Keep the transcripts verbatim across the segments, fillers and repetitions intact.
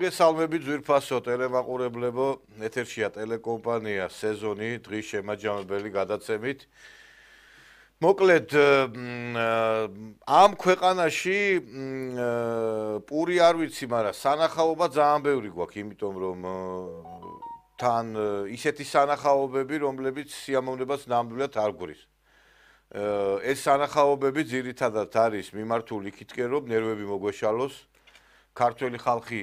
მოგესალმებით ძვირფასო ტელემაყურებლებო, ეთერშია ტელეკომპანია სეზონი, დღის შემაჯამებელი გადაცემით. მოკლედ, ამ ქვეყანაში პური არ ვიცი, მაგრამ სანახაობა ძალიან ბევრი გვაქვს, იმიტომ რომ თან ისეთი სანახაობები, რომლებიც სიამოვნებას ნამდვილად არ გვრის. ეს სანახაობები ძირითადად არის მიმართული იქითკენ, რომ ნერვები მოგვეშალოს. ქართველი ხალხი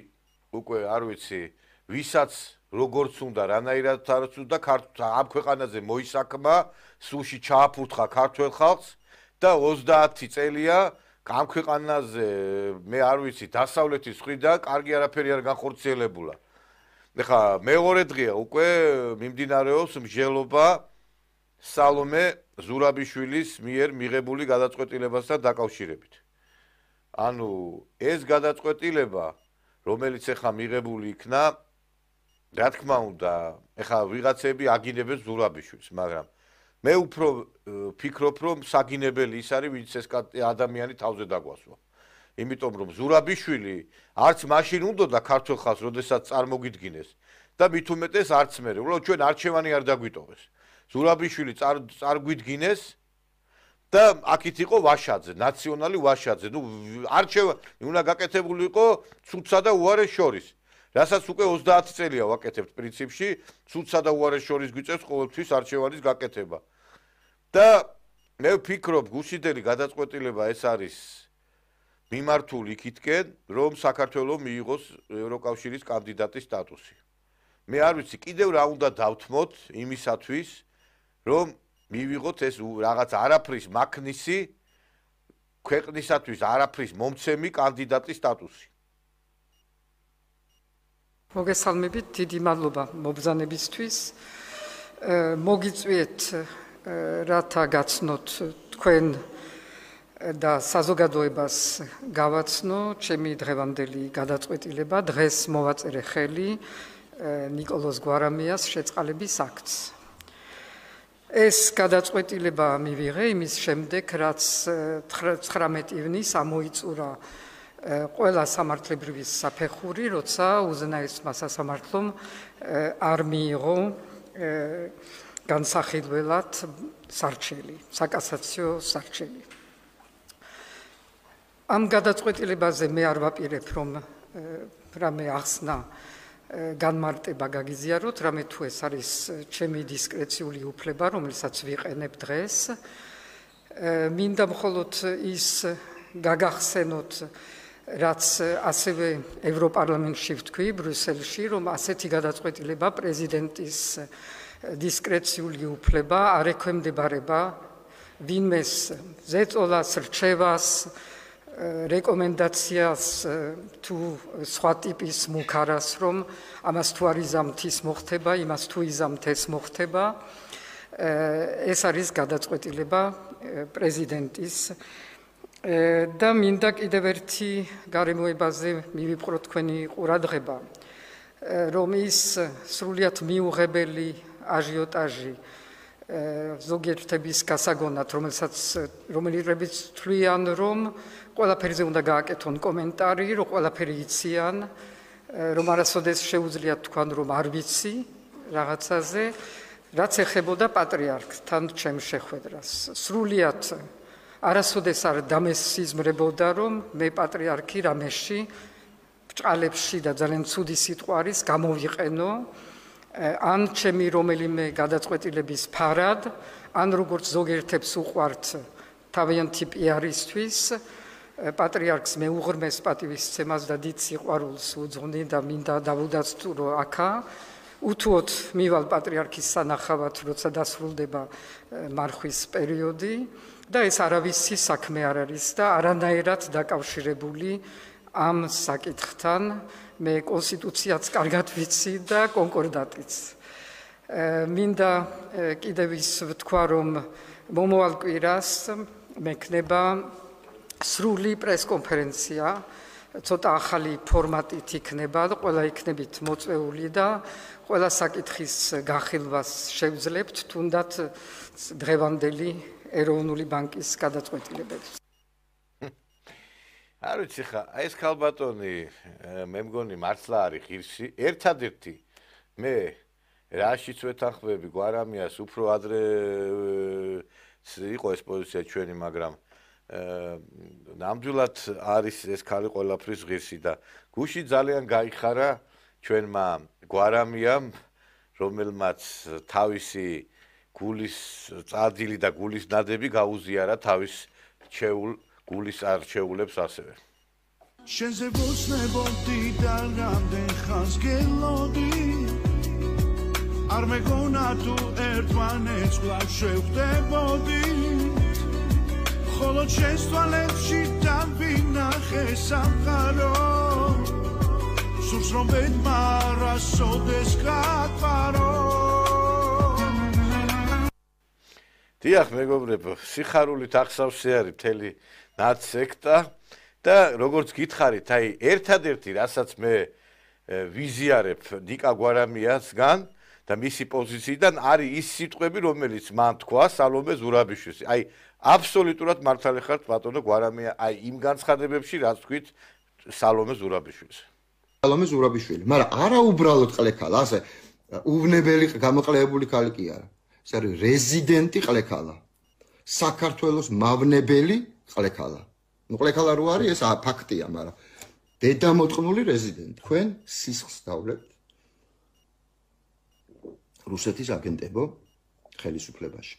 უკვე არ ვიცი, ვისაც როგორც უნდა, რანაირად არც უნდა ამ ქვეყანაზე მოისაქმა, სულში ჩააფურთხა ქართველ ხალხს და ოცდაათი წელია ამ ქვეყანაზე მე არ ვიცი, დასავლეთის მხრიდან კარგი არაფერი არ განხორციელებულა. ეხლა მეორე დღეა უკვე მიმდინარეობს მსჯელობა სალომე ზურაბიშვილის მიერ მიღებული გადაწყვეტილებასთან დაკავშირებით. ანუ ეს გადაწყვეტილება, რომელიც ეხლა მიღებული იქნა, რა თქმა უნდა, ეხლა ვიღაცები აგინებენ ზურაბიშვილს, მაგრამ მე უფრო ფიქრობ, რომ საგინებელი ის არის, ვინც ეს ადამიანი თავზე დაგვასვა. იმიტომ რომ ზურაბიშვილი არც მაშინ უნდოდა ქართულ ხალხს, როდესაც წარმოგიდგინეს და მით უმეტეს არც მერე. უბრალოდ ჩვენ არჩევანი არ დაგვიტოვეს. ზურაბიშვილი წარგვიდგინეს და აქეთ იყო ვაშაძე, ნაციონალი ვაშაძე. ნუ არჩევანი უნდა გაკეთებული იყო ცუდსა და უარეს შორის. რასაც უკვე ოცდაათი წელია ვაკეთებთ პრინციპში, ცუდსა და უარეს შორის გვიწევს ყოველთვის არჩევანის გაკეთება. და მე ვფიქრობ, გუშინდელი გადაწყვეტილება ეს არის მიმართული იქითკენ, რომ საქართველოს მიიღოს ევროკავშირის კანდიდატის სტატუსი. მე არ ვიცი, კიდევ რა უნდა დავთმოთ იმისათვის, რომ მივიღოთ ეს რაღაც არაფრის მაქნისი ქვეყნისათვის არაფრის მომცემი კანდიდატის სტატუსი. მოგესალმებით, დიდი მადლობა მობრძანებისთვის. მოგიწვიეთ რათა გაცნოთ თქვენ და საზოგადოებას გავაცნო ჩემი დღევანდელი გადაწყვეტილება. დღეს მოვაწერე ხელი ნიკოლოზ გვარამიას შეწყალების აქტს. ეს გადაწყვეტილება მივიღე იმის შემდეგ, რაც ცხრამეტი ივნის ამოიწურა ყველა სამართლებრივი საფეხური, როცა უზენაესმა სასამართლომ არ მიიღო განსახილველად სარჩელი, საკასაციო სარჩელი. ამ გადაწყვეტილებაზე მე არ ვაპირებ, რომ რამე ახსნა განმარტება გაგიზიაროთ, რამე თუ ეს არის ჩემი დისკრეციული უფლება, რომელსაც ვიყენებ დღეს. მინდა მხოლოდ ის გაგახსენოთ, რაც ასევე ევროპარლამენტში ვთქვი, ბრიუსელში, რომ ასეთი გადაწყვეტილება პრეზიდენტის დისკრეციული უფლება არ ექვემდებარება ვინმეს ზეწოლას, რჩევას, რეკომენდაციას თუ სხვა ტიპის მუქარას, რომ ამას თუ არ იზამთ ის მოხდება, იმას თუ იზამთ ეს მოხდება. ეს არის გადაწყვეტილება პრეზიდენტის და მინდა კიდევ ერთი გარემოებაზე მივიპყრო თქვენი ყურადღება, რომ ის სრულიად მიუღებელი აჟიოტაჟი ზოგიერთების გასაგონად, რომელსაც რომელიღებიც თვლიან, რომ ყველაფერზე უნდა გააკეთონ კომენტარი, რომ ყველაფერი იციან, რომ არასოდეს შეუძლიათ თქვან, რომ არ ვიცი რაღაცაზე, რაც ეხებოდა პატრიარქთან ჩემ შეხვედრას. სრულიად არასოდეს არ დამესიზმრებოდა, რომ მე პატრიარქი რამეში, ბჭყალებში და ძალიან ცუდი სიტყვა არის გამოვიყენო, ან ჩემი რომელიმე გადაწყვეტილების ფარად, ან როგორც ზოგიერთებს უყვართ თავიანთი პიარისთვის, პატრიარქს მეუღრმეს პატივისცემას და დიდ სიყვარულს უძღვნი და მინდა დავუდაცტურო აქა. უთუოდ მივალ პატრიარქის სანახავად, როცა დასრულდება მარხვის პერიოდი და ეს არავისი საქმე არ არის და არანაირად დაკავშირებული ამ საკითხთან. მე კონსტიტუციაც კარგად ვიცი და კონკორდატიც. მინდა კიდევ ის ვთქვა, რომ მომავალ კვირას მექნება სრული პრესკონფერენცია, ცოტა ახალი ფორმატით იქნება და ყველა იქნებით მოწვეული და ყველა საკითხის განხილვას შევძლებთ, თუნდაც დღევანდელი ეროვნული ბანკის გადაწყვეტილებებს. არ ვიცი ხა, ეს ქალბატონი მე მგონი მართლა არის ღირსი, ერთადერთი მე რაშიც ვეთანხმები გვარამიას უფრო ადრე იყო ეს პოზიცია ჩვენი, მაგრამ ნამდვილად არის ეს ქალი ყველაფრის ღირსი და გუში ძალიან გაიხარა ჩვენმა გვარამიამ, რომელმაც თავისი გულის წადილი და გულის ნადები გაუზიარა თავის რჩეულ გულის არჩეულებს ასევე. შენზე ვოცნებოდი და რამდენ ხანს გელოდი არ მეგონა თუ ერთმანეთს კვლავ შევხვდებოდი ხოლო შენს თვალებში დავინახე სამყარო სურს რომ ბედმარა სოდეს გატყარო დიახ მეგობრებო, სიხარულით ახსავსე არის მთელი ნაცსექტა და როგორც გითხარით, აი ერთადერთი რასაც მე ვიზიარებ ნიკა გვარამიასგან და მისი პოზიციიდან არის ის სიტყვები, რომელიც მან თქვა სალომე ზურაბიშვილს. აი აბსოლუტურად მართალი ხართ ბატონო გვარამია, აი იმ განცხადებებში რაც თქვით სალომე ზურაბიშვილს. სალომე ზურაბიშვილი, მაგრამ არა უბრალოდ ყლექალა, ასე უვნებელი გამოყლებული ქალი კი არა. ეს არის რეზიდენტი ყლექალა. საქართველოს მავნებელი ყლექალა. ნუ ყლექალა რო არის, ეს ფაქტია, მაგრამ დედამოწყნული რეზიდენტი. თქვენ სისხლს დავლებთ რუსეთის აგენტებო ხელისუფლებაში.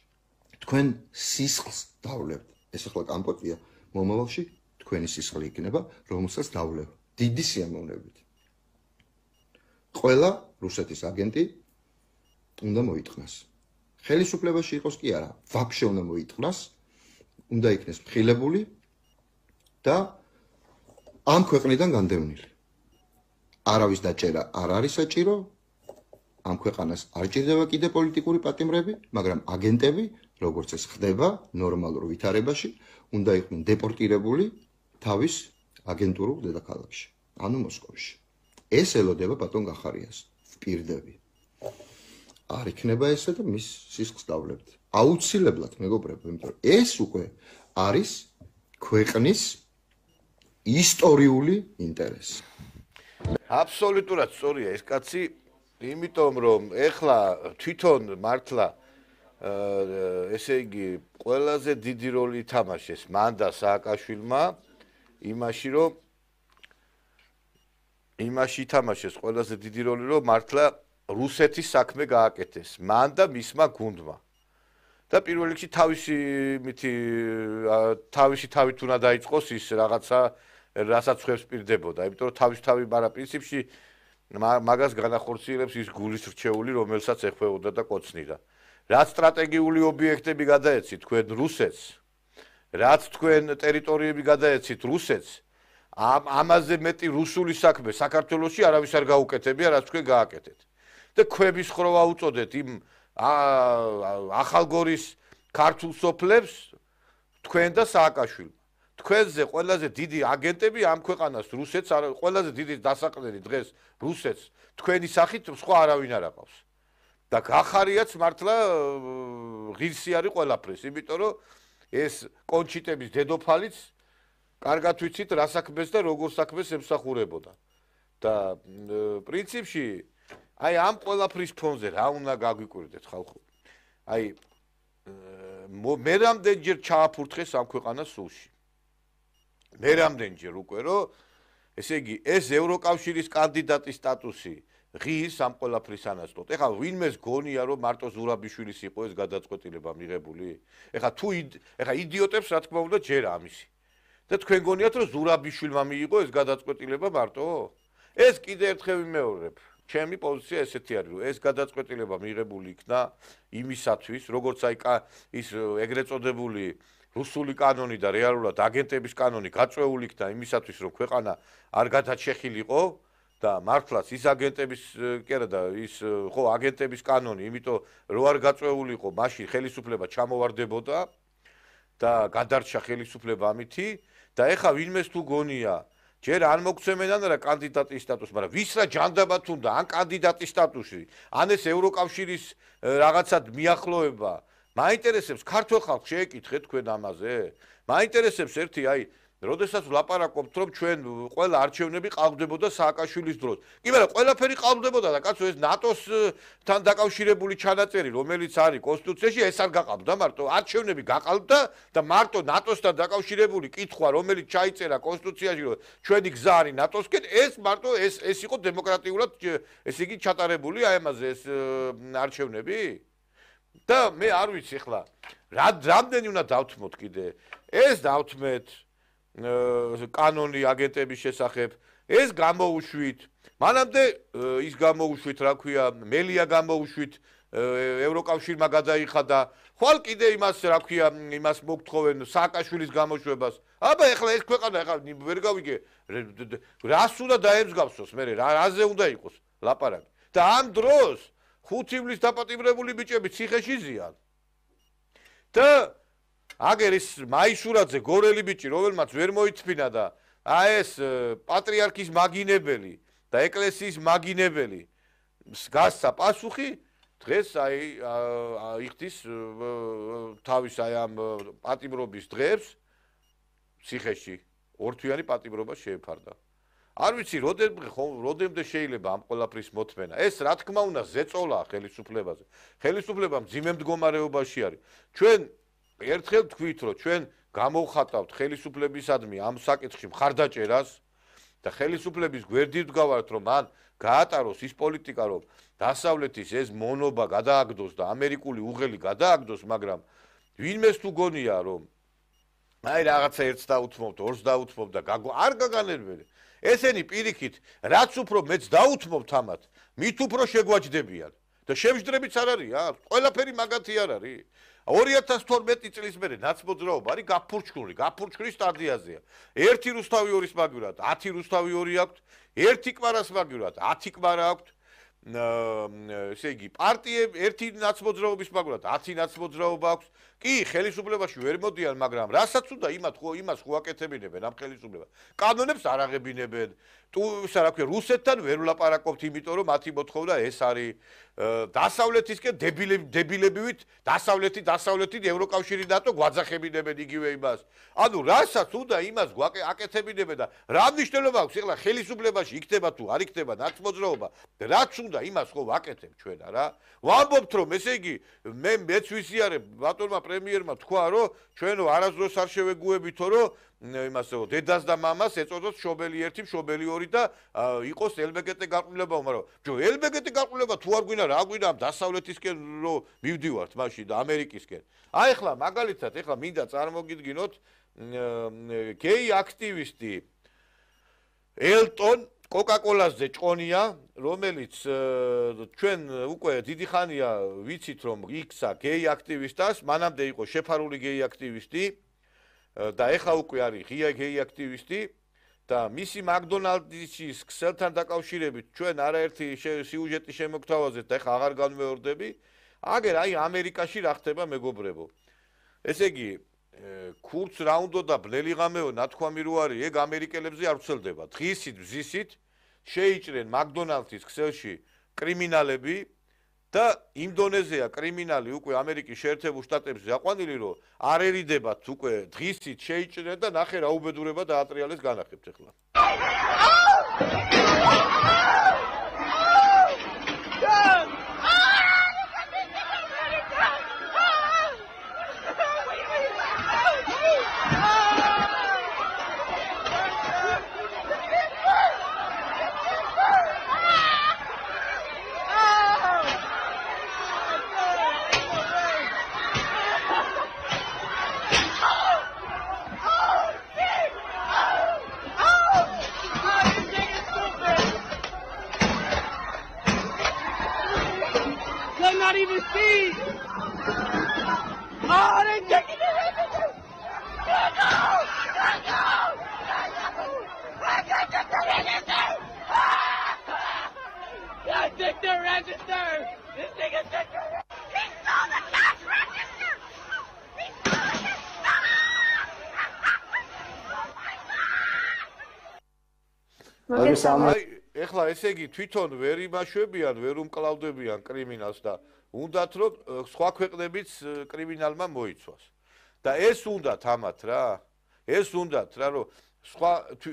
თქვენ სისხლს დავლებთ. ეს ახლა კამპოტია მომავალში თქვენი სისხლი იქნება, რომელსაც დავლებთ. დიდი სიამოვნებით. ყველა რუსეთის აგენტი უნდა მოიტყნას. ხელისუფლებაში იყოს კი არა, ვაფშე უნდა მოიტყნას, უნდა იქნეს მხილებული და ამ ქვეყნიდან განდევნილი. არავის დაჭერა არ არის საჭირო, ამ ქვეყანას არ ჭირდება კიდე პოლიტიკური პატიმრები, მაგრამ აგენტები, როგორც ეს ხდება ნორმალურ ვითარებაში, უნდა იყვნენ დეპორტირებული თავის აგენტურულ დედაქალაქში, ანუ მოსკოვში. ეს ელოდება ბატონ გახარიას, ვპირდები. არ იქნება ესე და მის სისხლს დავლებთ. აუცილებლად მეგობრებო, იმიტომ რომ ეს უკვე არის ქვეყნის ისტორიული ინტერესი. აბსოლუტურად სწორია ეს კაცი, იმიტომ რომ ეხლა თვითონ მართლა ესე იგი ყველაზე დიდი როლი ითამაშეს მან და სააკაშვილმა იმაში რომ იმაში ითამაშეს ყველაზე დიდი როლი რომ მართლა რუსეთის საქმე გააკეთეს მან და მისმა გუნდმა და პირველ რიგში თავისი მითი თავისი თავით უნდა დაიწყოს ის რაღაცა რასაც ხვევს პირდებოდა იმიტომ რომ თავის თავი მაგრამ პრინციპში მაგას განახორციელებს ის გულის რჩეული რომელსაც ეხვეოდა და კოცნიდა რაც სტრატეგიული ობიექტები გადაეცით თქვენ რუსეთს რაც თქვენ ტერიტორიები გადაეცით რუსეთს ამ ამაზე მეტი რუსული საქმე საქართველოში არავის არ გაუკეთებია რაც თქვენ გააკეთეთ და ქვების ხროვა უწოდეთ იმ ახალგორის ქართულ სოფლებს თქვენ და სააკაშვილმა თქვენზე ყველაზე დიდი აგენტები ამ ქვეყანას რუსეთს ყველაზე დიდი დასაყრდენი დღეს რუსეთს თქვენი სახით სხვა არავინ არ აყავს და გახარიაც მართლა ღირსი არის ყველაფრის იმიტომ რომ ეს კონჩიტების დედოფალიც კარგად ვიცით რა საქმეს და როგორ საქმეს ემსახურებოდა და პრინციპში აი ამ ყველაფრის ფონზე რა უნდა გაგვიკვირდეთ ხალხო აი მე რამდენჯერ ჩააფურთხეს ამ ქვეყანას სულში მე რამდენჯერ უკვე რომ ესე იგი ეს ევროკავშირის კანდიდატის სტატუსი ღირს ამ ყველაფრის ანაცვლოდ ეხლა ვინმეს გონია რომ მარტო ზურაბიშვილის იყო ეს გადაწყვეტილება მიღებული ეხლა თუ ეხლა იდიოტებს რა თქმა უნდა ჯერა ამისი და თქვენ გონიათ რომ ზურაბიშვილმა მიიღო ეს გადაწყვეტილება მარტო ეს კიდე ერთხელ ვიმეორებ ჩემი პოზიცია ესეთი არის რომ ეს გადაწყვეტილება მიღებული იქნა იმისათვის როგორც აი ის ეგრეთ წოდებული რუსული კანონი და რეალურად აგენტების კანონი გაწეული იქნა იმისათვის რომ ქვეყანა არ გადაჩეხილიყო და მართლაც ის აგენტების კი არა და ის ხო აგენტების კანონი იმიტომ რომ არ გაწეულიყო მაშინ ხელისუფლება ჩამოვარდებოდა და გადარჩა ხელისუფლება ამითი და ეხა ვინმეს თუ გონია ჯერ არ მოგცემენ რა კანდიდატის სტატუსი მაგრამ ვის რა ჯანდაბათ უნდა ან კანდიდატის სტატუსი ან ეს ევროკავშირის რაღაცად მიახლოება მაინტერესებს ქართულ ხალხს შეეკითხეთ თქვენ ამაზე მაინტერესებს ერთი აი როდესაც ვლაპარაკობთ, რომ ჩვენ ყველა არჩევნები ყავდებოდა სააკაშვილის დროს. კი, მაგრამ ყველაფერი ყავდებოდა და კაცო ეს ნატოსთან დაკავშირებული ჩანაწერი, რომელიც არის კონსტიტუციაში, ეს არ გაყავდა მარტო. არჩევნები გაყავდა და მარტო ნატოსთან დაკავშირებული კითხვა, რომელიც ჩაიწერა კონსტიტუციაში, რომ ჩვენი გზა არის ნატოსკენ, ეს მარტო ეს ეს იყო დემოკრატიულად, ესე იგი ჩატარებული აი ამაზე ეს არჩევნები? და მე არ ვიცი ხლა, რამდენი უნდა დავთმოთ კიდე? ეს დავთმეთ კანონი აგენტების შესახებ, ეს გამოუშვით. მანამდე ის გამოუშვით, რა ქვია, მელია გამოუშვით, ევროკავშირმა გადაიხადა. ხვალ კიდე იმას, რა ქვია, იმას მოგთხოვენ სააკაშვილის გამოშვებას. აბა ეხლა ეს ქვეყანა ეხლა ვერ გავიგე, რას უნდა დაემსგავსოს მე, რაზე უნდა იყოს ლაპარაკი. და ამ დროს ხუთი ივლის დაპატიმრებული ბიჭები ციხეში ზიან. და აგერ ის მაისურაძე გორელი ბიჭი, რომელმაც ვერ მოითფინა და აი ეს პატრიარქის მაგინებელი და ეკლესიის მაგინებელი გასცა პასუხი, დღეს აი იხდის თავის აი ამ პატიმრობის დღეებს ციხეში ორთვიანი პატიმრობა შეეფარდა. არ ვიცი, როდემდე შეიძლება ამ ყველაფრის მოთმენა. ეს რა თქმა უნდა ზეწოლაა ხელისუფლებაზე. ხელისუფლება მძიმე მდგომარეობაში არის. ჩვენ ერთხელ თქვით, რომ ჩვენ გამოვხატავთ ხელისუფლებისადმი ამ საკითხში მხარდაჭერას და ხელისუფლების გვერდით ვდგავართ, რომ მან გაატაროს ის პოლიტიკა, რომ დასავლეთის ეს მონობა გადააგდოს და ამერიკული უღელი გადააგდოს, მაგრამ ვინმეს თუ გონია, რომ აი რაღაცა ერთს დაუთმობთ, ორს დაუთმობთ და არ გაგანერვებენ. ესენი პირიქით, რაც უფრო მეც დაუთმობთ ამათ, მით უფრო შეგვაჯდებიან და შევჯდრებიც არ არის, ყველაფერი მაგათი არ არის. ორი ათას თორმეტი წლის მერე ნაცმოძრაობა არის გაფურჩქული, გაფურჩქვის სტადიაზეა. ერთი რუსთავი ორის მაგივრად, ათი რუსთავი ორი აქვთ, ერთი კვარას მაგივრად, ათი კვარა აქვთ. ესე იგი, პარტიები ერთი ნაცმოძრაობის მაგივრად, ათი ნაცმოძრაობა აქვს. კი, ხელისუფლებაში ვერ მოდიან, მაგრამ რასაც უნდა იმათ ხო იმას ხო აკეთებინებენ ამ ხელისუფლებას. კანონებს არ აღებინებენ. თუ ისა რა ქვია, რუსეთთან ვერ ვლაპარაკობთ, იმიტომ რომ მათი მოთხოვნა ეს არის დასავლეთისკენ დებილებივით, დასავლეთი, დასავლეთი ევროკავშირი ნატო გვაძახებინებენ იგივე იმას. ანუ რასაც უნდა იმას აკეთებინებენ და რა მნიშვნელობა აქვს ეხლა ხელისუფლებაში იქნება თუ არ იქნება ნაცმოძრაობა, რაც უნდა იმას ხო ვაკეთებ ჩვენ არა? ვამბობთ რომ ესე იგი მე მეც ვიზიარებ ბატონმა პრემიერმა თქვა რომ ჩვენო არასდროს არ შევეგუებითო რომ იმასო დედას და მამას ეწოდოთ შობელი ერთი, შობელი ორი და იყოს ელ ბე გი ტე გაყრილება, მაგრამ ჯო ელ ბე გი ტე გაყრილება თუ არ გვინდა რა გვინდა დასავლეთისკენ რომ მივდივართ მაშინ და ამერიკისკენ. აი ახლა მაგალითად ახლა მინდა წარმოგიდგინოთ გეი აქტივისტი ელტონ კოკაკოლაზე ჭყონია, რომელიც ჩვენ უკვე დიდი ხანია ვიცით რომ იქცა გეი აქტივისტას, მანამდე იყო შეფარული გეი აქტივისტი და ეხლა უკვე არის ღია გეი აქტივისტი და მისი მაკდონალდსის ქსელთან დაკავშირებით ჩვენ არაერთი სიუჟეტი შემოგთავაზეთ და ეხლა აღარ განმეორდები. აგერ აი ამერიკაში რა ხდება მეგობრებო. ესე იგი ქურც რა უნდა და ბნელი ღამეო ნათქვამი რო არის, ეგ ამერიკელებზე არ ვრცელდება. დღისით ბზისით შეიჭრენ მაკდონალდსის ქსელში კრიმინალები და იმ დონეზეა კრიმინალი უკვე ამერიკის შეერთებულ შტატებში აყვანილი, რომ არ ერიდებათ უკვე დღისით შეიჭრენ და ნახე რა უბედურება დაატრიალეს განახებთ ახლა. Not even see. Oh, they taking it. Let go! Let go! Let go! I think they're registered. This nigga took the He stole the cash register. He stole it. აი, ეხლა ესე იგი თვითონ ვერ იმაშვებიან, ვერ უმკლავდებიან კრიმინალს და უნდათ რომ სხვა ქვეყნებიც კრიმინალმა მოიცვას. და ეს უნდათ ამათ რა. ეს უნდათ რა რომ სხვა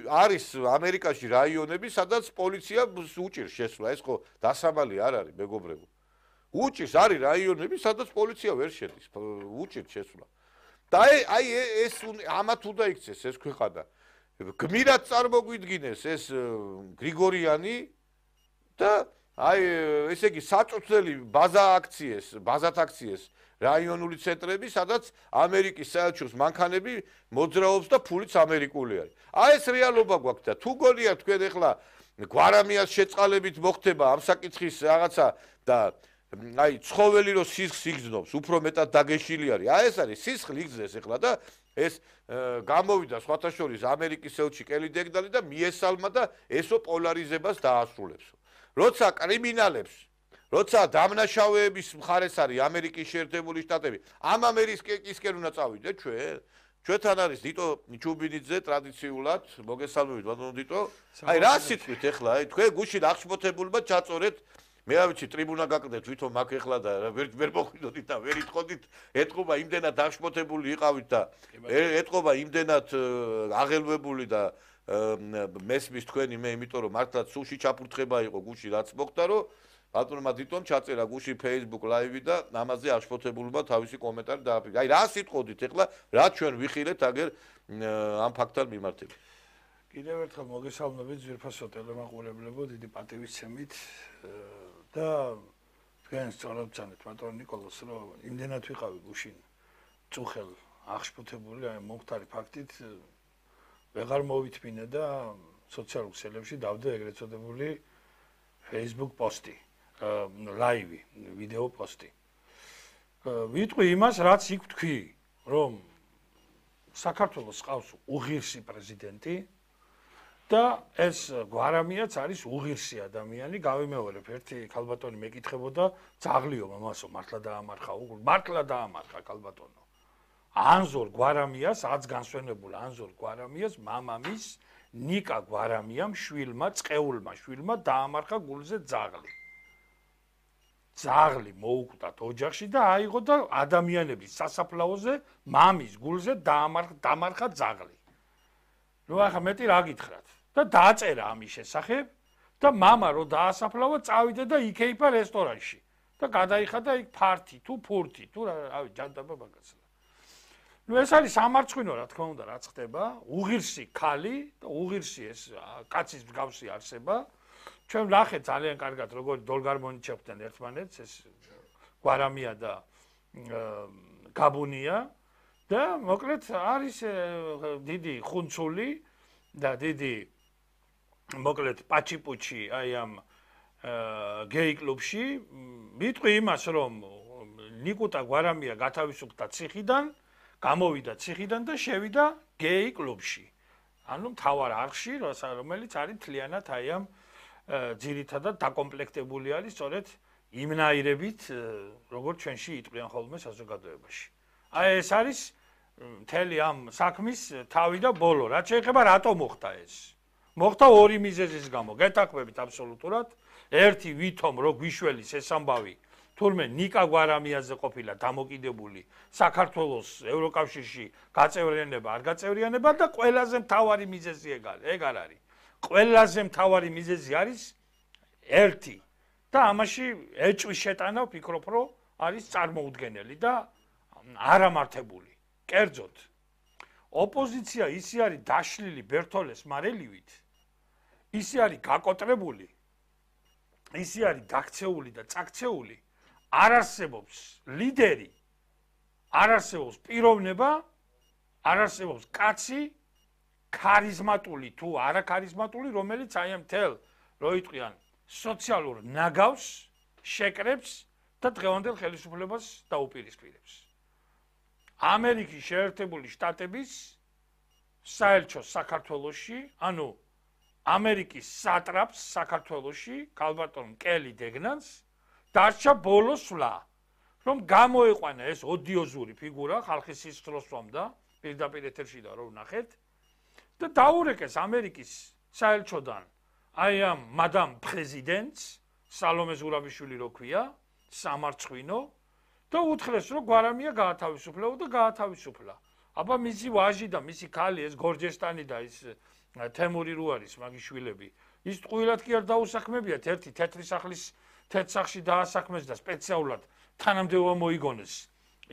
არის ამერიკაში რაიონები, სადაც პოლიცია უჭირს შესვლა, ეს ხო დასამალი არ არის, მეგობრებო. უჭირს არის რაიონები, სადაც პოლიცია ვერ შედის, უჭირს შესვლა. და აი ეს ამათ უნდა იქცეს ეს ქვეყანა. გმირად წარმოგვიდგინეს ეს გრიგორიანი და აი ესე იგი საწუთელი ბაზა აქციეს, ბაზათ აქციეს რაიონული ცენტრები, სადაც ამერიკის საელჩოს მანქანები მოძრაობს და ფულიც ამერიკული არის. აი ეს რეალობა გვაქვს და თუ გონია თქვენ ახლა გვარამიას შეწყალებით მოხდება ამ საკითხის რაღაცა და აი ცხოველი რო სისხლს იგრძნობს, უფრო მეტად დაგეშილი არის. აი ეს არის სისხლი იგრძნეს ახლა და ეს გამოვიდა სხვათა შორის ამერიკის ელჩი კელი დეგდალი და მიესალმა და ესო პოლარიზებას დაასრულებს. როცა კრიმინალებს, როცა დამნაშავეების მხარეს არის ამერიკის შეერთებული შტატები, ამ ამერიკისკენ უნდა წავიდეთ ჩვენ. ჩვენთან არის დიტო ჩუბინიძე ტრადიციულად, მოგესალმებით ბატონო დიტო. აი რა სიტყვით ახლა, აი თქვენ გუშინ აღშფოთებულმა ჩაწორეთ მე არ ვიცი ტრიბუნა გაკდეთ თვითონ მაგ ეხლა და ვერ ვერ მოხვიდოდით და ვერ იტყოდით ეთყობა იმდენად აღშფოთებული იყავით და ეთყობა იმდენად აღელვებული და მესმის თქვენი მე იმიტომ რომ მართლაც სულში ჩაფურთხება იყო გუში რაც მოხდა რომ ბატონმა დიტომ ჩაწერა გუში Facebook live და ამაზე აღშფოთებულმა თავისი კომენტარი დააფიქრა. აი რა სიტყოდით ეხლა რა ჩვენ ვიხილეთ აგერ ამ ფაქტთან მიმართებით. კიდევ ერთხელ მოგესალმებით ძვირფასო ტელემაყურებლებო, დიდი პატივისცემით და თქვენ სწორად წანეთ ბატონ ნიკოლოს რომ იმდენად ვიყავი გუშინ წუხელ აღშფოთებული აი მომხდარი ფაქტით ვეღარ მოვითმინე და სოციალურ ქსელებში დავდე ეგრეთ წოდებული Facebook პოსტი, ლაივი, ვიდეო პოსტი. ვიტყვი იმას, რაც იქ თქვი, რომ საქართველოს ყავს უღირსი პრეზიდენტი და ეს გვარამიაც არის უღირსი ადამიანი, გავიმეორებ, ერთი ქალბატონი მეკითხებოდა, ძაღლიო მამასო, მართლა დაამარხა, მართლა დაამარხა ქალბატონო. ანზორ გვარამიას, აც განსვენებულ ანზორ გვარამიას მამამის ნიკა გვარამიამ შვილმა, წყეულმა შვილმა დაამარხა გულზე ძაღლი. ძაღლი მოუკვდათ ოჯახში და აიღო და ადამიანების სასაფლაოზე მამის გულზე დაამარხა დამარხა ძაღლი. ნუ ახლა მეტი რა გითხრათ? და დაწერა ამის შესახებ და მამა რო დაასაფლავა, წავიდა და იქეიფა რესტორანში და გადაიხადა იქ ფართი თუ ფურთი თუ რავი ჯანდაბა მაგაცა. ნუ ეს არის სამარცხვინო რა თქმა უნდა რაც ხდება, უღირსი ქალი და უღირსი ეს კაცის მსგავსი არსება. ჩვენ ვნახეთ ძალიან კარგად როგორ დოლგარმონიჩებდნენ ერთმანეთს ეს გვარამია და გაბუნია და მოკლედ არის დიდი ხუნცული და დიდი მოკლედ პაჩიპუჩი აი ამ გეი კლუბში ვიტყვი იმას რომ ნიკუტა გვარამია გათავისუფლდა ციხიდან, გამოვიდა ციხიდან და შევიდა გეი კლუბში. ანუ მთავარ არხში, რომელიც არის მთლიანად აი ამ ძირითადად დაკომპლექტებული არის სწორედ იმნაირებით, როგორც ჩვენში იტყვიან ხოლმე საზოგადოებაში. აი ეს არის მთელი ამ საქმის თავი და ბოლო. რაც შეეხება რატო მოხდა ეს? მოხდა ორი მიზეზის გამო. გეთანხმებით აბსოლუტურად. ერთი ვითომ რო გვიშველის ეს ამბავი თურმე ნიკა გვარამიაზე ყოფილა დამოკიდებული საქართველოს ევროკავშირში გაწევრიანება არ გაწევრიანება და ყველაზე მთავარი მიზეზი ეგ არ არის. ყველაზე მთავარი მიზეზი არის ერთი და ამაში ეჭვის შეტანა ვფიქრობ რომ არის წარმოუდგენელი და არამართებული. კერძოდ ოპოზიცია ისე არის დაშლილი ბერთოლეს მარელივით, ისე არის გაკოტრებული, ისე არის დაქცეული და წაქცეული, არ არსებობს ლიდერი, არ არსებობს პიროვნება, არ არსებობს კაცი ქარიზმატული თუ არაქარიზმატული, რომელიც აი ამ თელ რო იტყვიან სოციალურ ნაგავს შეკრებს და დღევანდელ ხელისუფლებას დაუპირისპირებს. ამერიკის შეერთებული შტატების საელჩოს საქართველოში, ანუ ამერიკის სატრაპს საქართველოში, ქალბატონ კელი დეგნანს დარჩა ბოლო სვლა, რომ გამოიყვანა ეს ოდიოზური ფიგურა ხალხის სისხლს სვამდა, პირდაპირ ეთერში და რო ვნახეთ და დაურეკეს ამერიკის საელჩოდან აი ამ მადამ პრეზიდენტს სალომე ზურაბიშვილი რო ქვია, სამარცხვინო და უთხრეს რომ გვარამია გაათავისუფლეო და გაათავისუფლა. აბა მისი ვაჟი და მისი ქალი ეს გორჯესტანი და ის თემური რო არის მაგის შვილები ის ტყუილად კი არ დაუსაქმებიათ ერთი თეთრი სახლის თეთრ სახლში დაასაქმეს და სპეციალურად თანამდებობა მოიგონეს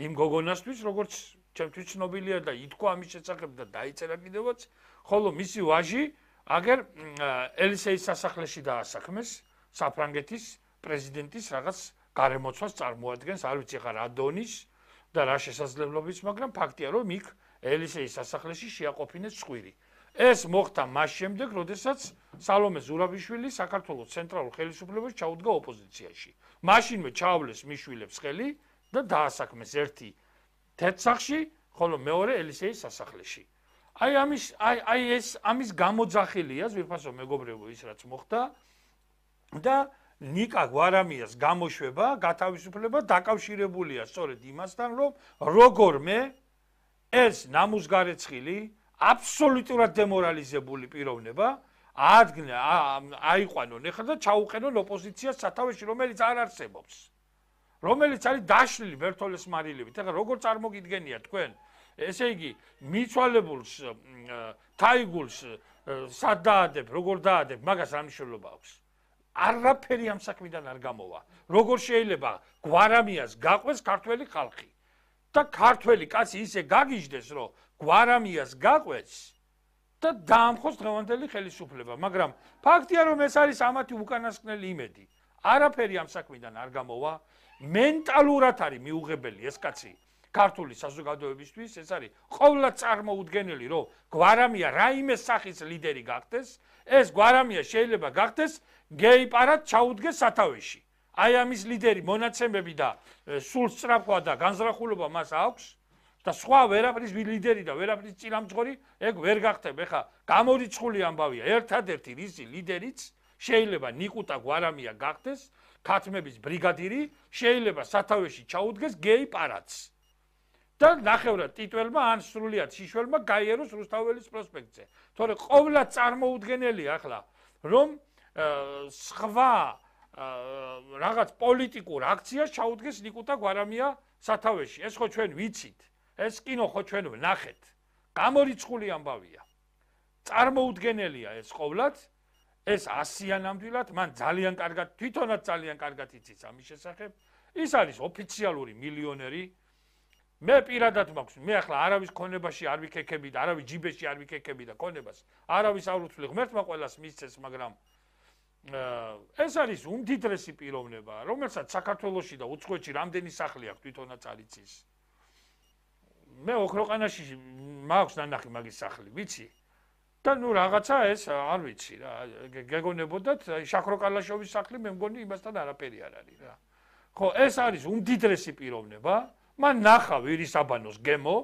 იმ გოგონასთვის როგორც ჩემთვის ცნობილია და ითქვა ამის შესახებ და დაიწერა კიდევაც ხოლო მისი ვაჟი აგერ ელისეის სასახლეში დაასაქმეს საფრანგეთის პრეზიდენტის რაღაც გარემოცვას წარმოადგენს არ ვიცი ხა რა დონის და რა შესაძლებლობის მაგრამ ფაქტია რომ იქ ელისეის სასახლეში შეაყოფინეს წვირი ეს მოხდა მას შემდეგ როდესაც სალომე ზურაბიშვილი საქართველოს ცენტრალურ ხელისუფლებაში ჩაუდგა ოპოზიციაში მაშინვე ჩაავლეს მის შვილებს ხელი და დაასაქმეს ერთი თეთრ სახლში ხოლო მეორე ელისეის სასახლეში აი ამის აი აი ეს ამის გამოძახილია ზვირფასო მეგობრებო ის რაც მოხდა და ნიკა გვარამიას გამოშვება გათავისუფლება დაკავშირებულია სწორედ იმასთან რომ როგორმე ეს ნამუსგარეცხილი აბსოლუტურად დემორალიზებული პიროვნება ადგენა აიყვანონ ეხლა და ჩაუყენონ ოპოზიციას სათავეში რომელიც არ არსებობს რომელიც არის დაშლილი ბერთოლეს მარილებით ეხლა როგორ წარმოგიდგენია თქვენ ესე იგი მიცვალებულს თაიგულს სად დაადებ როგორ დაადებ მაგას რა მნიშვნელობა აქვს არაფერი ამ საქმიდან არ გამოვა როგორ შეიძლება გვარამიას გაყვეს ქართველი ხალხი და ქართველი კაცი ისე გაგიჟდეს რომ გვარამიას გაყვეს და დაამხოს დღევანდელი ხელისუფლება მაგრამ ფაქტია რომ ეს არის ამათი უკანასკნელი იმედი არაფერი ამ საქმიდან არ გამოვა მენტალურად არის მიუღებელი ეს კაცი ქართული საზოგადოებისთვის ეს არის ყოვლად წარმოუდგენელი რომ გვარამია რაიმე სახის ლიდერი გახდეს ეს გვარამია შეიძლება გახდეს გეიპარად ჩაუდგეს სათავეში აი ამის ლიდერი მონაცემები და სულ სწრაფვა და განზრახულობა მას აქვს და სხვა ვერაფრის ლიდერი და ვერაფრის წინამძღოლი ეგ ვერ გახდება ეხა გამორიცხული ამბავია ერთადერთი რისი ლიდერიც შეიძლება ნიკუტა გვარამია გახდეს ქათმების ბრიგადირი შეიძლება სათავეში ჩაუდგეს გეიპარადს და ნახევრად ტიტველმა ან სრულიად შიშველმა გაიაროს რუსთაველის პროსპექტზე თორე ყოვლად წარმოუდგენელია ახლა რომ სხვა რაღაც პოლიტიკურ აქციას ჩაუდგეს ნიკუტა გვარამია სათავეში ეს ხო ჩვენ ვიცით ეს კინო ხო ჩვენ ვნახეთ გამორიცხული ამბავია წარმოუდგენელია ეს ყოვლად ეს ასია ნამდვილად მან ძალიან კარგად თვითონაც ძალიან კარგად იცის ამის შესახებ ის არის ოფიციალური მილიონერი მე პირადად მაქვს მე ახლა არავის ქონებაში არ ვიქექები და არავის ჯიბეში არ ვიქექები და ქონებას არავის არ უთვლი ღმერთმა ყველას მისცეს მაგრამ ეს არის უმდიდრესი პიროვნება რომელსაც საქართველოში და უცხოეთში რამდენი სახლი აქვს თვითონაც არ იცის მე ოქროყანაში მაქვს ნანახი მაგის სახლი ვიცი და ნუ რაღაცა ეს არ ვიცი რა გეგონებოდათ შაქროკალაშოვის სახლი მე მგონი იმასთან არაფერი არ არის რა ხო ეს არის უმდიდრესი პიროვნება მან ნახა ვირისაბანოს გემო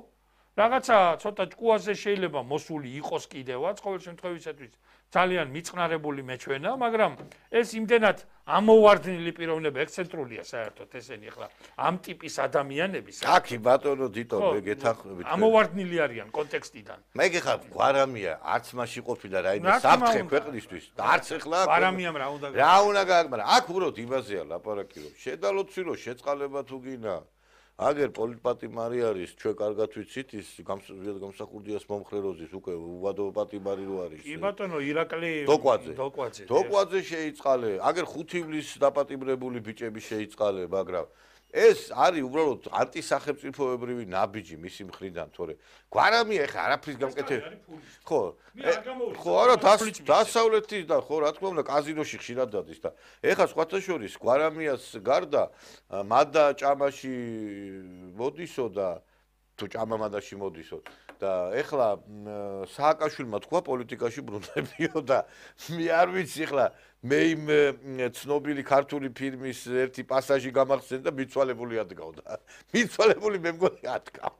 რაღაცა ცოტა ჭკუაზე შეიძლება მოსული იყოს კიდევაც ყოველ შემთხვევისათვის ძალიან მიწყნარებული მეჩვენა მაგრამ ეს იმდენად ამოვარდნილი პიროვნება ექსცენტრულია საერთოდ ესენი ახლა ამ ტიპის ადამიანების აკი ბატონო დიტო მე გეთანხმებით ამოვარდნილი არიან კონტექსტიდან მე გეხარ გვარამია არც მასში ყოფილა რაიმე საფრთხე ქვეყნისთვის და არც ახლა გვარამიამ რა უნდა რა უნდა გააკ მაგრამ აქ უბრალოდ იმაზეა ლაპარაკი რომ შედალოცი რომ შეწყალება თუ გინა აგერ პოლიტპატიმარი არის ჩვენ კარგად ვიცით ის გამსახურდიას მომხრეროზის უკვე უვადო პატიმარი რო არის კი ბატონო ირაკლი დოკვაძე დოკვაძე დოკვაძე შეიწყალე აგერ ხუთივლის დაპატიმრებული ბიჭები შეიწყალე მაგრამ ეს არის უბრალოდ ანტისახელმწიფოებრივი ნაბიჯი მისი მხრიდან თორე გვარამია ეხა არაფრის გამკეთებელი ხო ხო არა დასავლეთის და ხო რა თქმა უნდა კაზინოში ხშირად დადის და ეხა სხვათა შორის გვარამიას გარდა მადა ჭამაში მოდისო და თუ ჭამა მადაში მოდისო და ეხლა სააკაშვილმა თქვა პოლიტიკაში ბრუნდებიო და მე არ ვიცი ეხლა მე იმ ცნობილი ქართული ფილმის ერთი პასაჟი გამახსენდა და მიცვალებული ადგავდა მიცვალებული მე მგონი ადგა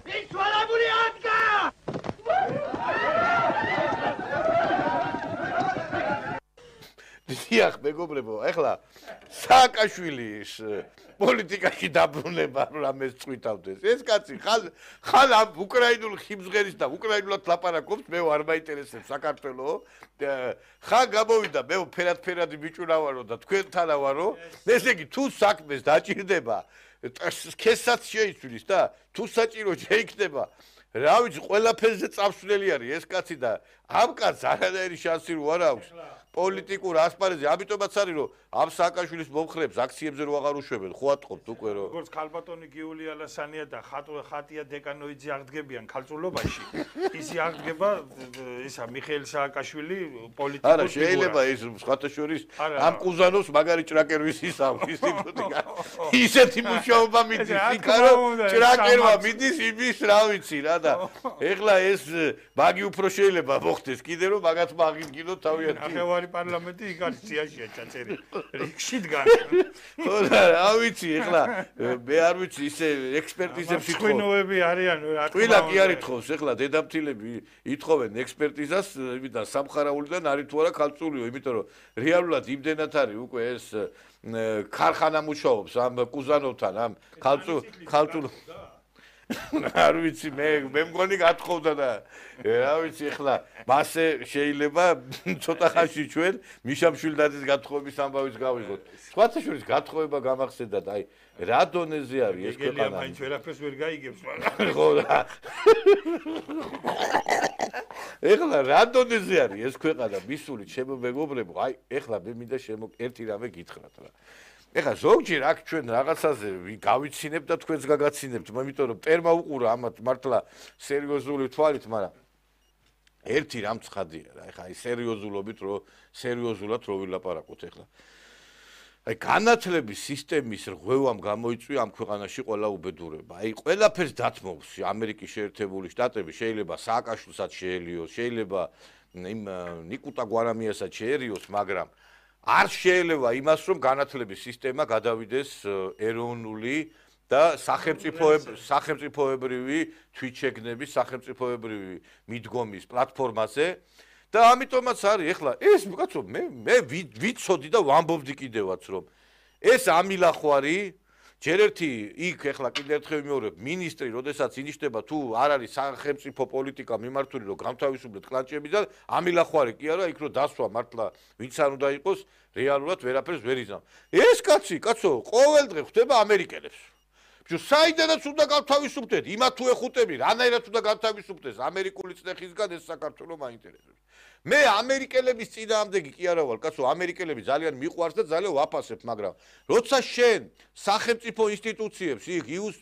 მიცვალებული ადგა დიახ მეგობრებო ეხლა სააკაშვილის პოლიტიკაში დაბრუნება რამეს წვითავდეს ეს კაცი ხალ ხალ ამ უკრაინულ ხიმზღერის და უკრაინულად ლაპარაკობს მე არ მაინტერესებს საქართველო ხა გამოვიდა მე ფერად ფერადი ბიჭუნა ვარო და თქვენთანა ვარო ესე იგი თუ საქმეს დაჭირდება სქესაც შეიცვლის და თუ საჭირო შეიქნება რა ვიცი ყველაფერზე წავსვლელი არის ეს კაცი და ამ კაცს არანაირი შანსი რო არ აქვს პოლიტიკურ ასპარეზზე ამიტომაც არის რომ ამ სააკაშვილის მომხრეებს აქციებზე რო აღარ უშვებენ ხო ატყობთ უკვე რომ როგორც ქალბატონი გიული ალასანია და ხატია დეკანოიძე აღდგებიან ქალწულობაში ისი აღდგება ისა მიხეილ სააკაშვილი პოლიტიკურ არა შეიძლება ის სხვათა შორის ამ კუზანოვს მაგარი ჭრაკერვის ისავ ინსტიტუტი ისეთი მუშაობა მიდის იქა რომ ჭრაკერვა მიდის იმის რა ვიცი რა და ეხლა ეს მაგი უფრო შეიძლება მოხდეს კიდე რომ მაგათ მაგინგინო თავიანთი პარლამენტი იქ არის ციაში ჩაწერილი რიგში დგან ხო რა ვიცი ეხლა მე არ ვიცი ისე ექსპერტიზებს ითხოვენ twinnoები არიან რა თქმა უნდა ტვილა კი არ ითხოვს ეხლა დედამთილები ითხოვენ ექსპერტიზას იმიდან სამხარაულიდან არის თუ არა ქალწულიო იმიტომ რომ რეალურად იმდენად არის უკვე ეს ქარხანა მუშაობს ამ კუზანოვთან ამ ქალწულ ქალწულ არ ვიცი მე მე მგონი გათხოვდა და რა ვიცი ახლა მასე შეიძლება ცოტა ხანში ჩვენ მიშამშვილდაძის გათხოვების ამბავიც გავიღოთ. სხვათა შორის გათხოვება გამახსენდა და აი რა დონეზე არის ეს ქვეყანა. გელია მაინც ვერაფერს ვერ გაიგებს მაგრამ. ხო რა. ეხლა რა დონეზე არის ეს ქვეყანა მისული ჩემო მეგობრებო აი ეხლა მე მინდა შემო ერთი რამე გითხრათ რა. ეხლა ზოგჯერ აქ ჩვენ რაღაცაზე გავიცინებთ და თქვენს გაგაცინებთ, იმიტომ რომ ტერმა უყურა ამათ მართლა სერიოზული თვალით, მაგრამ ერთი რამ ცხადია რა, ეხლა აი სერიოზულობით რო სერიოზულად რო ვილაპარაკოთ ეხლა. აი განათლების სისტემის რღვევამ გამოიწვია ამ ქვეყანაში ყველა უბედურება. აი ყველაფერს დათმობს ამერიკის შეერთებული შტატები, შეიძლება სააკაშვილსაც შეელიოს, შეიძლება იმ ნიკუტა გვარამიასაც შეერიოს, მაგრამ არ შეიძლება იმას რომ განათლების სისტემა გადავიდეს ეროვნული და სახელმწიფოებრივი თვითშეგნების სახელმწიფოებრივი მიდგომის პლატფორმაზე და ამიტომაც არის ეხლა ეს კაცო მე მე ვიცოდი და ვამბობდი კიდევაც რომ ეს ამილახვარი ჯერ ერთი იქ ეხლა კიდევ ერთხელ ვიმეორებ მინისტრი როდესაც ინიშნება თუ არ არის სახელმწიფო პოლიტიკა მიმართული რომ გამთავისუფლოთ კლანჭები და ამილახვარი კი არა იქ რომ დასვა მართლა ვინც არ უნდა იყოს რეალურად ვერაფერს ვერ იზამ ეს კაცი კაცო ყოველდღე ხვდება ამერიკელებს ბიჭო საიდანაც უნდა გავთავისუფლდეთ იმა თუ ეხუტები რანაირად უნდა გავთავისუფლდეს ამერიკული წნეხისგან ეს საქართველოს მაინტერესებს მე ამერიკელების წინააღმდეგი კი არა ვარ კაცო ამერიკელები ძალიან მიყვარს და ძალიან ვაფასებ მაგრამ როცა შენ სახელმწიფო ინსტიტუციებს იქ იუს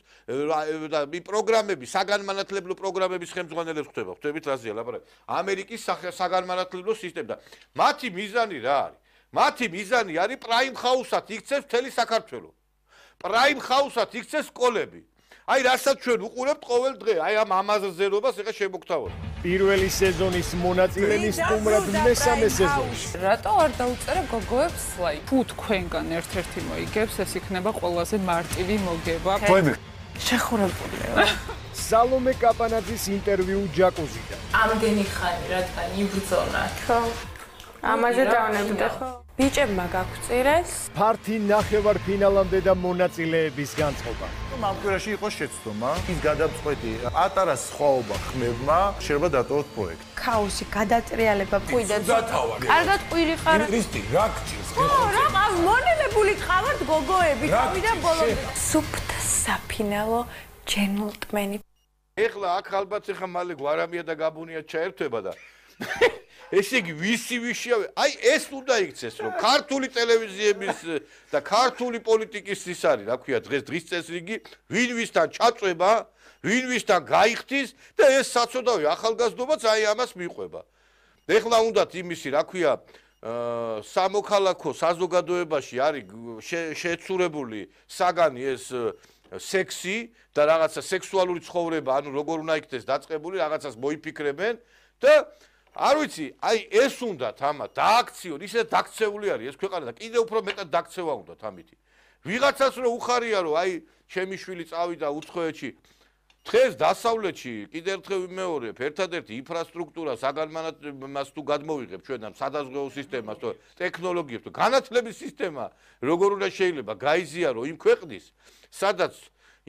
და პროგრამები საგანმანათლებლო პროგრამების ხელმძღვანელებს ხვდება ხვდებით რაზეა ლაპარაკი ამერიკის საგანმანათლებლო სისტემა და მათი მიზანი რა არის მათი მიზანი არის პრაიმ ჰაუსად იქცეს მთელი საქართველო პრაიმ ჰაუსად იქცეს სკოლები აი რასაც ჩვენ უყურებთ ყოველ დღე აი ამ ამაზრზერობას ეხა შემოგთავაზ პირველი სეზონის მონაწილენი სტუმრად მესამე სეზონში რატო არ დაუწერე გოგოებს ლაიქ თუ თქვენგან ერთ-ერთი მოიგებს ეს იქნება ყველაზე მარტივი მოგება თქვენი შეხურებულია სალომე კაპანაძის ინტერვიუ ჯაკუზიდან ამდენი ხანი რადგან იბრძოლა ხო ამაზე დავნებდა ხო ბიჭებმა გაგვწირეს ფართი ნახევარფინალამდე და მონაწილეების განწყობა ამ კვირაში იყო შეცდომა ის გადაწყვეტი პატარა სხვაობა ხმებმა შეიძლება დატოვოთ პროექტი ქაოსი გადატრიალება პუიდა დათავარ კარგად ყვირი ხარ რისტი რა გჭირს ხო რა ყავ მონელებული ყავართ გოგოები თავიდან ბოლომდე სუფთა საფინალო ჯენტლმენი ეხლა აქ ალბათ ეხა მალე გვარამია და გაბუნია ჩაერთვება და ესე იგი ვისი ვიშია აი ეს უნდა იქცეს რომ ქართული ტელევიზიების და ქართული პოლიტიკის ის არის რა ქვია დღეს დღის წესრიგი ვინ ვისთან ჩაწვება ვინ ვისთან გაიხდის და ეს საწოდავი ახალგაზრდობაც აი ამას მიყვება ეხლა უნდათ იმისი რა ქვია სამოქალაქო საზოგადოებაში არის შეცურებული საგანი ეს სექსი და რაღაცა სექსუალური ცხოვრება ანუ როგორ უნდა იქნეს დაწყებული რაღაცას მოიფიქრებენ და არ ვიცი, აი ეს უნდათ ამათ დააქციონ, ისე დაქცეული არის ეს ქვეყანა და კიდევ უფრო მეტად დაქცევა უნდათ ამითი. ვიღაცას რო უხარია რომ აი ჩემი შვილი წავიდა უცხოეთში. დღეს დასავლეთში კიდევ ერთხელ ვიმეორებ, ერთადერთი ინფრასტრუქტურა საგანმანათლებლო თუ გადმოვიღებ ჩვენ ამ სადაზღვეო სისტემას, თუ ტექნოლოგიებს, თუ განათლების სისტემა, როგორ უნდა შეიძლება გაიზიარო იმ ქვეყნის, სადაც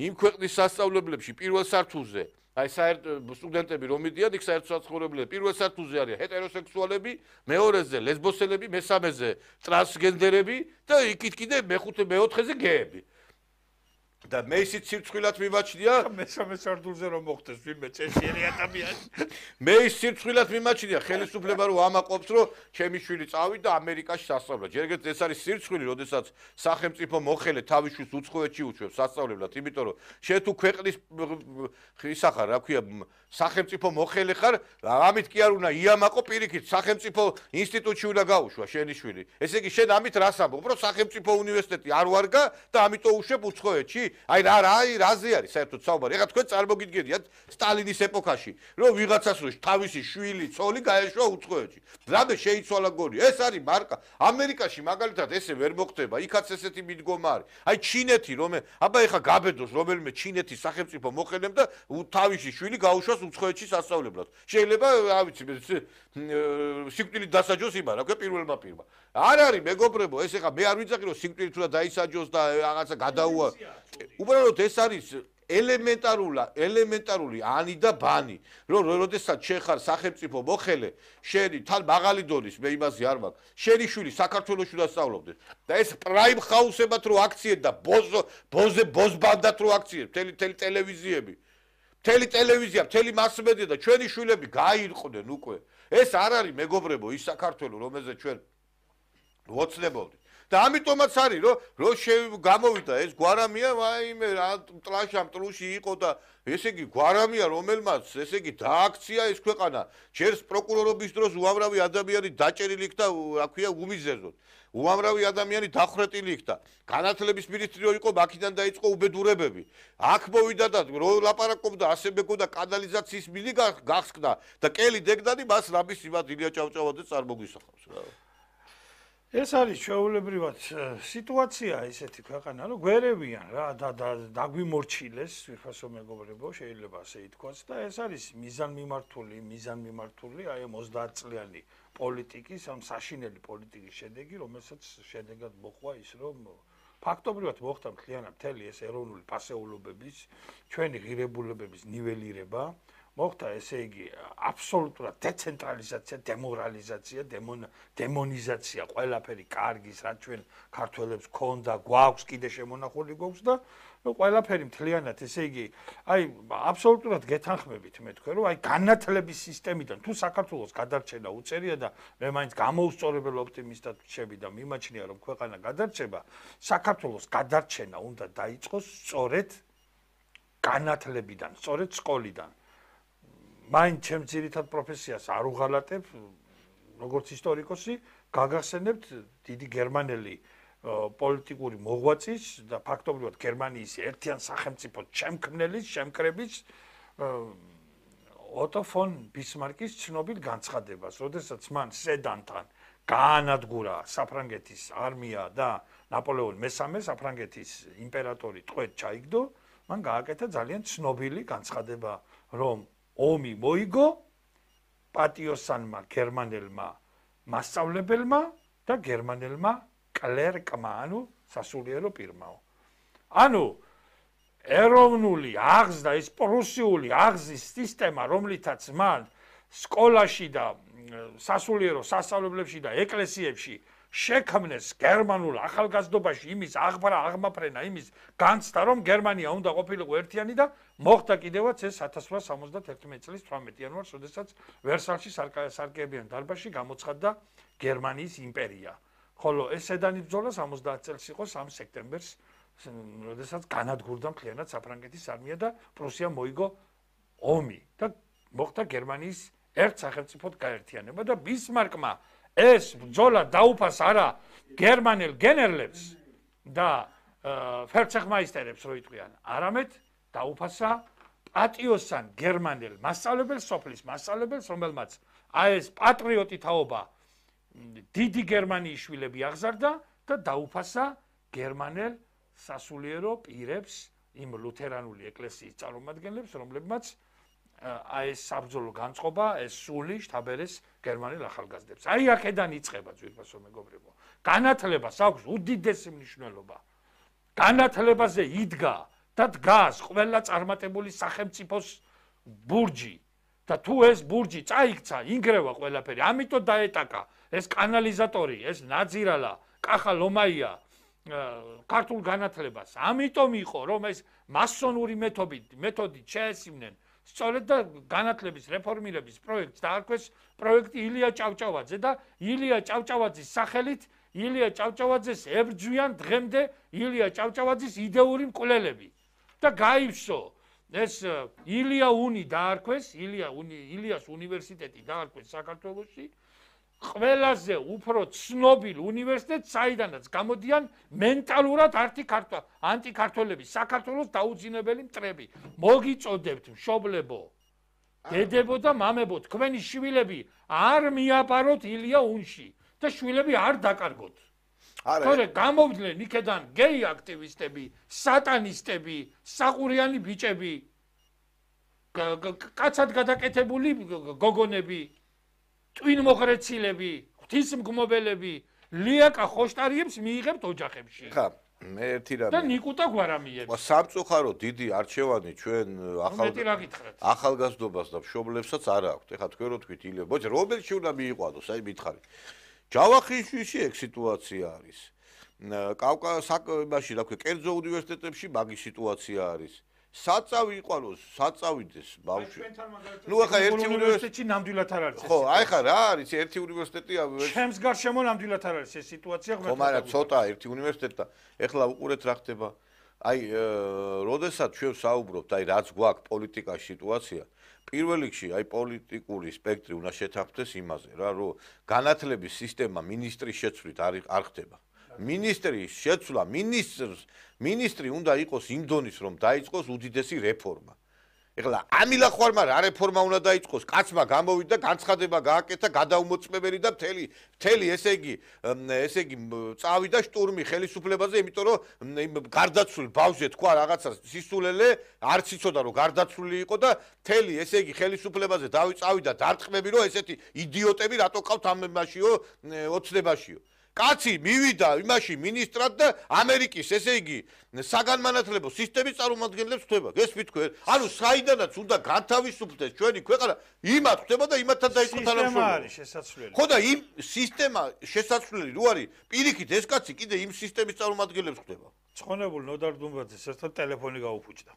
იმ ქვეყნის სასწავლებლებში პირველ სართულზე აი საერთო სტუდენტები რომ მიდიან იქ საერთო საცხოვრებლები პირველ სართულზე არის ჰეტეროსექსუალები, მეორეზე ლესბოსელები, მესამეზე ტრანსგენდერები და იქით კიდე მეხუთე მეოთხეზე გეები. და მე ისიც სირცხვილად მიმაჩნია მესამე სართულზე რომ მოხდეს ვინმე წესიერი ადამიანი მე ის სირცხვილად მიმაჩნია ხელისუფლება რომ ამაყობს რომ ჩემი შვილი წავიდა ამერიკაში სასწავლებლად ჯერ ეგეთ ეს არის სირცხვილი როდესაც სახელმწიფო მოხელე თავის შვილს უცხოეთში უჩვევს სასწავლებლად იმიტომ რომ შენ თუ ქვეყნის ისა ხარ რა ქვია სახელმწიფო მოხელე ხარ ამით კი არ უნდა იამაყო პირიქით სახელმწიფო ინსტიტუტში უნდა გაუშვა შენი შვილი ესე იგი შენ ამით რას ამბობ რომ სახელმწიფო უნივერსიტეტი არ ვარგა და ამიტომ უშვებ უცხოეთში აი რა რა აი რაზე არის საერთოდ საუბარი ეხლა თქვენ წარმოგიდგენიათ სტალინის ეპოქაში რომ ვიღაცას რო თავისი შვილი ცოლი გაეშვა უცხოეთში რამე შეიცვალა გონი ეს არის მარკა ამერიკაში მაგალითად ესე ვერ მოხდება იქაც ესეთი მიდგომა არის აი ჩინეთი რომ აბა ეხლა გაბედოს რომელიმე ჩინეთის სახელმწიფო მოხელემ და თავისი შვილი გაუშვას უცხოეთში სასწავლებლად შეიძლება რა ვიცი სიკვდილით დასაჯოს იმან რა ქვია პირველმა პირმა არ არის მეგობრებო ეს ეხლა მე არ ვიცახი რომ სიკვდილით უნდა დაისაჯოს და რაღაცა გადაუა უბრალოდ ეს არის ელემენტარული ელემენტარული ანი და ბანი რომ როდესაც შენ ხარ სახელმწიფო მოხელე შენი თან მაღალი დონის მე იმაზე არ მაქვს შენი შვილი საქართველოში უნდა სწავლობდეს და ეს პრაიმ ხაუსებად რო აქციებ და ბოზო ბოზე ბოზბანდად რო აქციებ მთელი მთელი ტელევიზიები მთელი ტელევიზია მთელი მასმედია და ჩვენი შვილები გაირყვნენ უკვე ეს არ არის მეგობრებო ის საქართველო რომელზეც ჩვენ ვოცნებობთ და ამიტომაც არის რომ რომ გამოვიდა ეს გვარამია ვაიმე რა ტლაშა მტრუში იყო და ესე იგი გვარამია რომელმაც ესე იგი დააქცია ეს ქვეყანა ჯერს პროკურორობის დროს უამრავი ადამიანი დაჭერილი იქ და რა ქვია უმიზერდოდ უამრავი ადამიანი დახვრეტილი იქ და განათლების მინისტრი იყო მაქედან დაიწყო უბედურებები აქ მოვიდა და რო ლაპარაკობდა ასე მეგონდა კანალიზაციის მილი გახსკდა და კელი დეგდანი მას რამის იმად ილია ჭავჭავაძე წარმოგვისახავს რა ეს არის ჩვეულებრივად სიტუაცია ესეთი ქვეყანა, რომ გვერევიან რა და დაგვიმორჩილეს, ვიფასო მეგობრებო, შეიძლება ასე ითქვას და ეს არის მიზანმიმართული, მიზანმიმართული აი ამ ოცდაათ წლიანი პოლიტიკის, ამ საშინელი პოლიტიკის შედეგი, რომელსაც შედეგად მოხდა ის, რომ ფაქტობრივად მოხდა მთლიანად მთელი ეს ეროვნული ფასეულობების, ჩვენი ღირებულებების ნიველირება მოხდა ესე იგი აბსოლუტურად დეცენტრალიზაცია, დემორალიზაცია, დემონიზაცია, ყველაფერი კარგის, რაც ჩვენ ქართველებს ქონდა, გვაქვს, კიდე შემონახული გვაქვს და ყველაფერი მთლიანად ესე იგი აი აბსოლუტურად გეთანხმებით მე თქვენ რომ აი განათლების სისტემიდან თუ საქართველოს გადარჩენა უწერია და მე მაინც გამოუსწორებელ ოპტიმისტად ვჩები და მიმაჩნია რომ ქვეყანა გადარჩება, საქართველოს გადარჩენა უნდა დაიწყოს სწორედ განათლებიდან, სწორედ სკოლიდან. მაინც ჩემ ძირითად პროფესიას არ უღალატებ, როგორც ისტორიკოსი, გაგახსენებთ დიდი გერმანელი პოლიტიკური მოღვაწის და ფაქტობრივად გერმანიის ერთიან სახელმწიფო შემქმნელის, შემკრების ოტო ფონ ბისმარკის ცნობილ განცხადებას, როდესაც მან სედანთან გაანადგურა საფრანგეთის არმია და ნაპოლეონ მესამე საფრანგეთის იმპერატორი ტყვედ ჩაიგდო, მან გააკეთა ძალიან ცნობილი განცხადება, რომ ომი მოიგო პატიოსანმა გერმანელმა მასწავლებელმა და გერმანელმა კლერკმა, ანუ სასულიერო პირმაო. ანუ ეროვნული აღზრდა, ის პრუსიული აღზის სისტემა, რომლითაც მან სკოლაში და სასულიერო სასწავლებლებში და ეკლესიებში შექმნეს გერმანულ ახალგაზრდობაში იმის აღბრა, აღმაფრენა, იმის განცდა, რომ გერმანია უნდა ყოფილიყო ერთიანი და მოხდა კიდევაც ეს ათას რვაასი სამოცდაათერთმეტი წლის თვრამეტი იანვარს, როდესაც ვერსალში სარკეებიან დარბაზში გამოცხადდა გერმანიის იმპერია. ხოლო ეს სედანის ბრძოლა სამოცდაათ წელს იყო სამი სექტემბერს, როდესაც განადგურდა მთლიანად საფრანგეთის არმია და პრუსია მოიგო ომი და მოხდა გერმანიის ერთ სახელმწიფოდ გაერთიანება და ბისმარკმა ეს ბრძოლა დაუფას არა გერმანელ გენერლებს და ფერცეხმაისტერებს რო იტყვიან, არამედ დაუფასა პატიოსან გერმანელ მასწავლებელს, სოფლის მასწავლებელს, რომელმაც აი ეს პატრიოტი თაობა დიდი გერმანიის შვილები აღზარდა და დაუფასა გერმანელ სასულიერო პირებს, იმ ლუთერანული ეკლესიის წარმომადგენლებს, რომლებმაც აი ეს საბრძოლო განწყობა, ეს სული შთაბერეს გერმანელ ახალგაზრდებს. აი აქედან იწყება ძვირფასო მეგობრებო. განათლებას აქვს უდიდესი მნიშვნელობა. განათლებაზე იდგა და დგას ყველა წარმატებული სახელმწიფოს ბურჯი და თუ ეს ბურჯი წაიქცა, ინგრევა ყველაფერი. ამიტომ დაეტაკა ეს კანალიზატორი, ეს ნაძირალა, კახა ლომაია ქართულ განათლებას. ამიტომ იყო, რომ ეს მასონური მეთოდით, მეთოდით შეესწრნენ სწორედ და განათლების რეფორმირების პროექტს დაარქვეს პროექტი ილია ჭავჭავაძე და ილია ჭავჭავაძის სახელით ილია ჭავჭავაძეს ებრძვიან დღემდე ილია ჭავჭავაძის იდეური მკვლელები და გაივსო ეს ილია უნი დაარქვეს, ილია უნი, ილიას უნივერსიტეტი დაარქვეს საქართველოში, ყველაზე უფრო ცნობილ უნივერსიტეტს, საიდანაც გამოდიან მენტალურად ანტიქართველები, საქართველოს დაუძინებელი მტრები. მოგიწოდებთ, მშობლებო, დედებო და მამებო, თქვენი შვილები არ მიაბაროთ ილია უნში და შვილები არ დაკარგოთ. თორე გამოვდნენ იქედან გეი აქტივისტები, სატანისტები, საყურიანი ბიჭები, კაცად გადაკეთებული გოგონები, ტვინმოღრეცილები, ღვთისმგმობელები, ლიაკა ხოშტარიებს მიიღებთ ოჯახებში. ხა, მე ერთი რამე. და ნიკუტა გვარამიებს. სამწუხარო დიდი არჩევანი ჩვენ ახალ ახალგაზრდობას და მშობლებსაც არ აქვთ. ეხლა თქვენ რო თქვით ილია, ბოჭ, რომელში უნდა მიიყვანოს, აი მითხარი. ჯავახიშვილში ეგ სიტუაცია არის. კავკასიაში, რა ქვია, კერძო უნივერსიტეტებში მაგის სიტუაცია არის. საწავი იყვალოს, საწავიდეს ბავშვი. ნუ ახლა ერთი უნივერსიტეტში ნამდვილად არ არის. ხო, აი ხა რა არის ერთი უნივერსიტეტი? ჩემს გარშემო ნამდვილად არ არის ეს სიტუაცია. ხო, მაგრამ ცოტა ერთი უნივერსიტეტი და ეხლა უყურეთ რა ხდება. აი, როდესაც ჩვენ საუბრობთ, აი რაც გვაქვს პოლიტიკაში სიტუაცია, პირველ რიგში აი პოლიტიკური სპექტრი უნდა შეთანხმდეს იმაზე, რა, რომ განათლების სისტემა მინისტრის შეცვლით არ ხდება. მინისტრის შეცვლა, მინისტრს, მინისტრი უნდა იყოს იმ დონის, რომ დაიწყოს უდიდესი რეფორმა. ეხლა ამილახვარმა რა რეფორმა უნდა დაიწყოს? კაცმა გამოვიდა, განცხადება გააკეთა, გადაუმოწმებელი და მთელი, მთელი ესე იგი, ესე იგი წავიდა შტურმი ხელისუფლებაზე, იმიტომ რომ იმ გარდაცვლილ ბავშვზე თქვა რაღაცა სისულელე, არც იცოდა რომ გარდაცვლილი იყო და მთელი ესე იგი ხელისუფლებაზე დავიწავიდა დარტყმები, რომ ესეთი იდიოტები რატო ყავთ ამ მასიო ოცნებაშიო. კაცი მივიდა იმაში მინისტრად და ამერიკის ესე იგი საგანმანათლებლო სისტემის წარმომადგენლებს ხვდება. გესმით თქვენ? ანუ საიდანაც უნდა განთავისუფლდეს ჩვენი ქვეყანა, იმათ ხვდება და იმათთან დაიწყო თანამშრომლობა. სისტემა არის შესაძლებელი. ხო და იმ სისტემა შესაძლებელი რო არის, პირიქით ეს კაცი კიდე იმ სისტემის წარმომადგენლებს ხვდება. ცხონებულ ნოდარ დუმბაძეს ერთად ტელეფონი გაუფუჭდა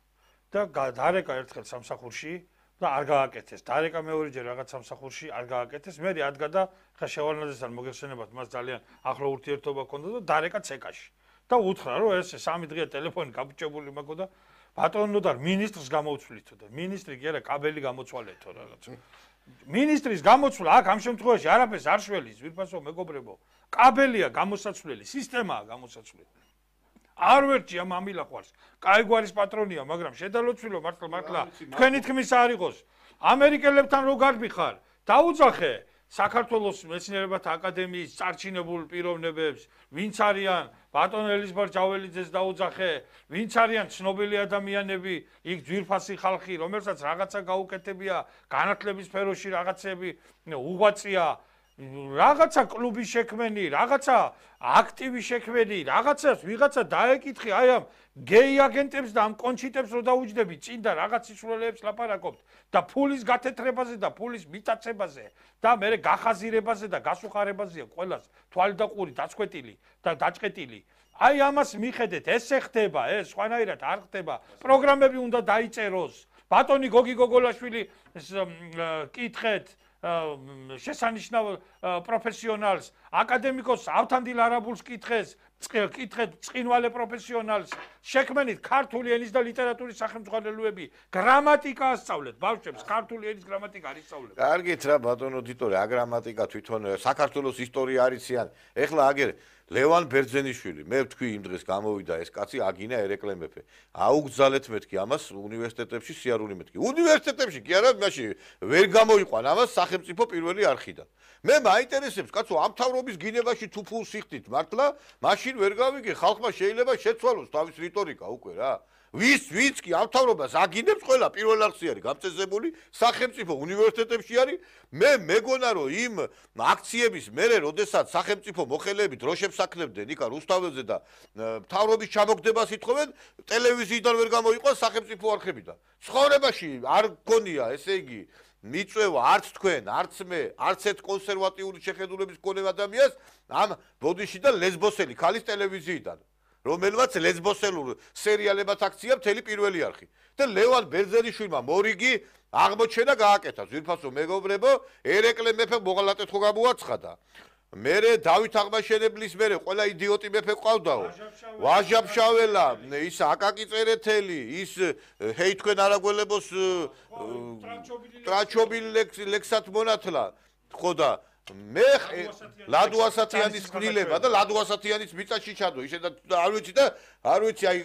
და დარეკა ერთხელ სამსახურში და არ გააკეთეს. დარეკა მეორეჯერ რაღაც სამსახურში არ გააკეთეს. მე ადგა და ხა შევალნაძესთან მოგეხსენებათ, მას ძალიან ახლო ურთიერთობა ჰქონდა და დარეკა ცეკაში. და უთხრა, რომ ეს სამი დღეა ტელეფონი გაბჭებული მაგო და ბატონო და მინისტრს გამოვცვლითო და მინისტრი კი არა, კაბელი გამოცვალეთო რაღაც. მინისტრის გამოცვლა აქ ამ შემთხვევაში არაფერს არ შველის, ვირფასო მეგობრებო. კაბელია გამოსაცვლელი, სისტემაა გამოსაცვლელი. არ ვერჩი ამ ამილახვარს. კაი გვარის პატრონია, მაგრამ შედალოცვილო მართლა მართლა თქვენი თქმის არ იყოს. ამერიკელებთან რო გარბიხარ, დაუძახე საქართველოს მეცნიერებათა აკადემიის წარჩინებულ პიროვნებებს, ვინც არიან ბატონ ელიზბარ ჯაველიძეს დაუძახე, ვინც არიან ცნობილი ადამიანები, იქ ძვირფასი ხალხი, რომელსაც რაღაცა გაუკეთებია, განათლების სფეროში რაღაცები უღვაწია, რაღაცა კლუბი შექმენი, რაღაცა აქტივი შექმენი, რაღაცას ვიღაცა დაეკითხი, აი ამ გეი აგენტებს და ამ კონჩიტებს რო დაუჯდები, წინ და რაღაც სისულელეებს ლაპარაკობთ და ფულის გათეთრებაზე და ფულის მიტაცებაზე და მე გახაზირებაზე და გასუხარებაზეა ყველას თვალი და ყური დაწყვეტილი და დაჭყეტილი. აი ამას მიხედეთ, ესე ხდება, ეს სხვანაირად არ ხდება. პროგრამები უნდა დაიწეროს. ბატონი გოგი გოგოლაშვილი კითხეთ შესანიშნავ პროფესიონალს, აკადემიკოს ავთანდილ არაბულს კითხეს, კითხეთ წყინვალე პროფესიონალს, შექმენით ქართული ენის და ლიტერატურის სახელმძღვანელოები, გრამატიკა ასწავლეთ, ბავშვებს ქართული ენის გრამატიკა არ ისწავლებს. კარგით რა ბატონო დიტორე, აგრამატიკა თვითონ საქართველოს ისტორია არიციან. ეხლა აგერ ლევან ბერძენიშვილი, მე ვთქვი იმ დღეს გამოვიდა ეს კაცი აგინა ერეკლე მეფე. აუგზალეთ მეთქი ამას უნივერსიტეტებში სიარული მეთქი. უნივერსიტეტებში კი არა, მაშინ ვერ გამოიყვან ამას სახელმწიფო პირველი არხიდან. მე მაინტერესებს, კაცო, ამ თავრობის გინებაში თუ ფულს იხდით მართლა, მაშინ ვერ გავიგე, ხალხმა შეიძლება შეცვალოს თავის რიტორიკა უკვე რა. ვის ვიც კი ამ თავრობას აგინებს ყველა პირველ არხში არის გამწესებული, სახელმწიფო უნივერსიტეტებში არის. მე მეგონა რომ იმ აქციების მერე, როდესაც სახელმწიფო მოხელეები დროშებს აკლებდნენ იქა რუსთაველზე და თავრობის ჩამოგდებას ითხოვენ, ტელევიზიიდან ვერ გამოიყვან სახელმწიფო არხებიდან. ცხოვრებაში არ გქონია, ესე იგი, მიწვევა არც თქვენ, არც მე, არც ერთ კონსერვატიული შეხედულების მქონე ადამიანს ამ ბოდიში და ლესბოსელი ქალის ტელევიზიიდან. რომელმაც ლესბოსელურ სერიალებად აქცია მთელი პირველი არხი. და ლევან ბერძენიშვილმა მორიგი აღმოჩენა გააკეთა. ძვირფასო მეგობრებო, ერეკლე მეფე მოღალატეთ ხო გამოაცხადა. მერე დავით აღმაშენებლის მერე ყველა იდიოტი მეფე ყავდაო. ვაჟაბშაველა, ის აკაკი წერეთელი, ის ჰეი თქვენ არაგველებოს ტრაჩობილი ლექსად მონათლა. ხო და მე ლადო ასათიანის კნილება და ლადო ასათიანის მიწაში ჩადო. ისე და არ ვიცი და არ ვიცი აი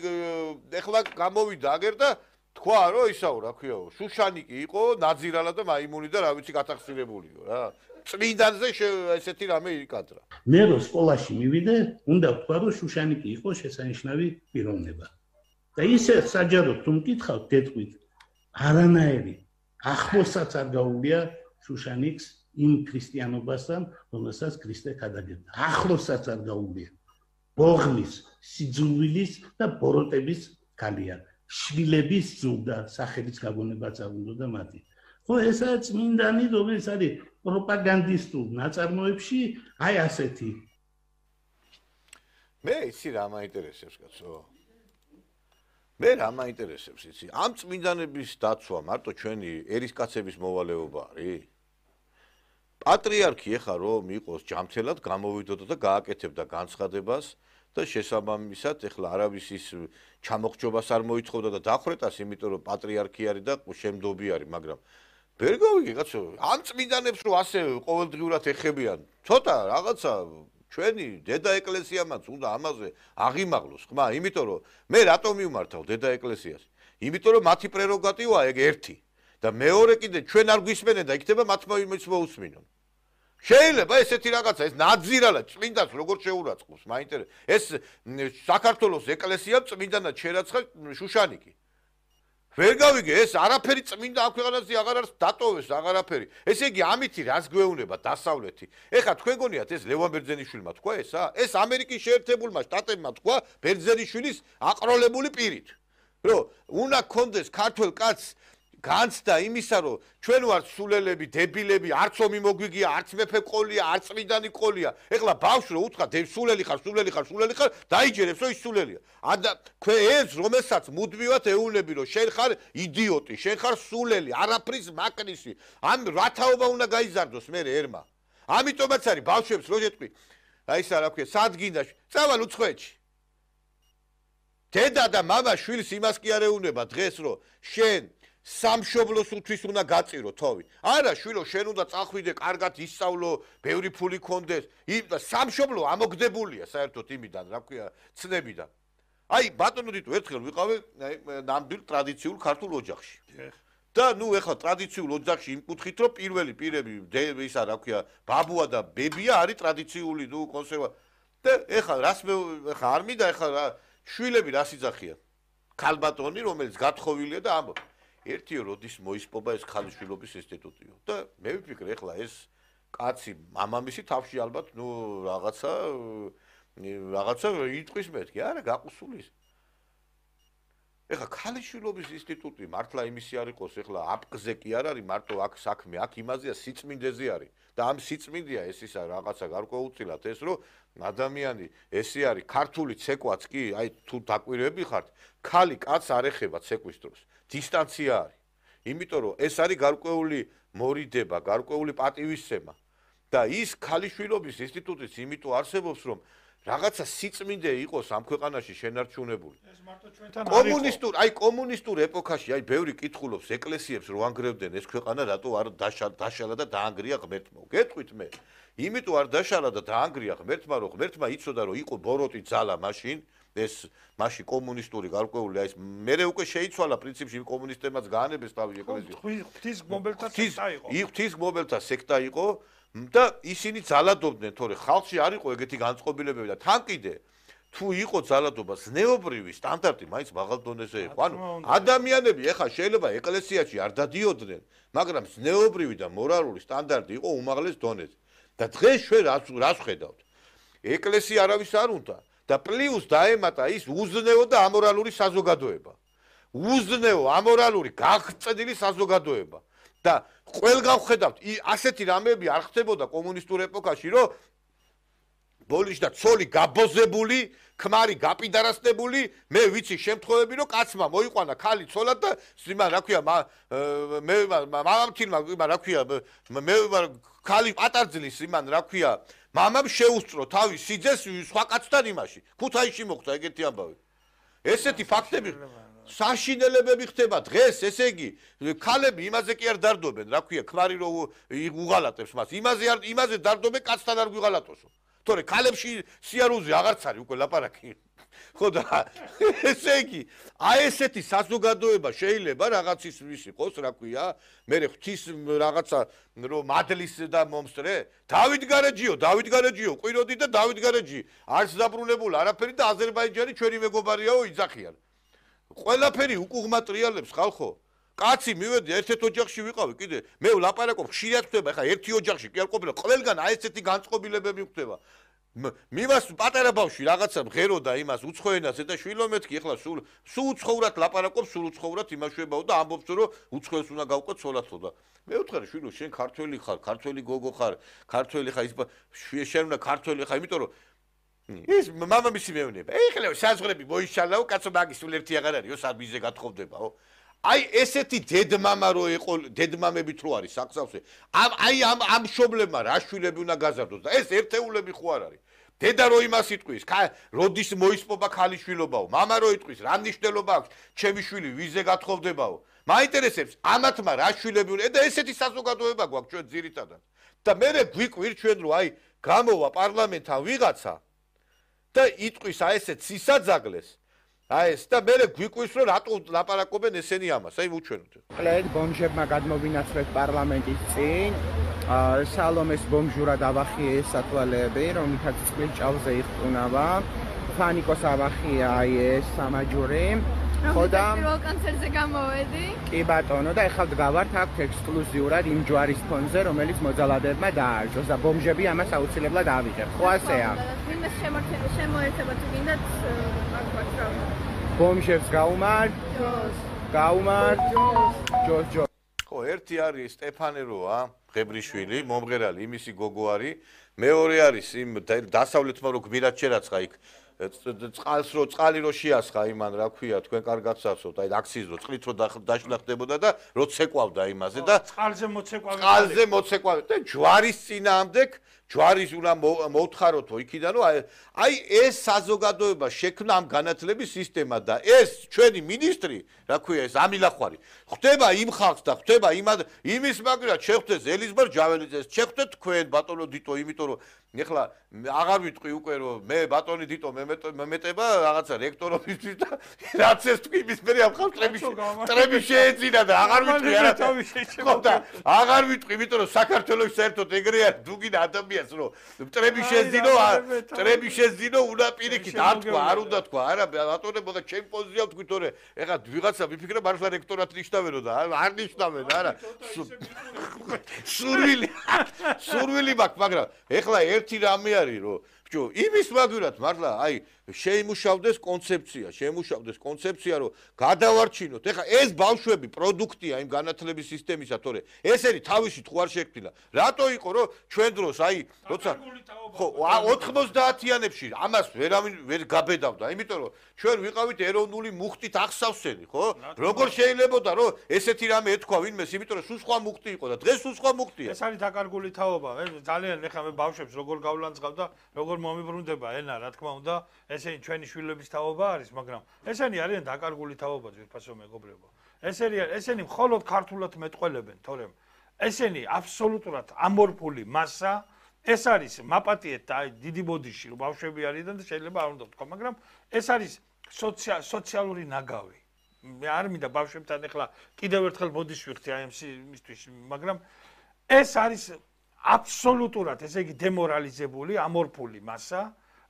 ეხლა გამოვიდა აგერ და თქვა რომ ისაო რა ქვიაო შუშანიკი იყო ნაძირალა და მაიმუნი და რა ვიცი გათახსირებულიო რა წმინდანზე ესეთი რამე იკადრა. მე რო სკოლაში მივიდე, უნდა ვთქვა რომ შუშანიკი იყო შესანიშნავი პიროვნება. და ისე საჯაროდ თუ მკითხავთ დეტყვით, არანაირი ახლოსაც არ გაუგია შუშანიკს იმ ქრისტიანობასთან, რომელსაც ქრისტე გადაგებდა. ახლოსაც არ გაუგია. ბოღმის, სიძულვილის და ბოროტების გალია. შვილების ზრდა, სახელის გაგონებაც არ უნდა მათი. ხო, ესაა წმინდანი, რომელიც არის პროპაგანდისტულ ნაწარმოებში, აი ასეთი. მე იცი რა მაინტერესებს კაცო. მე რა მაინტერესებს იცი? ამ წმინდანების დაცვა მარტო ჩვენი ერისკაცების მოვალეობა არის? პატრიარქი ეხა რომ იყოს ჯამთელად გამოვიდოდა და გააკეთებდა განცხადებას და შესაბამისად ეხლა არავის ის ჩამოხჯობას არ მოითხოვდა და დახვრეტას, იმიტომ რომ პატრიარქი არის და შემდობი არის, მაგრამ ვერ გავიგე კაცო, ამ წმინდანებს რომ ასე ყოველდღიურად ეხებიან, ცოტა რაღაცა ჩვენი დედა ეკლესიამაც უნდა ამაზე აღიმაღლოს, ხმა, იმიტომ რომ მე რატომ მივმართავ დედა ეკლესიას? იმიტომ რომ მათი პრეროგატივაა ეგ ერთი და მეორე კიდე ჩვენ არ გვისმენენ და იქნება მათმა იმის მოусმინონ. შეიძლება ესეთი რაღაცა ეს ნაძირალა წმინდანს როგორ შეურაცხყოფს, მაინტერესებს. ეს საქართველოს ეკლესიამ წმინდანად შერაცხა შუშანიკი. ვერ გავიგე ეს არაფერი წმინდა ამ ქვეყანაზე აღარ არის დატოვეს აღარაფერი. ესე იგი ამითი რას გვეუბნება დასავლეთი? ეხლა თქვენ გონიათ ეს ლევან ბერძენიშვილმა თქვა ესა? ეს ამერიკის შეერთებულმა შტატებმა თქვა ბერძენიშვილის აყროლებული პირით. რომ უნდა კონდეს ქართველ კაცს განცდა იმისა, რომ ჩვენ ვართ სულელები, დებილები, არც ომი მოგვიგია, არც მეფე ყოლია, არც წმინდანი ყოლია. ეხლა ბავშვს რო უთხრა, სულელი ხარ, სულელი ხარ, სულელი ხარ, დაიჯერებს, რომ ის სულელია. ადა ქვე ეს რომელსაც მუდმივად ეუბნები, რომ შენ ხარ იდიოტი, შენ ხარ სულელი, არაფრის მაკნისი. ამ რათაობა უნდა გაიზარდოს მე ერმა. ამიტომაც არის ბავშვებს რო შეტყვი. აი ისა რა ქვია, სადგინდა, წავალ უცხოეთში. დედა და მამა შვილს იმას კი არ ეუბნება დღეს, რომ შენ სამშობლოს უთვის უნდა გაწირო თოვი. არა შვილო, შენ უნდა წახვიდე, კარგად ისწავლო, ბევრი ფული გქონდეს. იმ და სამშობლო ამოგდებულია საერთოდ იმიდან, რა ქვია, ცნებიდან. აი ბატონო დიტო ერთხელ ვიყავე აი ნამდვილ ტრადიციულ ქართულ ოჯახში. და ნუ ეხლა ტრადიციულ ოჯახში იმ კუთხით რომ პირველი პირები ისა რა ქვია, ბაბუა და ბებია არის ტრადიციული, ნუ კონსერვა. და ეხლა რას მე ეხლა არ მინდა ეხლა რა შვილები რას იძახიან? ქალბატონი რომელიც გათხოვილია და ამბობს ერთიო როდის მოისპობა ეს ქალიშვილობის ინსტიტუტიო და მე ვიფიქრე ეხლა ეს კაცი მამამისი თავში ალბათ ნუ რაღაცა რაღაცა იტყვის მეთქი არა გაყუსულის ეხლა ქალიშვილობის ინსტიტუტი მართლა იმისი არ იყოს ეხლა აპკზე კი არ არის მარტო აქ საქმე აქ იმაზეა სიწმინდეზე არის და ამ სიწმინდეა ეს ისა რაღაცა გარკვეულწილად ეს რომ ადამიანი ესე არის ქართული ცეკვაც კი აი თუ დაკვირვები ხართ ქალი კაც არ ეხება ცეკვის დროს დისტანცია არის იმიტომ რომ ეს არის გარკვეული მორიდება გარკვეული პატივისცემა და ის ქალიშვილობის ინსტიტუტიც იმიტომ არსებობს რომ რაღაცა სიწმინდე იყოს ამ ქვეყანაში შენარჩუნებული ეს მარტო ჩვენთან არის კომუნისტურ აი კომუნისტურ ეპოქაში აი ბევრი კითხულობს ეკლესიებს რო ანგრევდნენ ეს ქვეყანა რატო არ დაშალა და დაანგრია ღმერთმა გეტყვით მე იმიტომ არ დაშალა და დაანგრია ღმერთმა რომ ღმერთმა იცოდა რომ იყო ბოროტი ძალა მაშინ ეს მაშინ კომუნისტური გარკვეული აი ეს მერე უკვე შეიცვალა პრინციპში კომუნისტებმაც გაანებეს თავი ეკლესია ღვთისმგმობელთა სექტა იყო ღვთისმგმობელთა სექტა იყო და ისინი ძალადობდნენ თორე ხალხში არ იყო ეგეთი განწყობილებები და თან კიდე თუ იყო ძალადობა ზნეობრივი სტანდარტი მაინც მაღალ დონეზე იყო ანუ ადამიანები ეხა შეიძლება ეკლესიაში არ დადიოდნენ მაგრამ ზნეობრივი და მორალური სტანდარტი იყო უმაღლეს დონეზე და დღეს ჩვენ რას რას ხედავთ ეკლესია არავის არ უნდა და პლუს დაემატა ის უზნეო და ამორალური საზოგადოება უზნეო ამორალური გაღწდილი საზოგადოება და ყველგან ხედავთ ასეთი რამეები არ ხდებოდა კომუნისტურ ეპოქაში რომ ბოლიში და ცოლი გაბოზებული, ქმარი გაპიდარასტებული, მე ვიცი შემთხვევები, რომ კაცმა მოიყვანა ქალი ცოლად და იმან რა ქვია, მე მამამთილმა იმან რა ქვია, მე ქალი პატარძლის იმან რა ქვია, მამამ შეუსწრო თავის სიძეს სხვა კაცთან იმაში. ქუთაისში მოხდა ეგეთი ამბავი. ესეთი ფაქტები საშინელებები ხდება დღეს, ესე იგი, ქალები იმაზე კი არ დარდობენ, რა ქვია, ქმარი რო უღალატებს მას. იმაზე არ იმაზე დარდობენ, კაცთან არ გვიღალატოსო. თორე ქალებში სიარუზე აღარც არის უკვე ლაპარაკი. ხო და ესე იგი, აი ესეთი საზოგადოება შეიძლება რაღაცის ვის იყოს, რა ქვია, მე ღვთის რაღაცა რომ მადლის და მომსწრე, დავით გარეჯიო, დავით გარეჯიო, ყვიროდი და დავით გარეჯი, არც დაბრუნებულ არაფერი და აზერბაიჯანი ჩვენი მეგობარიაო იძახიან. ყველაფერი უკუღმა ტრიალებს ხალხო. კაცი მივედი ერთ-ერთ ოჯახში ვიყავი კიდე მე ვლაპარაკობ ხშირად ხდება ეხა ერთი ოჯახში კი არ ყოფილა ყველგან აი ესეთი განწყობილებები ხდება მიმას პატარა ბავშვი რაღაცა მღეროდა იმას უცხოენას და შვილომეთქი ეხლა სულ სულ უცხოურად ლაპარაკობს სულ უცხოურად იმაშვებაო და ამბობს რომ უცხოეს უნდა გავყო ცოლათო და მე ვთხარი შვილო შენ ქართველი ხარ ქართველი გოგო ხარ ქართველი ხარ ის შენ უნდა ქართველი ხარ იმიტომ რომ ის მამამისი მეუბნება ეხლა საზღვრები მოიშალაო კაცო მაგის სულ ერთი აღარ არისო სამიზე გათხოვდებაო აი ესეთი დედმამა რო იყო დედმამებით რო არის საქსავსე ამ აი ამ ამ შობლებმა რა შვილები უნდა გაზარდოს და ეს ერთეულები ხო არ არის დედა რო იმას იტყვის როდის მოისპობა ქალიშვილობაო მამა რო იტყვის რა მნიშვნელობა აქვს ჩემი შვილი ვიზე გათხოვდებაო მაინტერესებს ამათმა რა შვილები უნდა და ესეთი საზოგადოება გვაქვს ჩვენ ძირითადად და მე გვიკვირ ჩვენ რო აი გამოვა პარლამენტთან ვიღაცა და იტყვის აი ესეთ სისაძაგლეს აი ეს და მე გვიკვირს რომ რატო ლაპარაკობენ ესენი ამას აი უჩვენოთ ყლედ ბომჟებმა გადმოვინაცვლეს პარლამენტის წინ სალომეს ბომჟურად ავახიეს სათვალეები რომლითაც წყლის ჭავლზე იხტუნავა ფანიკოს ავახია აი ეს სამაჯური ხო და პირველ კონცერტზე გამოვედი კი ბატონო და ეხლა დგავართ აქ ექსკლუზიურად იმ ჯვარის ფონზე რომელიც მოძალადებმა დაარժოს და ბომჟები ამას აუცილებლად ავიღებთ ხო ასეა ვინმე შემოერთება თუ გინდათ ბომჟებს გაუმართ გაუმართ ჯოს ჯოს ხო ერთი არის სტეფანეროა ღებრიშვილი მომღერალი იმისი გოგო არის მეორე არის იმ დასავლეთმა რო გმირად შერაცხა იქ წყალს რო წყალი რო შეასხა იმან რა ქვია თქვენ კარგად საცოთ აი აქციის რო წყლით რო დაშლახდებოდა და რო ცეკვავდა იმაზე და წყალზე მოცეკვავე წყალზე მოცეკვავე და ჯვარის წინააღმდეგ ჯვარის უნდა მოუთხაროთო იქიდან რომ აი ეს საზოგადოება შექმნა ამ განათლების სისტემა და ეს ჩვენი მინისტრი რა ქვია ეს ამილახვარი ხდება იმ ხალხს და ხდება იმის მაგრად შეხვდეს ელიზბარ ჯაველიძეს შეხვდეთ თქვენ ბატონო დიტო იმიტომ რომ ეხლა აღარ ვიტყვი უკვე რომ მე ბატონი დიტო მემეტება რაღაცა რექტორობის და რაც ეს თქვი იმის მე ამ ხალხს ტრები ტრები შეეძინა და აღარ ვიტყვი არა ხო და აღარ ვიტყვი იმიტომ რომ საქართველოს საერთოდ ეგრე არის დუგინა ადამიანს რომ ტრები შეძინო ტრები შეძინო უნდა პირიქით არ თქვა არ უნდა თქვა არა ბატონებო და ჩემ პოზიციას თქვი თორე ეხლა ვიღაცა ვიფიქრე მართლა რექტორად ნიშნავენო და არ ნიშნავენ არა სურვილი სურვილი მაქვს მაგრამ ეხლა ერთი რამე არის რომ ბჭო იმის მაგურად მართლა აი შეიმუშავდეს კონცეფცია შეიმუშავდეს კონცეფცია რომ გადავარჩინოთ ეხლა ეს ბავშვები პროდუქტია იმ განათლების სისტემისა თორე ესენი თავისი თუ არ შექმნა რატო იყო რომ ჩვენ დროს აი როცა ხო ოთხმოცდაათიანებში ამას ვერავინ ვერ გაბედავდა იმიტომ რომ ჩვენ ვიყავით ეროვნული მუხტით ახსავსენი ხო როგორ შეიძლებოდა რომ ესეთი რამე ეთქვა ვინმეს იმიტომ რომ სულ სხვა მუხტი იყო და დღეს სულ სხვა მუხტია ეს არის დაკარგული თაობა ძალიან ეხლა მე ბავშვებს როგორ გავლანძღავ და როგორ მომიბრუნდება ენა რა თქმა უნდა ესენი ჩვენი შვილების თაობა არის მაგრამ ესენი არიან დაკარგული თაობა ძვირფასო მეგობრებო ესენი ესენი მხოლოდ ქართულად მეტყველებენ თორემ ესენი აბსოლუტურად ამორფული მასა ეს არის მაპატიეთ და დიდი ბოდიში რომ ბავშვები არიან და შეიძლება არ უნდა ვთქვა მაგრამ ეს არის სოციალური ნაგავი მე არ მინდა ბავშვებთან ეხლა კიდევ ერთხელ ბოდიში ვიხდი აი ამისთვის მაგრამ ეს არის აბსოლუტურად ესე იგი დემორალიზებული ამორფული მასა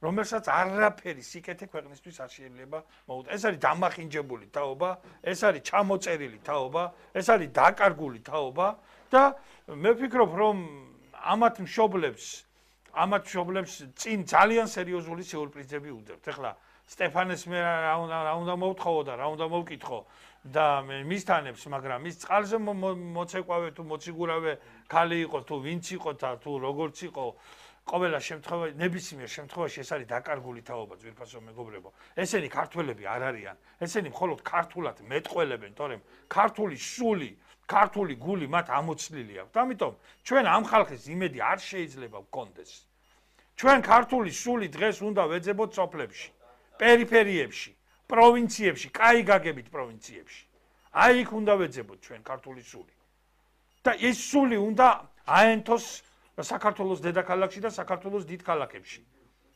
რომელსაც არაფერი სიკეთე ქვეყნისთვის არ შეიძლება მოუწოდოს. ეს არის დამახინჯებული თაობა, ეს არის ჩამოწერილი თაობა, ეს არის დაკარგული თაობა და მე ვფიქრობ, რომ ამათ მშობლებს, ამათ მშობლებს წინ ძალიან სერიოზული სიურპრიზები უძებთ. ეხლა სტეფანეს მე რა უნდა რა უნდა მოვთხოვო და რა უნდა მოვკითხო და მისთანებს, მაგრამ ის წყალზე მოცეკვავე თუ მოციგურავე ქალი იყო თუ ვინც იყო და თუ როგორც იყო ყოველ შემთხვევაში, ნებისმიერ შემთხვევაში ეს არის დაკარგული თაობა, ძვირფასო მეგობრებო. ესენი ქართველები არ არიან. ესენი მხოლოდ ქართულად მეტყველებენ, თორემ ქართული სული, ქართული გული მათ ამოცლილი აქვს. ამიტომ ჩვენ ამ ხალხის იმედი არ შეიძლება ვქონდეს. ჩვენ ქართული სული დღეს უნდა ვეძებოთ სოფლებში, პერიფერიებში, პროვინციებში, კაი გაგებით პროვინციებში. აი იქ უნდა ვეძებოთ ჩვენ ქართული სული. და ეს სული უნდა აენთოს საქართველოს დედაქალაქში და საქართველოს დიდ ქალაქებში.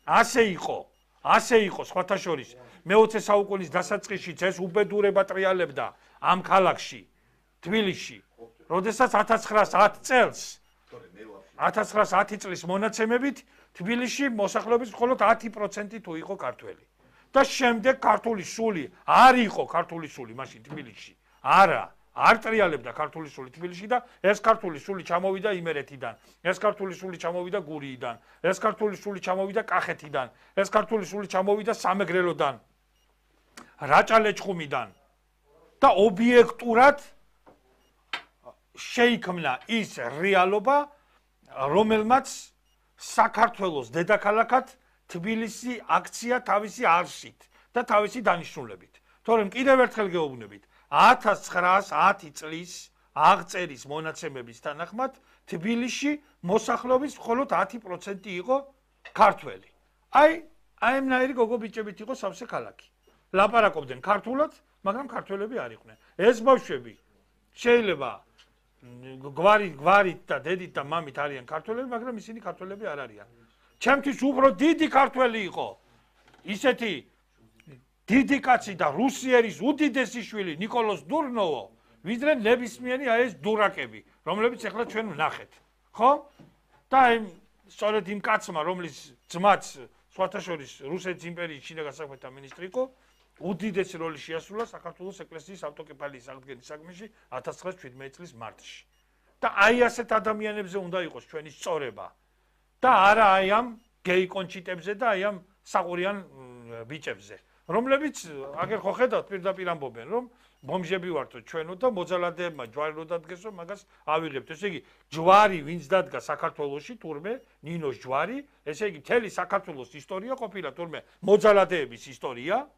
ასე იყო, ასე იყო სხვათა შორის მეოცე საუკუნის დასაწყისშიც ეს უბედურება ტრიალებდა ამ ქალაქში, თბილისში, როდესაც ათას ცხრაას ათი წელს ათას ცხრაას ათი წლის მონაცემებით თბილისში მოსახლეობის მხოლოდ ათი პროცენტი თუ იყო ქართველი. და შემდეგ ქართული სული არ იყო ქართული სული მაშინ თბილისში. არა, არ ტრიალებდა ქართული სული თბილისში და ეს ქართული სული ჩამოვიდა იმერეთიდან, ეს ქართული სული ჩამოვიდა გურიიდან, ეს ქართული სული ჩამოვიდა კახეთიდან, ეს ქართული სული ჩამოვიდა სამეგრელოდან, რაჭა-ლეჩხუმიდან და ობიექტურად შეიქმნა ის რეალობა, რომელმაც საქართველოს დედაქალაქად თბილისი აქცია თავისი არსით და თავისი დანიშნულებით. თორემ კიდევ ერთხელ გეუბნებით, ათას ცხრაას ათი წლის აღწერის მონაცემების თანახმად თბილისში მოსახლეობის მხოლოდ ათი პროცენტი იყო ქართველი. აი, აი ამნაირი გოგო ბიჭებით იყო სავსე ქალაქი. ლაპარაკობდნენ ქართულად, მაგრამ ქართველები არ იყვნენ. ეს ბავშვები შეიძლება გვარი გვარით და დედით და მამით არიან ქართველები, მაგრამ ისინი ქართველები არ არიან. ჩემთვის უფრო დიდი ქართველი იყო ისეთი დიდი კაცი და რუსიერის უდიდესი შვილი ნიკოლოზ დურნოვო, ვიდრე ნებისმიერი აი ეს დურაკები, რომლებიც ახლა ჩვენ ვნახეთ. ხო? და აი სწორედ იმ კაცმა, რომლის ძმაც სხვათა შორის რუსეთის იმპერიის შიდა გასაქმეთა მინისტრი იყო, უდიდესი როლი შეასრულა საქართველოს ეკლესიის ავტოკეფალიის აღდგენის საქმეში ათას ცხრაას შვიდმეტი წლის მარტში. და აი ასეთ ადამიანებზე უნდა იყოს ჩვენი სწორება. და არა აი ამ გეი კონჩიტებზე და აი ამ საყურიან ბიჭებზე, რომლებიც აგერ ხო ხედავთ პირდაპირ ამბობენ, რომ ბომჟები ვართო ჩვენო და მოძალადეებმა ჯვარი რო დადგესო, მაგას ავიღებთ. ესე იგი, ჯვარი ვინც დადგა საქართველოში, თურმე ნინოს ჯვარი, ესე იგი, მთელი საქართველოს ისტორია ყოფილა თურმე მოძალადეების ისტორია.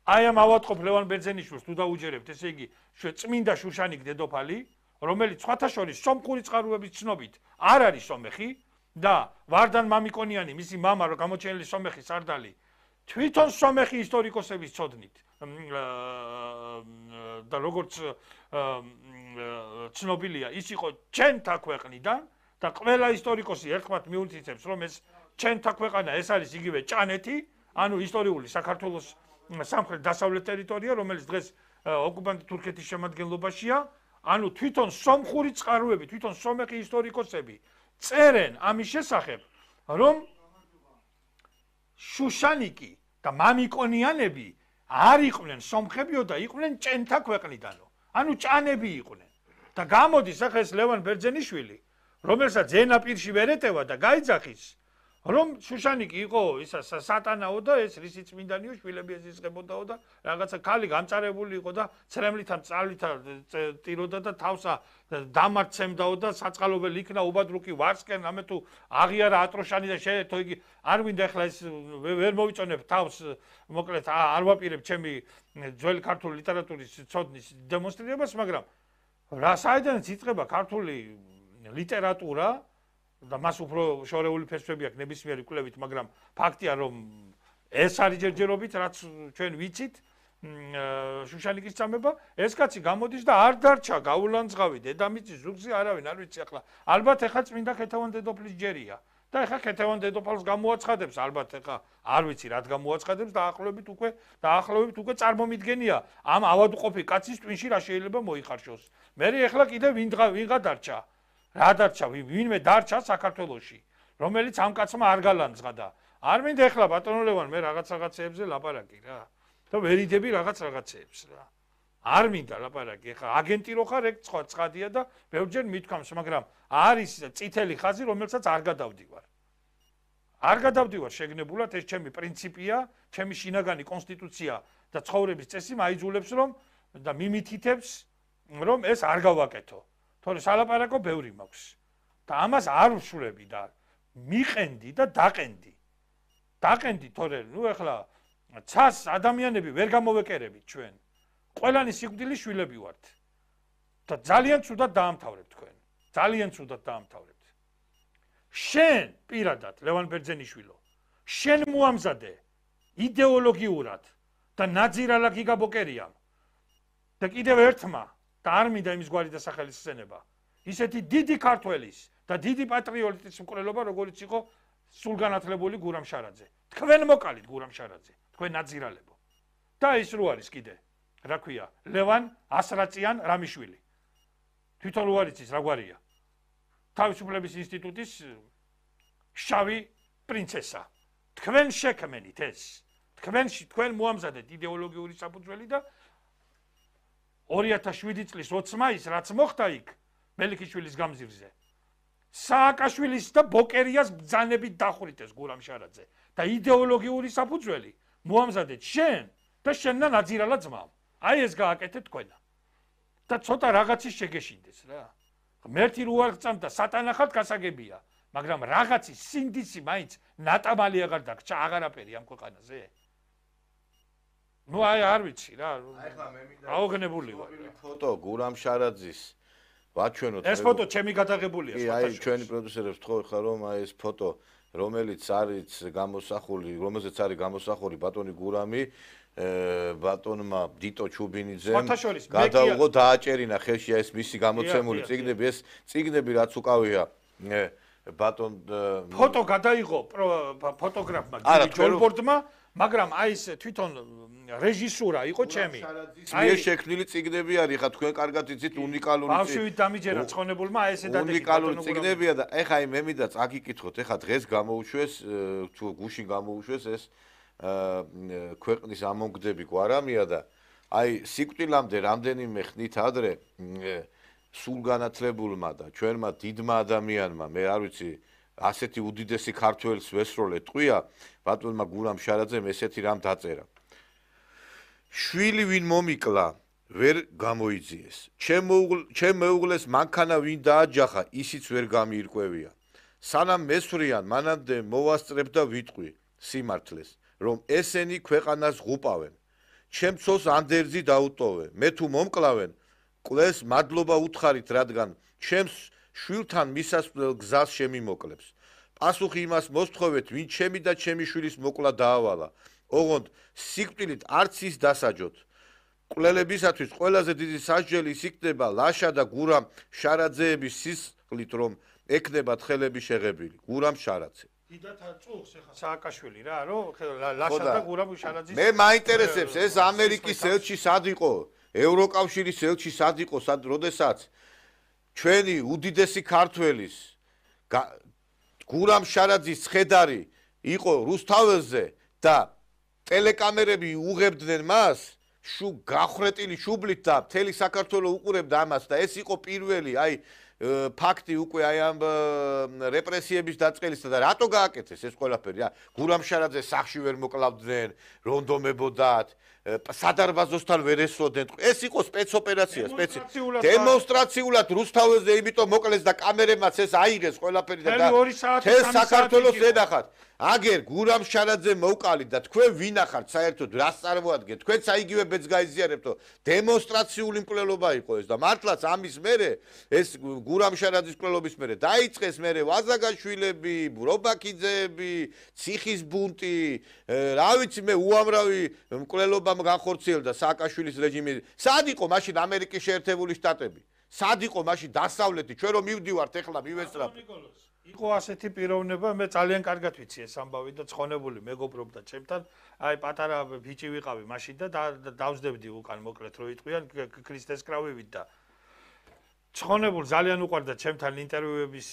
აი ამ ავადმყოფ ლევან ბერძენიშვილს თუ დაუჯერებთ, ესე იგი, წმინდა შუშანიკ დედოფალი, რომელიც სხვათა შორის სომხური წყაროების ცნობით არ არის სომეხი და ვარდან მამიკონიანი, მისი მამა რო გამოჩენილი სომეხი სარდალი, თვითონ სომეხი ისტორიკოსების ცოდნით და როგორც ცნობილია, ის იყო ჩვენთა ქვეყნიდან და ყველა ისტორიკოსი ერთხმად მიუთითებს, რომ ეს ჩვენთა ქვეყანა, ეს არის იგივე ჭანეთი, ანუ ისტორიული საქართველოს სამხრეთ დასავლეთ ტერიტორია, რომელიც დღეს ოკუპანტ თურქეთის შემადგენლობაშია, ანუ თვითონ სომხური წყაროები, თვითონ სომეხი ისტორიკოსები წერენ ამის შესახებ, რომ შუშანიკი და მამიკონიანები არ იყვნენ სომხებიო და იყვნენ ჭენთა ქვეყნიდანო. ანუ ჭანები იყვნენ. და გამოდის ახლა ეს ლევან ბერძენიშვილი, რომელსაც ენა პირში ვერ ეტევა და გაიძახის, რომ შუშანიკი იყო ისა სატანაო და ეს რისი წმინდანიო შვილები ეზიზღებოდაო და რაღაცა ქალი გამწარებული იყო და ცრემლითა წალითა ტიროდა და თავსა დამარცემდაო და საწყალობელი იქნა უბადრუკი ვარსკენ ამე თუ აღიარა ატროშანი და შეერთო იგი არ მინდა ახლა ეს ვერ მოვიწონებ თავს მოკლედ არ ვაპირებ ჩემი ძველი ქართული ლიტერატურის ცოდნის დემონსტრირებას, მაგრამ რა საიდანაც იწყება ქართული ლიტერატურა და მას უფრო შორეული ფესვები აქვს ნებისმიერი კვლევით, მაგრამ ფაქტია რომ ეს არის ჯერჯერობით რაც ჩვენ ვიცით შუშანიკის წამება, ეს კაცი გამოდის და არ დარჩა გაულანძღავი დედამიწის ზუგზე არავინ არ ვიცი ახლა. ალბათ ახლა წმინდა ქეთევან დედოფლის ჯერია და ახლა ქეთევან დედოფალს გამოაცხადებს, ალბათ ახლა არ ვიცი რად გამოაცხადებს და ახლობით უკვე დაახლოებით უკვე წარმომიდგენია ამ ავადმყოფი კაცის ტვინში რა შეიძლება მოიხარშოს. მე ახლა კიდე ვინღა ვინღა დარჩა რა დარჩა, ვინმე დარჩა საქართველოში, რომელიც ამ კაცმა არ გალანძღა და არ მინდა ახლა ბატონო ლევან მე რაღაც რაღაცეებზე ლაპარაკი რა. და ვერიდები რაღაც რაღაცეებს რა. არ მინდა ლაპარაკი, ახლა აგენტი რო ხარ, ეგ სხვა ცხადია და ბევრჯერ მithქვამს, მაგრამ არის წითელი ხაზი, რომელსაც არ გადავდივარ. არ გადავდივარ შეგნებულად, ეს ჩემი პრინციპია, ჩემი შინაგანი კონსტიტუცია და ცხოვრების წესი მაიძულებს რომ და მიმითითებს, რომ ეს არ გავაკეთო. თორე სალაპარაკო ბევრი მაქვს და ამას არ ვშურები და მიყენდი და დაყენდი. დაყენდი თორე, ნუ ეხლა ცას ადამიანები ვერ გამოვეკერებით ჩვენ. ყველანი სიკვდილის შვილები ვართ. და ძალიან ცუდად დაამთავრებთ თქვენ. ძალიან ცუდად დაამთავრებთ. შენ პირადად ლევან ბერძენიშვილო, შენ მოამზადე იდეოლოგიურად და ნაძირალა გიგაბოკერიამ. და კიდევ ერთმა და არ მინდა იმის გვარი დასახელის სცენება. ისეთი დიდი ქართველის და დიდი პატრიოტის მკვლელობა, როგორც იყო სულგანათლებული გურამ შარაძე. თქვენ მოკალით გურამ შარაძე, თქვენ ნაძირალებო. და ის რო არის კიდე, რა ქვია, ლევან ასრაწიან რამიშვილი. თვითონ რო არის ის რა გვარია? თავისუფლების ინსტიტუტის შავი პრინცესა. თქვენ შექმენით ეს. თქვენ თქვენ მოამზადეთ იდეოლოგიური საფუძველი და ორი ათას შვიდი წლის ოცი მაისს რაც მოხდა იქ მელიქიშვილის გამზირზე. სააკაშვილის და ბოკერიას ბრძანებით დახვრიტეს გურამ შარაძე და იდეოლოგიური საფუძველი მოამზადეთ შენ და შენთან აძირალა ძმამ. აი ეს გააკეთეთ თქვენა. და ცოტა რაღაცის შეგეშინდეს რა. ღმერთი რო არ გწამდა სატანახად გასაგებია, მაგრამ რაღაცის სინდისი მაინც ნატამალი აღარ დაგჭა აღარაფერი ამ ქვეყანაზე. ნუ აი არ ვიცი რა. აი ხა მე მინდა აუგნებული ვარ. ფოტო გურამ შარაძის ვაჩვენოთ. ეს ფოტო ჩემი გადაღებულია სხვათა. აი ჩვენი პროდიუსერებს თქვენ ხარ რომ აი ეს ფოტო რომელიც არის გამოსახული, რომელზეც არის გამოსახული ბატონი გურამი ბატონმა დიტო ჩუბინიძემ გადაუღო დააჭერინა ხელში ეს მისი გამოცემული წიგნები, ეს წიგნები რაც უკავია ბატონ ფოტო გადაიღო ფოტოგრაფმა გიგი ჯოლბორდმა, მაგრამ აი ეს თვითონ რეჟისურა იყო ჩემი. აი ეს შექმნილი წიგნები არის, ხა თქვენ კარგად იცით უნიკალური წიგნები. ბავშვით დამიჯერა ცხონებულმა აი ესე დადეკი უნიკალური წიგნებია და ეხა აი მე მინდა წაგიკითხოთ, ეხა დღეს გამოუშვეს თუ გუშინ გამოუშვეს ეს ქვეყნის ამონგდები გვარამია და აი სიკვდილამდე რამდენიმე ხნით ადრე სულგანათლებულმა და ჩვენმა დიდმა ადამიანმა, მე არ ვიცი, ასეთი უდიდესი ქართველის ვესროლე ტყვია, ბატონმა გურამ შარაძემ ესეთი რამ დაწერა. შვილი ვინ მომიკლა, ვერ გამოიძიეს. ჩემ მეუღლეს მანქანა ვინ დააჯახა, ისიც ვერ გამიირკვევია. სანამ მესვრიან, მანამდე მოვასწრებ და ვიტყვი სიმართლეს, რომ ესენი ქვეყანას ღუპავენ. ჩემ ცოლს ანდერძი დაუტოვე. მე თუ მომკლავენ, კლეს მადლობა უთხარით, რადგან ჩემს შვილთან მისასვლელ გზას შემიმოკლებს. პასუხი იმას მოსთხოვეთ, ვინ ჩემი და ჩემი შვილის მოკლა დაავალა. ოღონდ სიკვდილით არც ის დასაჯოთ. მკვლელებისათვის ყველაზე დიდი სასჯელი ის იქნება ლაშა და გურამ შარაძეების სისხლით, რომ ექნებათ ხელები შეღებილი. გურამ შარაძე. დიდათ წუხს ეხა სააკაშვილი რა, რომ ლაშა და გურამ შარაძის მე მაინტერესებს ეს ამერიკის ელჩი სად იყო? ევროკავშირის ელჩი სად იყო, სად როდესაც ჩვენი უდიდესი ქართველის გურამ შარაძის ცხედარი იყო რუსთაველზე და ტელეკამერები უღებდნენ მას შუ გახრეტილი შუბლით და მთელი საქართველო უყურებდა ამას და ეს იყო პირველი აი ფაქტი უკვე აი ამ რეპრესიების დაწყებისა და რატო გააკეთეს ეს ყველაფერი რა გურამ შარაძე სახში ვერ მოკლავდნენ რონდომებოდათ სადარბაზოსთან ვერ ესროდნენ ეს იყო სპეცოპერაცია სპეცი დემონსტრაციულად რუსთაველზე იმიტომ მოკლეს და კამერებმაც ეს აიღეს ყველაფერი და თელ საქართველოს ედახათ აგერ გურამ შარაძე მოვყალით და თქვენ ვინახართ საერთოდ რას წარმოადგენთ თქვენც აიგივე ბედს გაიზიარებთო დემონსტრაციული მკვლელობა იყო ეს და მართლაც ამის მერე ეს გურამ შარაძის მკვლელობის მერე დაიწყეს მერე ვაზაგაშვილები ბრობაკიძეები ციხის ბუნტი რა ვიცი მე უამრავი მკვლელობა განხორციელდა სააკაშვილის რეჟიმი. სად იყო მაშინ ამერიკის შეერთებული შტატები? სად იყო მაშინ დასავლეთი? ჩვენ რომ მივდივართ ეხლა მივესწრაფ. იყო ასეთი პიროვნება, მე ძალიან კარგად ვიცი ეს ამბავი და ცხონებული მეგობრობდა ჩემთან. აი პატარა ბიჭი ვიყავი მაშინ და დავსდებდი უკან მოკლედ რო იტყვიან ქრისტეს კრავივით და ცხონებულ ძალიან უყვარდა ჩემთან ინტერვიუების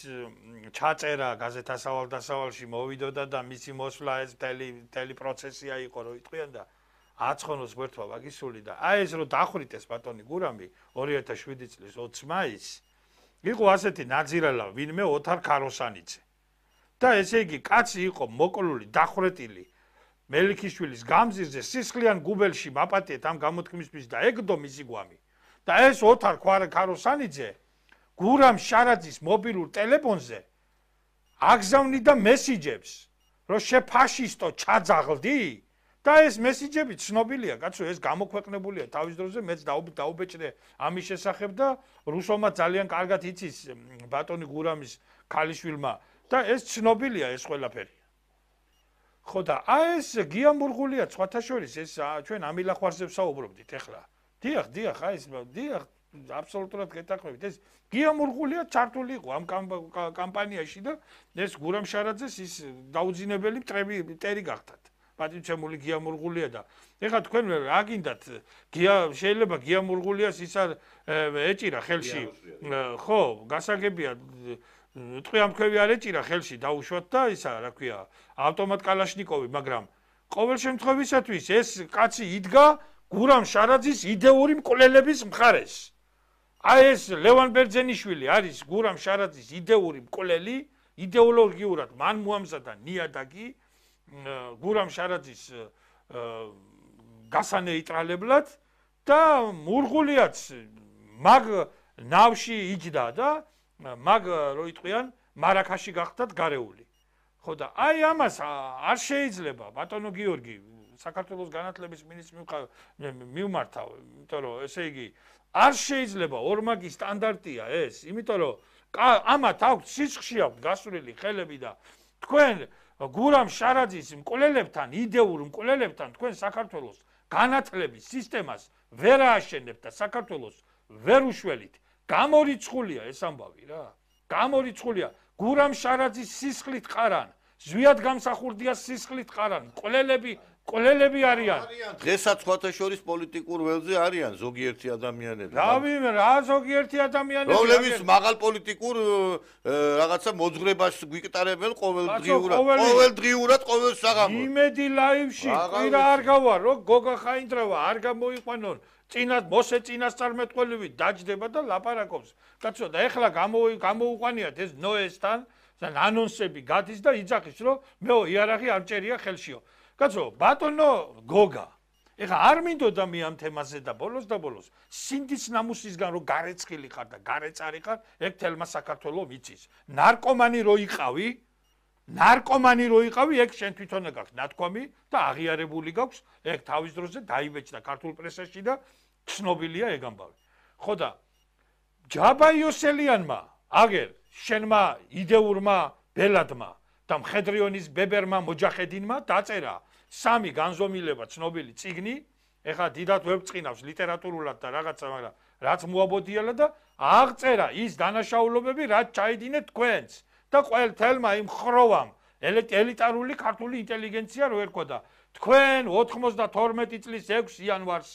ჩაწერა გაზეთ ასავალ დასავალში მოვიდოდა და მისი მოსვლა ეს მთელი პროცესია იყო რო იტყვიან და აცხონოს გვერდვა ვაგისული და აი ეს რო დახვრიტეს ბატონი გურამი ორი ათას შვიდი წლის ოცი მაისს იყო ასეთი ნაძირალა ვინმე ოთარ ქაროსანიძე და ესე იგი კაცი იყო მოკლული დახვრეტილი მელიქიშვილის გამზირზე სისხლიან გუბელში მაპატიეთ ამ გამოთქმისთვის და ეგდო მისი გვამი და ეს ოთარ ქაროსანიძე გურამ შარაძის მობილურ ტელეფონზე აგზავნი და მესიჯებს, რომ შეფაშისტო ჩაძაღლდი და ეს მესიჯები ცნობილია, კაცო, ეს გამოქვეყნებულია თავის დროზე, მეც დაუბეჭდე ამის შესახებ და რუსულმა ძალიან კარგად იცის ბატონი გურამის ქალიშვილმა და ეს ცნობილია ეს ყველაფერი. ხო და აი ეს გია მურღულია სხვათა შორის ეს ჩვენ ამილახვარზე ვსაუბრობდით ახლა. დიახ, დიახ, აი ეს დიახ, აბსოლუტურად გეტაყვებით. ეს გია მურღულია ჩართული იყო ამ კამპანიაში და ეს გურამ შარაძეს ის დაუძინებელი მტრები მტერი გახდათ. პატივცემული გია მურღულია და ეხლა თქვენ რა გინდათ გია შეიძლება გია მურღულიას ის არ ეჭირა ხელში ხო გასაგებია ტყვიამთქვევი არ ეჭირა ხელში დაუშვათ და ისა რა ქვია ავტომატ კალაშნიკოვი მაგრამ ყოველ შემთხვევისათვის ეს კაცი იდგა გურამ შარაძის იდეური მკვლელების მხარეს აი ეს ლევან ბერძენიშვილი არის გურამ შარაძის იდეური მკვლელი იდეოლოგიურად მან მოამზადა ნიადაგი გურამ შარაძის გასანეიტრალებლად და მურღულიაც მაგ ნავში იჯდა და მაგ რო იტყვიან მარაქაში გახდათ გარეული. ხო და აი ამას არ შეიძლება ბატონო გიორგი საქართველოს განათლების მინისტრის მიმართავ, იმიტომ რომ ესე იგი არ შეიძლება ორმაგი სტანდარტია ეს, იმიტომ რომ ამათ აქვს სისხლში აქვს გასვლილი ხელები და თქვენ გურამ შარაძის მკვლელებთან, იდეურ მკვლელებთან თქვენ საქართველოს განათლების სისტემას ვერ ააშენებთ და საქართველოს ვერ უშველით. გამორიცხულია ეს ამბავი რა. გამორიცხულია. გურამ შარაძის სისხლით ყარან, ზვიად გამსახურდია სისხლით ყარან, მკვლელები მკვლელები არიან. დღესაც სხვათა შორის პოლიტიკურ ველზე არიან ზოგიერთი ადამიანები. რავი, რა ზოგიერთი ადამიანები. რომლებიც მაღალ პოლიტიკურ რაღაცა მოძღვრებას გვიკტარებენ ყოველდღიურად. ყოველდღიურად ყოველ საღამოს. იმედი ლაივში ყვირა არ გავარ, რომ გოგა ხაინდრავა არ გამოიყვანონ. წინათ მოსე წინასწარმეტყველივით დაჯდება და ლაპარაკობს. კაცო და ეხლა გამოუყვანიათ ეს ნოესთან და ანონსები გადის და იძახის რომ მეო იარაღი არ ჭერია ხელშიო. კაცო ბატონო გოგა ეხლა არ მინდოდა მე ამ თემაზე და ბოლოს და ბოლოს სინდის ნამუსისგან რომ გარეცხილი ხარ და გარეწარი ხარ ეგ თელმა საქართველოს ვიცის. ნარკომანი რო იყავი ნარკომანი რო იყავი ეგ შენ თვითონ გაქვს ნათქვამი და აღიარებული გაქვს ეგ თავის დროზე დაიბეჭდა ქართულ პრესაში და ცნობილია ეგ ამბავი. ხო და ჯაბა იოსელიანმა აგერ შენმა იდეურმა ბელადმა და მხედრიონის ბებერმა მოჯახედინმა დაწერა სამი განზომილება ცნობილი წიგნი, ეხლა დიდად ვებწყინავს ლიტერატურულად და რაღაცა, მაგრამ რაც მოაბოდიალა და აღწერა ის დანაშაულობები, რაც ჩაიდინეთ თქვენს და ყოველ თელმა იმ ხროვამ ელიტარული ქართული ინტელიგენცია რო ერქვა თქვენ ოთხმოცდათორმეტი წლის ექვსი იანვარს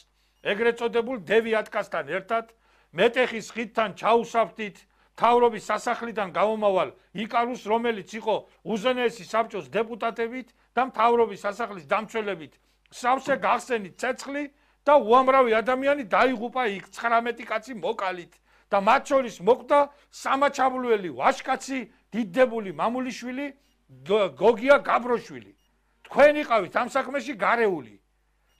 ეგრეთ წოდებულ დევიატკასთან ერთად მეტეხის ხიდთან ჩაუსაფთით თავრობის სასახლიდან გამომავალ იკარუს, რომელიც იყო უზენაესი საბჭოს დეპუტატებით და მთავრობის სასახლის დამცველებით, სავსე გახსენით ცეცხლი და უამრავი ადამიანი დაიღუპა იქ ცხრამეტი კაცი მოკალით და მათ შორის მოკვდა სამაჩაბლუელი ვაჟკაცი, დიდდებული მამულიშვილი, გოგია გაბროშვილი. თქვენ იყავით ამ საქმეში გარეული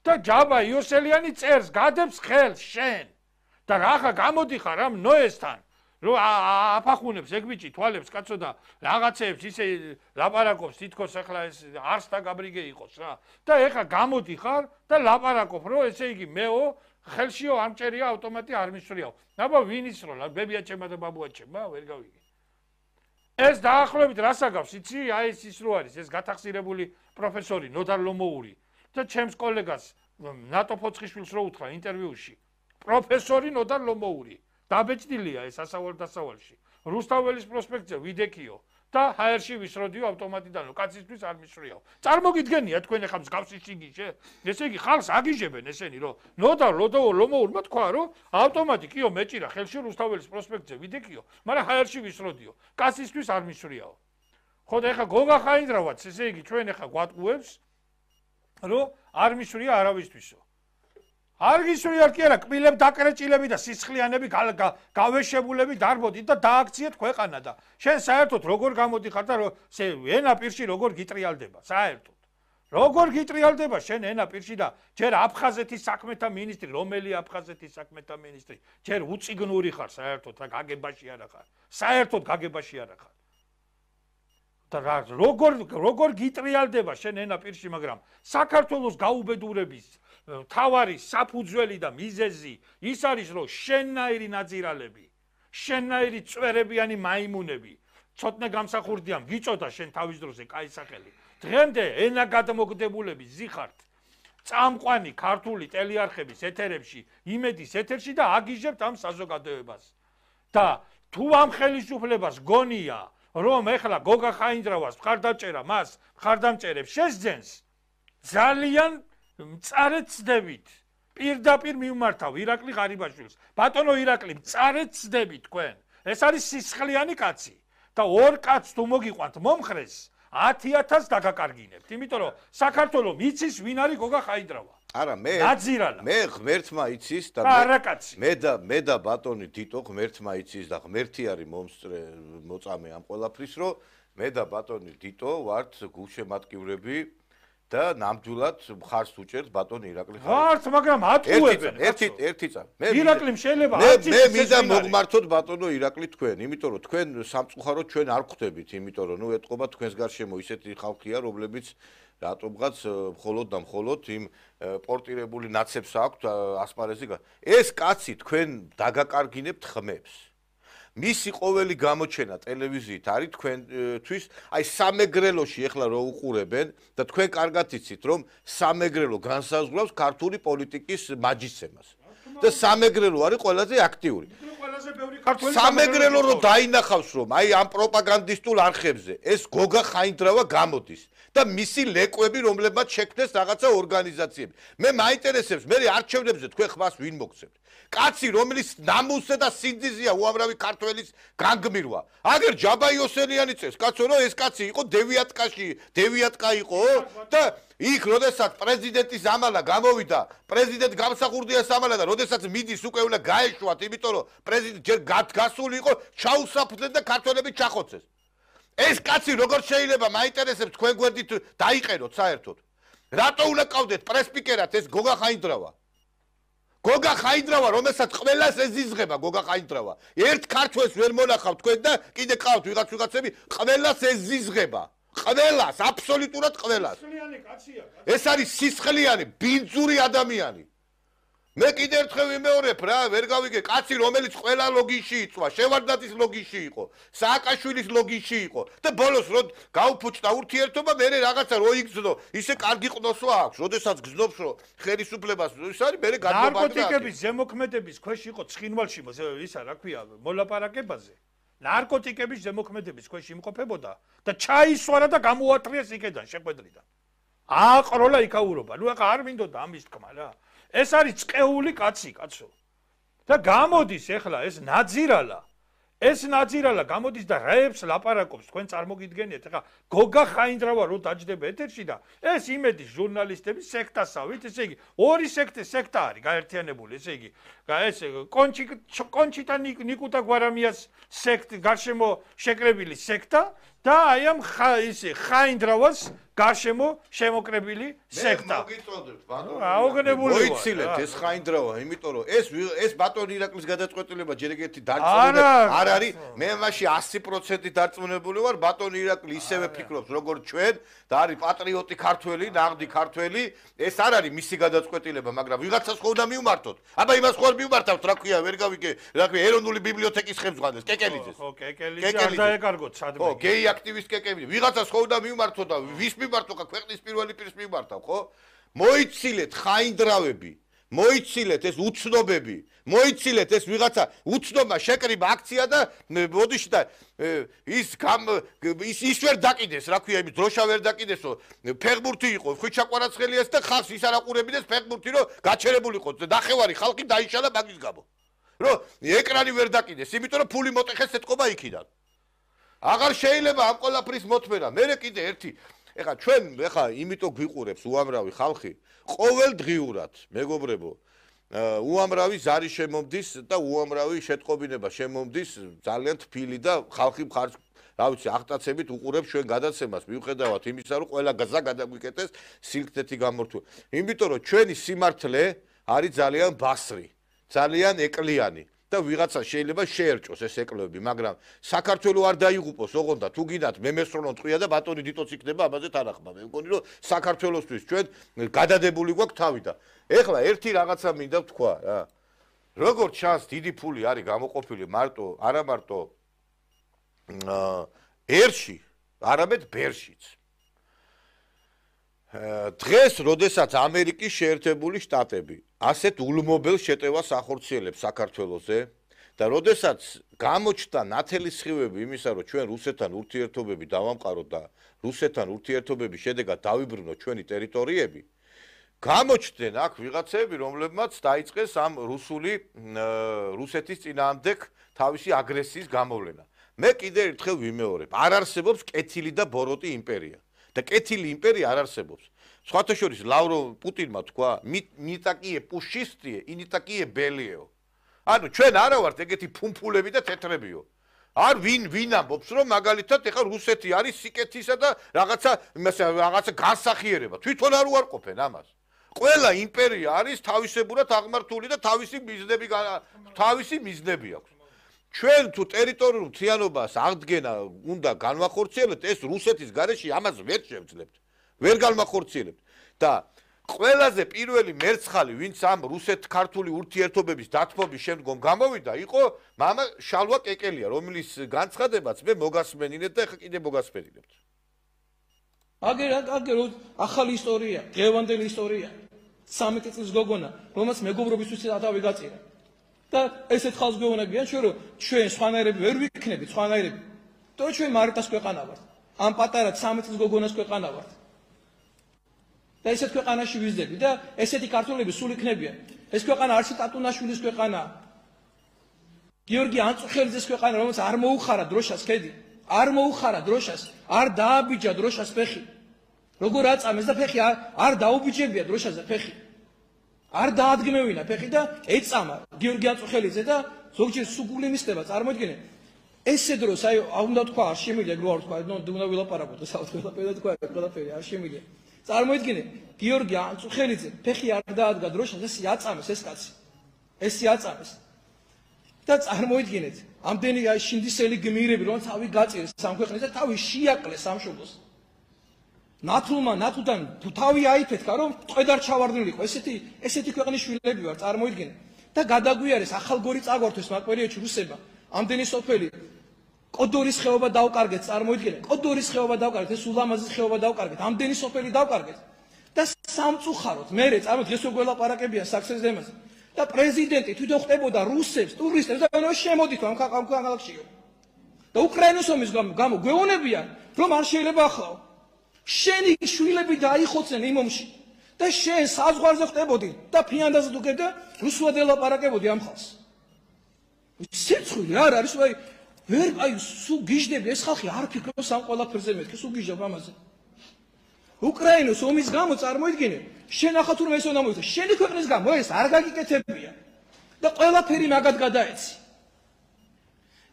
და ჯაბა იოსელიანი წერს გადებს ხელს შენ და რახა გამოდიხარ ამ ნოესთან რო აფახუნებს ეგ ბიჭი თვალებს კაცო და რაღაცეებს ისე ლაპარაკობს თითქოს ახლა ეს არსთა გაბრიგე იყოს რა და ეხა გამოდიხარ და ლაპარაკობ რომ ესე იგი მეო ხელშიო არ მჭერია ავტომატი არ მისვრიაო აბა ვინ ისროლა ბებია ჩემა და ბაბუა ჩემა ვერ გავიგე ეს დაახლოებით რას აგავს იცი აი ეს ის რო არის ეს გათახსირებული პროფესორი ნოდარ ლომოური და ჩემს კოლეგას ნატო ფოცხიშვილს რო უთხრა ინტერვიუში პროფესორი ნოდარ ლომოური დაბეჭდილია ეს ასავალ დასავალში. რუსთაველის პროსპექტზე ვიდექიო და ჰაერში ვისროდიო ავტომატიდან, კაცისთვის არ მისვრიაო. წარმოგიდგენია თქვენ ახლა მსგავსი შიგიში? ესე იგი ხალხს აგიჟებენ ესენი, რომ ნოდა ლოდო ლომოურმა თქვა, რომ ავტომატი კიო მეჭირა ხელში რუსთაველის პროსპექტზე ვიდექიო, მაგრამ ჰაერში ვისროდიო. კაცისთვის არ მისვრიაო. ხო და ახლა გოგა ხაინდრავაც, ესე იგი ჩვენ ახლა გვატყუებს, რომ არ მისვრია არავისთვისო. არ გისვრიათ კი არა, კბილებ დაკრეჭილები და სისხლიანები გავეშებულები დარბოდით და დააქციეთ ქვეყანა და შენ საერთოდ როგორ გამოდიხარ და ენა პირში როგორ გიტრიალდება, საერთოდ. როგორ გიტრიალდება შენ ენა პირში და ჯერ აფხაზეთის საქმეთა მინისტრი, რომელი აფხაზეთის საქმეთა მინისტრი, ჯერ უწიგნური ხარ საერთოდ, რა გაგებაში არა ხარ. საერთოდ გაგებაში არა ხარ. და რა როგორ როგორ გიტრიალდება შენ ენა პირში, მაგრამ საქართველოს გაუბედურების თავარი საფუძველი და მიზეზი ის არის, რომ შენნაირი ნაძირალები, შენნაირი წვერებიანი მაიმუნები ცოტნე გამსახურდია, გიწოდა შენ თავის დროზე კაი სახელი. დღემდე ენა გადამოკდებულები ზიხართ წამყვანი ქართული ტელეარხების ეთერებში, იმედის ეთერში და აგიჟებთ ამ საზოგადოებას. და თუ ამ ხელისუფლებას გონია, რომ ეხლა გოგა ხაინძრავას მხარდამჭერა მას მხარდამჭერებს შესძენს, ძალიან მწარედ ცდებით. პირდაპირ მიმართავ ირაკლი ღარიბაშვილს. ბატონო ირაკლი, მწარედ ცდებით თქვენ. ეს არის სისხლიანი კაცი და ორ კაცს თუ მოგიყვანთ მომხრეს, ათი ათასს დაგაკარგინებთ, იმიტომ რომ საქართველოს იცის ვინ არის გოგა ხაინძრავა. არა, მე ნაძირალა. მე ღმერთმა იცის და მე და მე და ბატონი დიტო ღმერთმა იცის და ღმერთი არის მომსწრე მოწამე ამ ყველაფრის, რომ მე და ბატონი დიტო ვართ გულშემატკივრები და ნამდვილად მხარს უჭერთ ბატონ ირაკლი ხაინძრავას. ვართ, მაგრამ ატყუებენ. ერთი ერთი წამი. მე ირაკლიმ შეიძლება აწის მე მინდა მოგმართოთ ბატონო ირაკლი თქვენ, იმიტომ რომ თქვენ სამწუხაროდ ჩვენ არ ხვდებით, იმიტომ რომ ნუ ეთყობა თქვენს გარშემო ისეთი ხალხია, რომლებიც რატომღაც მხოლოდ და მხოლოდ იმ პორტირებული ნაცებს აქვთ ასპარეზი. ეს კაცი თქვენ დაგაკარგინებთ ხმებს. მისი ყოველი გამოჩენა ტელევიზიით არის თქვენთვის, აი სამეგრელოში ეხლა რო უყურებენ და თქვენ კარგად იცით, რომ სამეგრელო განსაზღვრავს ქართული პოლიტიკის მაჯისცემას. და სამეგრელო არის ყველაზე აქტიური. სამეგრელო რო დაინახავს, რომ აი ამ პროპაგანდისტულ არხებზე ეს გოგა ხაინძრავა გამოდის და მისი ლეკვები, რომლებმაც შექმნეს რაღაცა ორგანიზაციები. მე მაინტერესებს, მე არჩევნებზე თქვენ ხმას ვინ მოგცემთ? კაცი, რომელიც ნამუსზე და სინძიზია უამრავი ქართველის განგმირვა. აგერ ჯაბა იოსელიანი წეს, კაცო, რომ ეს კაცი იყო დევიატკაში, დევიატკა იყო და იქ როდესაც პრეზიდენტის ამალა გამოვიდა, პრეზიდენტ გამსახურდია სამალა და როდესაც მიდის უკვე უნდა გაეშვათ, იმიტომ რომ პრეზიდენტ ჯერ გასული იყო, ჩაუსაფრდნენ და ქართველები ჩახოცეს. ეს კაცი როგორ შეიძლება მაინტერესებს თქვენ გვერდით დაიყენოთ საერთოდ? რატო უნდა ყავდეთ პრესპიკერად ეს გოგა ხაინძრავა? გოგა ხაინძრავა, რომელსაც ყველას ეზიზღება გოგა ხაინძრავა. ერთ ქართველს ვერ მონახავ თქვენ და კიდე ყავთ ვიღაც ვიღაცები, ყველას ეზიზღება. ყველას, აბსოლუტურად ყველას. ეს არის სისხლიანი, ბინძური ადამიანი. მე კიდე ერთხელ ვიმეორებ რა, ვერ გავიგე, კაცი რომელიც ყველა ლოგინში იწვა, შევარდნაძის ლოგინში იყო, სააკაშვილის ლოგინში იყო და ბოლოს რო გაუფუჭდა ურთიერთობა, მე რაღაცა რო იგზნო, ისე კარგი ყნოსვა აქვს, როდესაც გზნობს რომ ხელისუფლებას ის არის, მე გადმობარდა. ნარკოტიკების ზემოქმედების ქვეშ იყო ცხინვალში, ისა რა ქვია, მოლაპარაკებაზე. ნარკოტიკების ზემოქმედების ქვეშ იმყოფებოდა და ჩაისვარა და გამოატრიეს იქედან შეხვედრიდან. აყროლა იქაურობა. ნუ ახლა არ მინდოდა ამის თქმა რა. ეს არის წყეული კაცი, კაცო. და გამოდის ეხლა ეს ნაძირალა. ეს ნაძირალა გამოდის და რაებს ლაპარაკობს, თქვენ წარმოგიდგენიათ, ეხლა გოგა ხაინძრავა რო დაჯდება ეთერში და ეს იმედის ჟურნალისტების სექტასავით, ესე იგი, ორი სექტე სექტა არის გაერთიანებული, ესე იგი, ეს კონჩი კონჩიტა ნიკუტა გვარამიას სექტ გარშემო შეკრებილი სექტა და აი ამ ისე ხაინძრავას გარშემო შემოკრებილი სექტა. მე მოგიწოდებთ ბატონო. აუგნებული ვარ. მოიცილეთ ეს ხაინძრავა, იმიტომ რომ ეს ეს ბატონ ირაკლის გადაწყვეტილება ჯერ ეგეთი დარწმუნებული არ არის. მე მასში ასი პროცენტი დარწმუნებული ვარ, ბატონ ირაკლი ისევე ფიქრობს როგორც ჩვენ და არის პატრიოტი ქართველი, ნაღდი ქართველი. ეს არ არის მისი გადაწყვეტილება, მაგრამ ვიღაცას ხო უნდა მიუმართოთ. აბა იმას ხო არ მიუმართავთ, რა ქვია, ვერ გავიგე, რა ქვია, ეროვნული ბიბლიოთეკის ხელმძღვანელს, კეკელიძეს. ხო, კეკელიძე არ დაეკარგოთ სადმე. ხო, გეი აქტივისტ კეკელიძე. ვიღაცას ხო უნდა მიუმართოთ და ვის მიმართო ხა ქვეყნის პირველი პირს მიმართავ, ხო? მოიცილეთ ხაინძრავები, მოიცილეთ ეს უცნობები, მოიცილეთ ეს ვიღაცა უცნობა შეკრიბა აქცია და მოდიში და ის ის ის ვერ დაკიდეს, რა ქვია, იმის დროშა ვერ დაკიდესო, ფეხბურთი იყო, ხვიჩაყვარაცხელიას და ხალხს ის არ აყურებიდეს ფეხბურთი, რომ გაჩერებული იყო, ნახევარი ხალხი დაიშალა მაგის გამო. რომ ეკრანი ვერ დაკიდეს, იმიტომ რომ ფული მოტეხეს ეთყობა იქიდან. აღარ შეიძლება ამ ყველაფრის მოთმენა. მე კიდე ერთი ეხა ჩვენ ეხა იმიტომ გვიყურებს უამრავი ხალხი ყოველდღიურად, მეგობრებო, უამრავი ზარი შემომდის და უამრავი შეტყობინება შემომდის ძალიან თბილი და ხალხი მხარს, რა ვიცი, აღტაცებით უყურებს ჩვენ გადაცემას, მიუხედავად იმისა, რომ ყველა გაზა გადაგვიკეთეს სილქთეთი გამორთული. იმიტომ რომ ჩვენი სიმართლე არის ძალიან ბასრი, ძალიან ეკლიანი და ვიღაცა შეიძლება შეერჭოს ეს ეკლები, მაგრამ საქართველოს არ დაიღუპოს, ოღონდ და თუ გინდათ მემესროლონ ტყვია და ბატონი დიტოც იქნება ამაზე თანახმა. მე მგონი რომ საქართველოსთვის ჩვენ გადადებული გვაქვს თავი და ეხლა ერთი რაღაცა მინდა ვთქვა რა. როგორც ჩანს, დიდი ფული არის გამოყოფილი მარტო, არა მარტო ერში, არამედ ბერშიც. დღეს, როდესაც ამერიკის შეერთებული შტატები ასეთ ულმობელ შეტევას ახორციელებს საქართველოზე და როდესაც გამოჩნდა ნათელი სხივები იმისა, რომ ჩვენ რუსეთთან ურთიერთობები დავამყაროთ და რუსეთთან ურთიერთობების შედეგად დავიბრუნოთ ჩვენი ტერიტორიები, გამოჩნდნენ აქ ვიღაცები, რომლებმაც დაიწყეს ამ რუსული რუსეთის წინააღმდეგ თავისი აგრესიის გამოვლენა. მე კიდევ ერთხელ ვიმეორებ, არ არსებობს კეთილი და ბოროტი იმპერია. და კეთილი იმპერია არ არსებობს. სხვათა შორის ლავროვ პუტინმა თქვა, ნიტაკიე პუშისტიე, ინიტაკიე ბელიეო. ანუ ჩვენ არა ვართ ეგეთი ფუმფულები და თეთრებიო. არ ვინ ვინ ამბობს, რომ მაგალითად ეხა რუსეთი არის სიკეთისა და რაღაცა იმასე რაღაცა განსახიერება. თვითონ არ უარყოფენ ამას. ყველა იმპერია არის თავისებურად აღმართული და თავისი მიზნები თავისი მიზნები აქვს. ჩვენ თუ ტერიტორიულ მთლიანობას აღდგენა უნდა განვახორციელებთ, ეს რუსეთის გარეშე ამას ვერ შევძლებთ. ვერ განვახორციელებთ და ყველაზე პირველი მერცხალი, ვინც ამ რუსეთ-ქართული ურთიერთობების დათმობის შემდგომ გამოვიდა, იყო მამა შალვა კეკელია, რომლის განცხადებაც მე მოგასმენინეთ და ეხლა კიდე მოგასმენინებთ. აგერ აგერ ახალი ისტორია, დღევანდელი ისტორია. სამეტი წლის გოგონა, რომელსაც მეგობრობისთვის ათავი გაწირა. და ესეთ ხალხს გვეუბნებიან ჩვენ რომ ჩვენ სხვანაირები ვერ ვიქნებით სხვანაირები. და ჩვენ მარიტას ქვეყანა ვართ. ამ პატარა სამი წლის გოგონას ქვეყანა ვართ. და ესეთ ქვეყანაში ვიზრდები და ესეთი ქართველები სულ იქნებიან. ეს ქვეყანა არჩი ტატუნაშვილის ქვეყანაა. გიორგი ანწუხელიძის ქვეყანა, რომელსაც არ მოუხარა დროშას ხედი, არ მოუხარა დროშას, არ დააბიჯა დროშას ფეხი. როგორ აწამეს და ფეხი არ დაუბიჯებია დროშაზე ფეხი. არ დაადგმევინა ფეხი და ეწამა გიორგი ანწუხელიძე და ზოგჯერ სუგული მისდება, წარმოიდგინე. ესე დროს აი უნდა თქვა არ შემიძლია გრო არ თქვა, ნუ უნდა ვილაპარაკოთ საერთოდ ყველაფერი თქვა, ყველაფერი არ შემიძლია. წარმოიდგინე, გიორგი ანწუხელიძე ფეხი არ დაადგა დროშას, ეს აწამეს ეს კაცი. ეს აწამეს. და წარმოიდგინეთ, ამდენი აი შინდისელი გმირები, რომ თავი გაწირეს სამქვეყნეს და თავი შეაკლეს სამშობლოს. ნათლმა ნათლთან თავი აიფეთქა, რომ წვედარ ჩავარდნილიყო. ესეთი ესეთი ქვეყნის შვილები ვარ, წარმოიდგინე. და გადაგვიარეს ახალგორი წაგვართვეს მაგ პერიოდში რუსებმა. ამდენი სოფელი კოდორის ხეობა დავკარგეთ, წარმოიდგინე. კოდორის ხეობა დავკარგეთ, ეს ულამაზის ხეობა დავკარგეთ. ამდენი სოფელი დავკარგეთ. და სამწუხაროდ მე წამო დღეს რო გველაპარაკებიან საქსეს დემაზე. და პრეზიდენტი თვითონ ხდებოდა რუსებს, ტურისტებს და ნუ შემოდით ამ ქალაქშიო. და უკრაინის ომის გამო გვეუბნებიან, რომ არ შეიძლება ახლავ. შენი შვილები დაიხოცენ იმ ომში და შენ საზღვარზე ხდებოდი და ფიანდაზე თუ გებდა რუსულად ელაპარაკებოდი ამ ხალხს. სიცხული არ არის, აი ვერ აი სულ გიჟდები ეს ხალხი არ ფიქრობს ამ ყველაფერზე მეთქე, სულ გიჟდებ ამაზე. უკრაინის ომის გამო წარმოიდგინე, შენ ახლა თურმე ეს უნდა მოიქცე, შენი ქვეყნის გამო ეს არ გაგიკეთებია და ყველაფერი მაგად გადაეცი.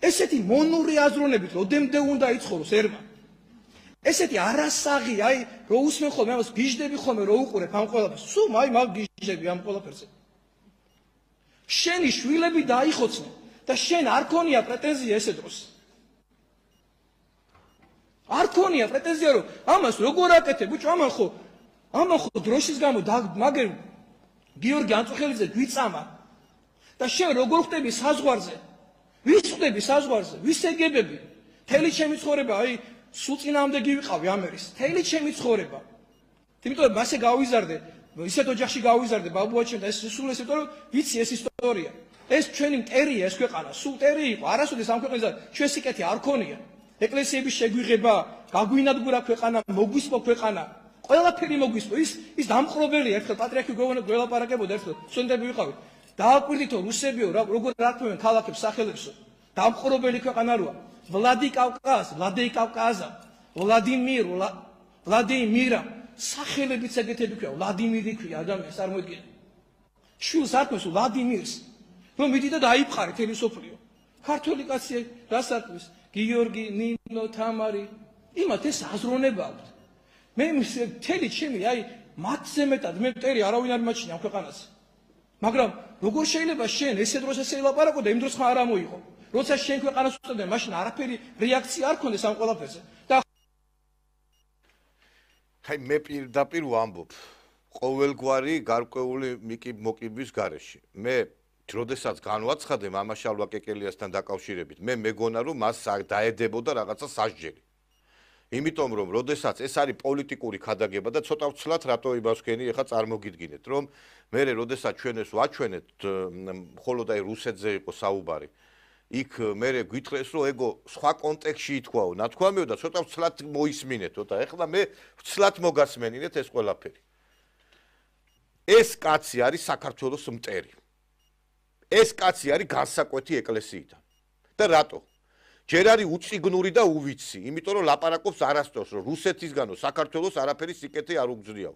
ესეთი მონური აზროვნებით როდემდე უნდა იცხოვროს ერმა. ესეთი არასაღი, აი რო უსმენ ხოლმე ამას გიჟდები ხოლმე რო უყურებ ამ ყველაფერს, სულ აი მაგ გიჟდები ამ ყველაფერზე. შენი შვილები დაიხოცნენ და შენ არ ქონია პრეტენზია ესე დროს. არ ქონია პრეტენზია რომ ამას როგორ აკეთებ, ბიჭო, ამან ხო ამან ხო დროშის გამო მაგერ გიორგი ანწუხელიძე გვიწამა და შენ როგორ ხდები საზღვარზე? ვის ხდები საზღვარზე? ვის ეგებები? თელი ჩემი ცხოვრება, აი სულ წინაამდე გივიყავი ამერის. თელი ჩემი ცხოვრება. იმიტომ მასე გავიზარდე, ისეთ ოჯახში გავიზარდე ბაბუაჩემ და ეს სულ ეს იმიტომ რომ ვიცი ეს ისტორია. ეს ჩვენი მტერია ეს ქვეყანა, სულ მტერი იყო. არასოდეს ამ ქვეყანაზე ჩვენ სიკეთე არ ქონია. ეკლესიების შეგვიღება, გაგვინადგურა ქვეყანა, მოგვისპო ქვეყანა. ყველაფერი მოგვისპო. ის ის დამყრობელია, ერთხელ პატრიარქი გველაპარაკებოდა, ერთხელ სტუდენტები ვიყავით. დააკვირდითო რუსებიო, როგორ რათმევენ ქალაქებს, სახელებსო. დამყრობელი ქვეყანა როა. ვლადიკავკაზ, ვლადეიკავკაზა, ვლადიმირ, ვლადიმირა, სახელებიც ეგეთები ქვია, ვლადიმირი ქვია ადამიანს, წარმოიდგინე. შვილს ართმევს ვლადიმირს, რომ მიდი და დაიფყარე თელი სოფლიო. ქართველი კაცი რას ართმევს? გიორგი, ნინო, თამარი, იმათ ეს აზროვნება აქვს. მე მთელი ჩემი, აი, მათზე მეტად მე მტერი არავინ არ მაჩნია ამ ქვეყანაზე. მაგრამ როგორ შეიძლება შენ ესე დროს ესე ელაპარაკო და იმ დროს ხარ არ ამოიღო? როცა შენ ქვეყანას უწევდნენ, მაშინ არაფერი რეაქცია არ ქონდეს ამ ყველაფერზე. და აი მე პირდაპირ ვამბობ, ყოველგვარი გარკვეული მოკიბვის გარეშე. მე როდესაც განვაცხადე მამაშალვა კეკელიასთან დაკავშირებით, მე მეგონა რომ მას დაედებოდა რაღაცა სასჯელი. იმიტომ რომ როდესაც ეს არის პოლიტიკური ქადაგება და ცოტა ვცლად რატო იმას ვქენი, ეხლა წარმოგიდგინეთ, რომ მე როდესაც ჩვენ ეს ვაჩვენეთ, მხოლოდ აი რუსეთზე იყო საუბარი. იქ მე გვითხრეს რომ ეგო სხვა კონტექსტში ითქვაო, ნათქვამიო და ცოტა ვცლად მოისმინეთო და ეხლა მე ვცლად მოგასმენინეთ ეს ყველაფერი. ეს კაცი არის საქართველოს მტერი. ეს კაცი არის განსაკვეთი ეკლესიიდან. და რატო? ჯერ არის უწიგნური და უვიცი, იმიტომ რომ ლაპარაკობს არასდროს, რომ რუსეთისგანო საქართველოს არაფერი სიკეთე არ უგზნიაო.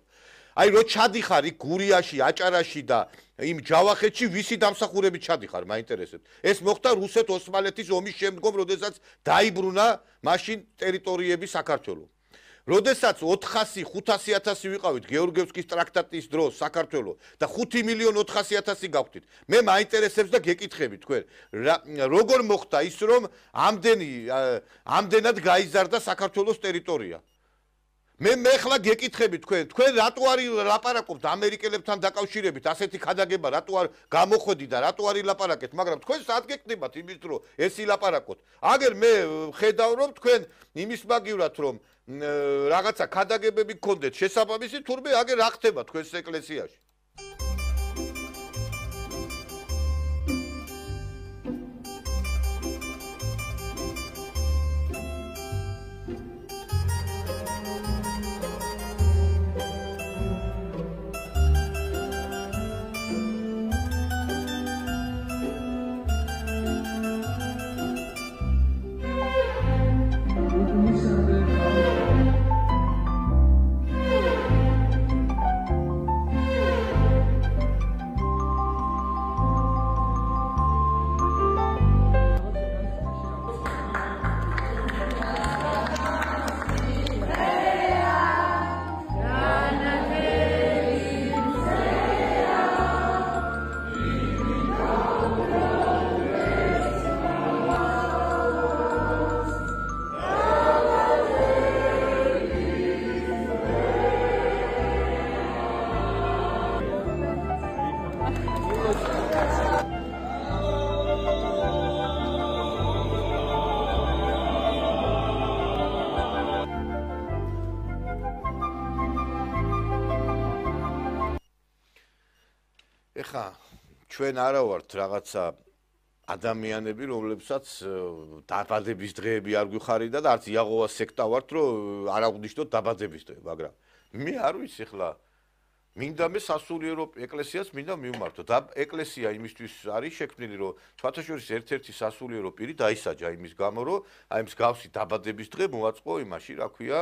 აი რო ჩადიხარ იქ გურიაში, აჭარაში და იმ ჯავახეთში ვისი დამსახურებით ჩადიხარ, მაინტერესებს. ეს მოხდა რუსეთ-ოსმალეთის ომის შემდგომ, როდესაც დაიბრუნა მაშინ ტერიტორიები საქართველოს. როდესაც ოთხასი ხუთასი ათასი ვიყავით გეორგიევსკის ტრაქტატის დროს საქართველოს და ხუთი მილიონი ოთხასი ათასი გავხდით. მე მაინტერესებს და გეკითხებით თქვენ, როგორ მოხდა ის რომ ამდენი ამდენად გაიზარდა საქართველოს ტერიტორია? მე მე ხლა გეკითხებით თქვენ, თქვენ რატო არის ლაპარაკობთ ამერიკელებთან დაკავშირებით, ასეთი ქადაგება რატო არ გამოხვედი და რატო არ ილაპარაკეთ, მაგრამ თქვენ სად გეკნებათ იმის რომ ეს ილაპარაკოთ? აგერ მე ხედავ რომ თქვენ იმის მაგივრად რომ რაღაცა ქადაგებები გქონდეთ შესაბამისი, თურმე აგერ რა ხდება თქვენს ეკლესიაში? ეხა ჩვენ არა ვართ რაღაცა ადამიანები, რომლებსაც დაბადების დღეები არ გვიხარიდა და არც იაღოვას სექტა ვართ, რომ არ აღვნიშნოთ დაბადების დღე, მაგრამ მე არ ვიცი ეხლა მინდა მე სასულიერო ეკლესიას მინდა მივმართო და ეკლესია იმისთვის არის შექმნილი, რომ თვათაშორის ერთ-ერთი სასულიერო პირი დაისაჯა იმის გამო, რომ აი მსგავსი დაბადების დღე მოაწყო იმაში, რა ქვია,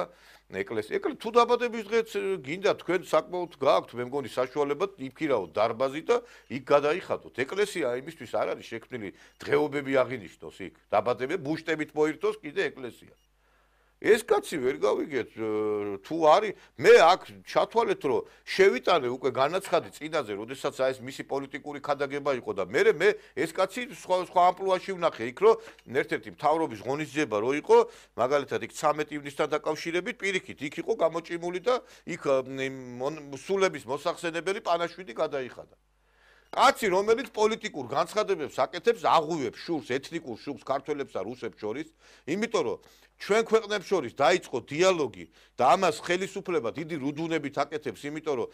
ეკლესია. ეკლა თუ დაბადების დღეც გინდა თქვენ საკმაოდ გააქვთ, მე მგონი საშუალება იქირაოთ დარბაზი და იქ გადაიხადოთ. ეკლესია იმისთვის არ არის შექმნილი დღეობები აღინიშნოს იქ. დაბადებები ბუშტებით მოირთოს კიდე ეკლესია. ეს კაცი ვერ გავიგეთ თუ არის მე აქ ჩათვალეთ რომ შევიტანე უკვე განაცხადი წინაზე, როდესაც აი ეს მისი პოლიტიკური ქადაგება იყო და მე მე ეს კაცი სხვა სხვა ამპლუაში ვნახე იქ რომ ერთ-ერთი მთავრობის ღონისძიება რო იყო, მაგალითად იქ ცამეტი ივნისთან დაკავშირებით პირიქით იქ იყო გამოჭიმული და იქ სულების მოსახსენებელი პანაშვიდი გადაიხადა. კაცი რომელიც პოლიტიკურ განცხადებებს აკეთებს, აღვივებს შურს, ეთნიკურ შურს ქართველებს და რუსებს შორის, იმიტომ რომ ჩვენ ქვეყნებს შორის დაიწყო დიალოგი და ამას ხელისუფლება დიდი რუდუნებით აკეთებს, იმიტომ რომ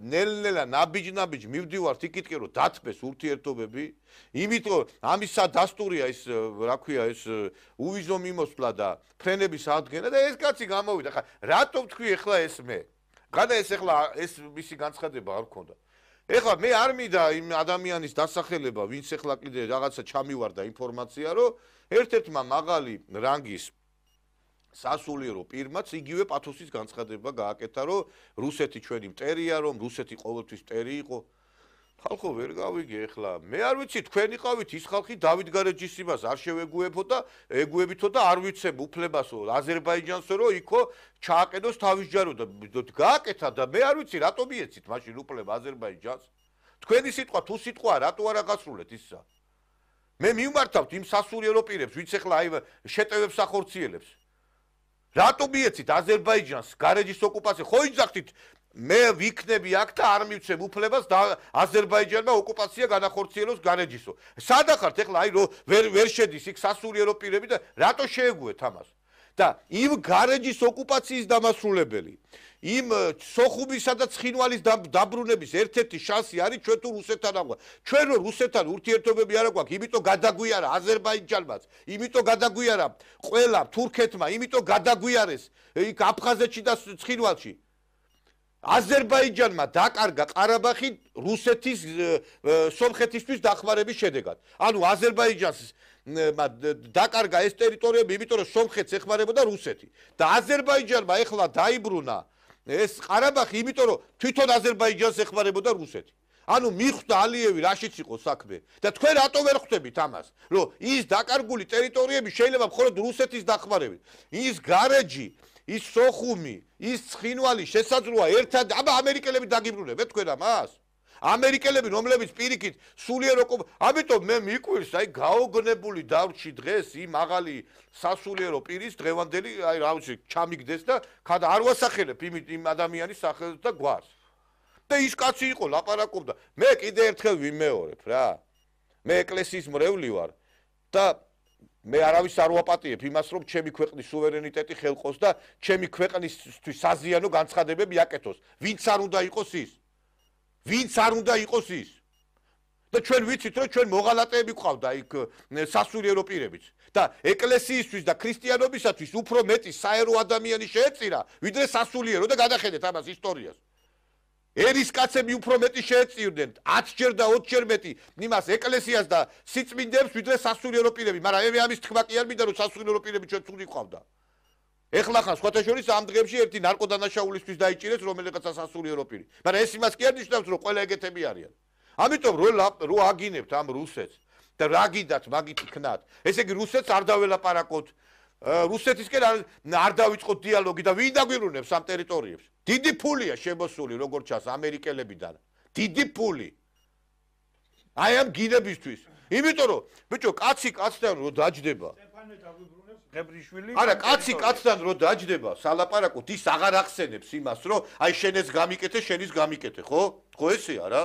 ნელ-ნელა ნაბიჯ-ნაბიჯ მივდივართ იქითკენ რომ დათბეს ურთიერთობები, იმიტომ ამისა დასტურია ეს, რა ქვია, ეს უვიზო მიმოსვლა და ფრენების ადგენა და ეს კაცი გამოვიდა. ხა რატო ვთქვი ახლა ეს მე? გადა ეს ახლა ეს მისი განცხადება არ მქონდა. ეხლა მე არ მინდა იმ ადამიანის დასახელება, ვინც ახლა კიდე რაღაცა ჩამივარდა ინფორმაცია, რომ ერთ-ერთმა მაღალი რანგის სასულიერო პირმაც იგივე პათოსის განცხადება გააკეთა, რომ რუსეთი ჩვენი მტერია, რომ რუსეთი ყოველთვის მტერი იყო. ხალხო ვერ გავიგე ეხლა. მე არ ვიცი, თქვენ იყავით ის ხალხი დავით გარეჯისიმას არ შევეგუებო და ეგუებითო და არ ვიცებ უფლებასო აზერბაიჯანსო, რომ იქო ჩააყენოს თავის ჯარო და გააკეთა და მე არ ვიცი, რატომ მიეცით მაშინ უფლება აზერბაიჯანს? თქვენი სიტყვა თუ სიტყვა რატო არ აღასრულეთ ისა? მე მივმართავთ იმ სასულიერო პირებს, ვინც ახლა აი შეტევებს ახორციელებს. რატო მიეცით აზერბაიჯანს გარეჯის ოკუპაცია? ხო იძახთით მე ვიქნები აქ და არ მივცემ უფლებას და აზერბაიჯანმა ოკუპაცია განახორციელოს გარეჯისო. სადა ხართ ახლა აი რო ვერ ვერ შედის იქ სასულიერო პირები და რატო შეეგუეთ ამას? და იმ გარეჯის ოკუპაციის დამასრულებელი, იმ სოხუმისა და ცხინვალის დაბრუნების ერთ-ერთი შანსი არის ჩვენ თუ რუსეთთან აღვა. ჩვენ რო რუსეთთან ურთიერთობები არ აგვაქვს, იმიტომ გადაგვიარა აზერბაიჯანმაც, იმიტომ გადაგვიარა ყველა თურქეთმა, იმიტომ გადაგვიარეს იქ აფხაზეთში და ცხინვალში. აზერბაიჯანმა დაკარგა ყარაბაღი რუსეთის სომხეთისთვის დახმარების შედეგად. ანუ აზერბაიჯანს დაკარგა ეს ტერიტორიები, იმიტომ რომ სომხეთს ეხმარებოდა რუსეთი. და აზერბაიჯანმა ეხლა დაიბრუნა ეს ყარაბაღი, იმიტომ რომ თვითონ აზერბაიჯანს ეხმარებოდა რუსეთი. ანუ მიხვდა ალიევი რაშიც იყო საქმე და თქვენ რატო ვერ ხვდებით ამას, რომ ის დაკარგული ტერიტორიები შეიძლება მხოლოდ რუსეთის დახმარებით. ის გარეჯი, ის სოხუმი, ის ცხინვალი შესაძლოა ერთად, აბა ამერიკელები დაგიბრუნებთ თქვენ ამას? ამერიკელები, რომლებიც პირიქით სულიერ ოკუპ, ამიტომ მე მიკვირს, აი გაოგნებული დავრჩი დღეს იმ მაღალი სასულიერო პირის დღევანდელი, აი რა ვიცი, ჩამიგდეს და ხადა არ ვასახელებ იმ იმ ადამიანის სახელს და გვარს. და ის კაცი იყო, ლაპარაკობდა. მე კიდე ერთხელ ვიმეორებ რა. მე ეკლესიის მრევლი ვარ და მე არავის არ ვაპატიებ იმას, რომ ჩემი ქვეყნის სუვერენიტეტი ხელყოს და ჩემი ქვეყნისთვის საზიანო განცხადებები აკეთოს. ვინც არ უნდა იყოს ის? ვინც არ უნდა იყოს ის? და ჩვენ ვიცით, რომ ჩვენ მოღალატეები გვყავდა იქ სასულიერო პირებიც. და ეკლესიისთვის და ქრისტიანობისათვის უფრო მეტი საერო ადამიანი შეეწირა, ვიდრე სასულიერო და გადახედეთ ამას ისტორიას. ერისკაცები უფრო მეტი შეეწირდნენ, ათჯერ და ოცჯერ მეტი იმას ეკლესიას და სიწმინდეებს, ვიდრე სასულიერო პირები, მაგრამ მე ამის თქმა კი არ მინდა, რომ სასულიერო პირები ჩვენ ცუდი ყავდა. ეხლა ხან სხვათა შორის ამ დღეებში ერთი ნარკოდანაშაულისთვის დაიჭირეს რომელიღაცა სასულიერო პირი. მაგრამ ეს იმას კი არ ნიშნავს, რომ ყველა ეგეთები არიან. ამიტომ რო აგინებთ ამ რუსეთს და რა გიდათ მაგით იქნათ. ესე იგი რუსეთს არ დაველაპარაკოთ. რუსეთისკენ არ დავიწყოთ დიალოგი და ვინ დაგვიბრუნებს ამ ტერიტორიებს? დიდი ფულია შემოსული როგორც ჩანს ამერიკელებიდან. დიდი ფული. აი ამ გინებისთვის. იმიტომ რომ ბიჭო, კაცი კაცთან რო დაჯდება. ღებრიშვილი არა, კაცი კაცთან რო დაჯდება, სალაპარაკოთ, ის აღარ ახსენებს იმას, რომ აი შენეს გამიკეთე, შენის გამიკეთე, ხო? ხო ესეა რა?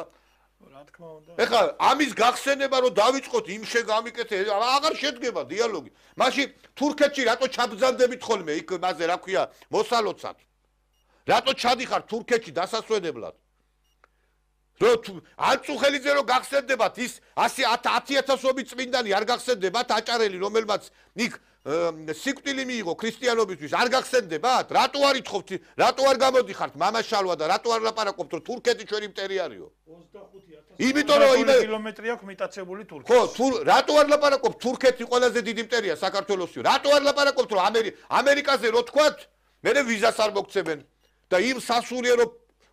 რა თქმა უნდა. ეხლა ამის გახსენება რომ დავიწყოთ იმ შეგამიკეთე, აღარ შედგება დიალოგი. მაშინ თურქეთში რატო ჩაბრძანდებით ხოლმე იქ მასე რა ქვია, მოსალოცად? რატო ჩადიხარ თურქეთში დასასვენებლად? რომ ანწუხელიძე რო გახსენდებათ ის ათი ათასობით წმინდანი არ გახსენდებათ აჭარელი რომელმაც იქ სიკვდილი მიიღო ქრისტიანობისთვის არ გახსენდებათ? რატო არ ითხოვთ? რატო არ გამოდიხართ მამაშალვა და რატო არ ლაპარაკობთ რომ თურქეთი ჩვენი მტერიარიო? იმიტომ რომ იმე კილომეტრი აქვს მიტაცებული თურქეთი. ხო, თუ რატო არ ლაპარაკობთ თურქეთი ყველაზე დიდი მტერია საქართველოსი? რატო არ ლაპარაკობთ რომ ამერიკაზე რო თქვათ, მერე ვიზას არ მოგცემენ და იმ სასულიერო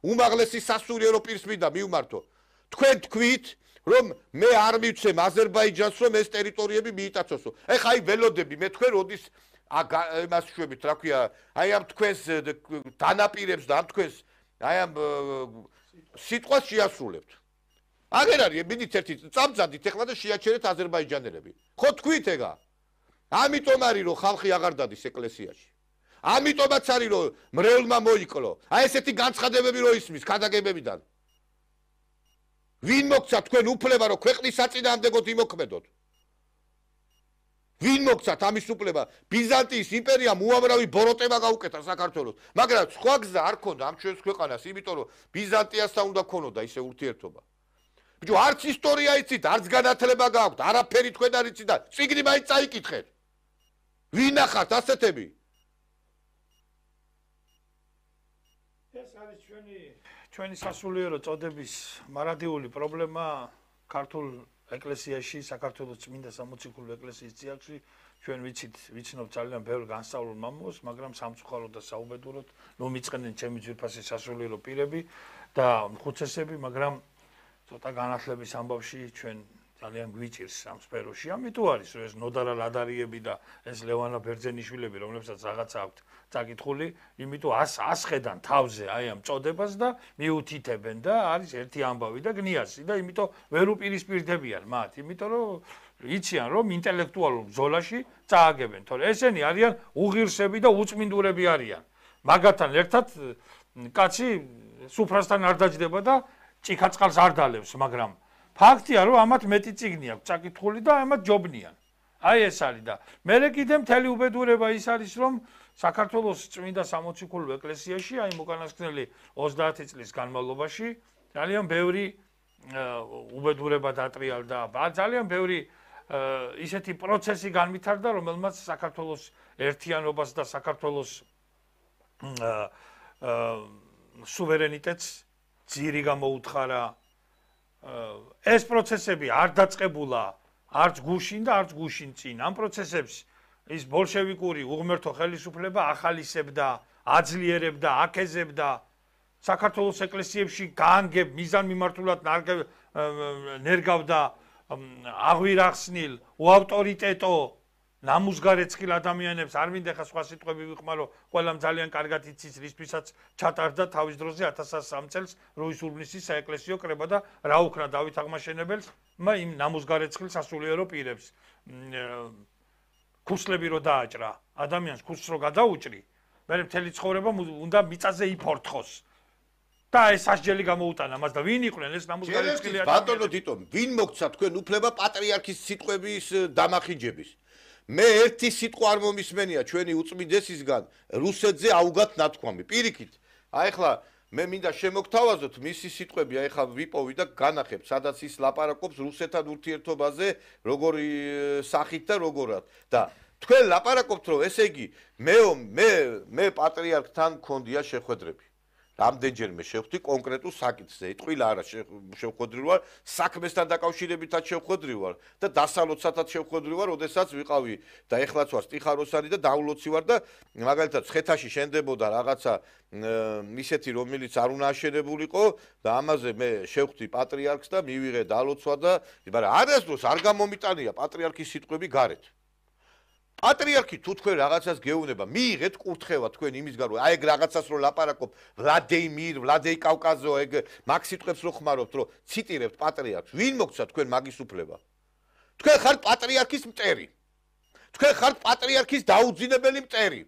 უმაღლესი სასულიერო პირს მინდა მივმართო. თქვენ თქვით რომ მე არ მივცემ აზერბაიჯანს რომ ეს ტერიტორიები მიიტაცოსო. ეხა აი ველოდები მე თქვენ როდის იმას შვებით, რა ქვია, აი ამ თქვენს დანაპირებს და ამ თქვენს აი ამ სიტყვას შეასრულებთ. აგერ არის მინით ერთი წამწადით ეხლა და შეაჩერეთ აზერბაიჯანელები. ხო თქვით ეგა? ამიტომ არის რომ ხალხი აღარ დადის ეკლესიაში. ამიტომაც არის რომ მრევლმა მოიკლო. აი ესეთი განცხადებები რო ისმის ქადაგებებიდან. ვინ მოგცა თქვენ უფლება რომ ქვეყნის საწინააღმდეგოდ იმოქმედოთ? ვინ მოგცათ ამის უფლება? ბიზანტიის იმპერიამ უამრავი ბოროტება გაუკეთა საქართველოს, მაგრამ სხვა გზა არ ქონდა ამ ჩვენს ქვეყანას, იმიტომ რომ ბიზანტიასთან უნდა ქონოდა ისე ურთიერთობა. ბიჭო, არც ისტორია იცით, არც განათლება გაქვთ, არაფერი თქვენ არ იცით და წიგნი მაინც წაიკითხეთ. ვინ ახართ ასეთები? ეს არის ჩვენი ჩვენი სასულიერო წოდების მარადიული პრობლემა ქართულ ეკლესიაში, საქართველოს წმინდა სამოციქულო ეკლესიის წიაღში. ჩვენ ვიცით, ვიცნობ ძალიან ბევრ განსწავლულ მამულს, მაგრამ სამწუხაროდ და საუბედუროდ მომიწყენენ ჩემი ძვირფასი სასულიერო პირები და ხუცესები, მაგრამ ცოტა განათლების ამბავში ჩვენ ძალიან გვიჭირს ამ სფეროში. ამიტომ არის რომ ეს ნოდარა ლადარიები და ეს ლევანა ბერძენიშვილები, რომლებსაც რაღაცა აქვთ წაკითხული, იმიტომ ასხედან თავზე აი ამ წოდებას და მიუთითებენ და არის ერთი ამბავი და გნიასი და იმიტომ ვერ უპირისპირდებიან მათ, იმიტომ რომ იციან რომ ინტელექტუალურ ბრძოლაში წააგებენ, თორე ესენი არიან უღირსები და უწმინდურები არიან. მაგათთან ერთად კაცი სუფრასთან არ დაჯდება და ჭიქაწყალს არ დალევს, მაგრამ ფაქტია რომ ამათ მეტი წიგნი აქვს წაკითხული და ამათ ჯობნიან. აი ეს არის და მერე კიდე მთელი უბედურება ის არის რომ საქართველოს წმინდა სამოციქულო ეკლესიაში აი უკანასკნელი ოცდაათი წლის განმავლობაში ძალიან ბევრი უბედურება დატრიალდა, ძალიან ბევრი ისეთი პროცესი განვითარდა, რომელმაც საქართველოს ერთიანობას და საქართველოს სუვერენიტეტს ძირი გამოუთხარა. ეს პროცესები არ დაწყებულა არც გუშინ და არც გუშინ წინ. ამ პროცესებს ის ბოლშევიკური უღმერთო ხელისუფლება ახალისებდა, აძლიერებდა, აკეზებდა. საქართველოს ეკლესიებში გაანგებ მიზანმიმართულად ნერგავდა აღვირახსნილ უავტორიტეტო ნამუსგარეცხილ ადამიანებს. არ მინდა ხა სხვა სიტყვები ვიხმარო, ყველამ ძალიან კარგად იცის რისთვისაც ჩატარდა თავის დროზე ათას სამი წელს რუის-ურბნისის საეკლესიო კრება და რა უქნა დავით აღმაშენებელს იმ ნამუსგარეცხილ სასულიერო პირებს. ქუსლები რო დააჭრა, ადამიანს ქუსლს რო გადაუჭრი, მე მთელი ცხოვრება უნდა მიწაზე იფორთხოს. და ეს სასჯელი გამოუტანა მას და ვინ იყვნენ ეს ნამუსგარეცხილი ადამიანები? ბატონო თითო, ვინ მოგცა თქვენ უფლება პატრიარქის სიტყვების დამახინჯების? მე ერთი სიტყვა არ მომისმენია ჩვენი უწმიდესისგან რუსეთზე აუგათ ნათქვამი. პირიქით, აი ხლა მე მინდა შემოგთავაზოთ მისი სიტყვები, აი ხლა ვიპოვი და განახებ, სადაც ის ლაპარაკობს რუსეთთან ურთიერთობაზე, როგორი სახით და როგორად. და თქვენ ლაპარაკობთ, რომ ესე იგი მე მე მე პატრიარქთან მქონდია შეხვედრები. რამდენჯერმე შევხვდი კონკრეტულ საკითხზე. ტყილა არა შევხვედრი ვარ, საქმესთან დაკავშირებითაც შევხვედრი ვარ და დასალოცათაც შევხვედრი ვარ, ოდესაც ვიყავი და ეხლაც ვარ სტიხაროსანი და დაულოცი ვარ და მაგალითად ცხეთაში შენდებოდა რაღაცა ისეთი რომელიც არ უნდა აშენებულიყო და ამაზე მე შევხვდი პატრიარქს და მივიღე დალოცვა და მაგრამ არასდროს არ გამომიტანია პატრიარქის სიტყვები გარეთ. პატრიარქი თუ თქვენ რაღაცას გეუბნება, მიიღეთ კურთხევა თქვენ იმისგან რომ აი ეგ რაღაცას რო ლაპარაკობ, ვლადეიმირ, ვლადეი კავკაზო, ეგ მაგ სიტყვებს რო ხმარობთ, რომ ციტირებთ პატრიარქს, ვინ მოგცა თქვენ მაგის უფლება? თქვენ ხართ პატრიარქის მტერი. თქვენ ხართ პატრიარქის დაუძინებელი მტერი.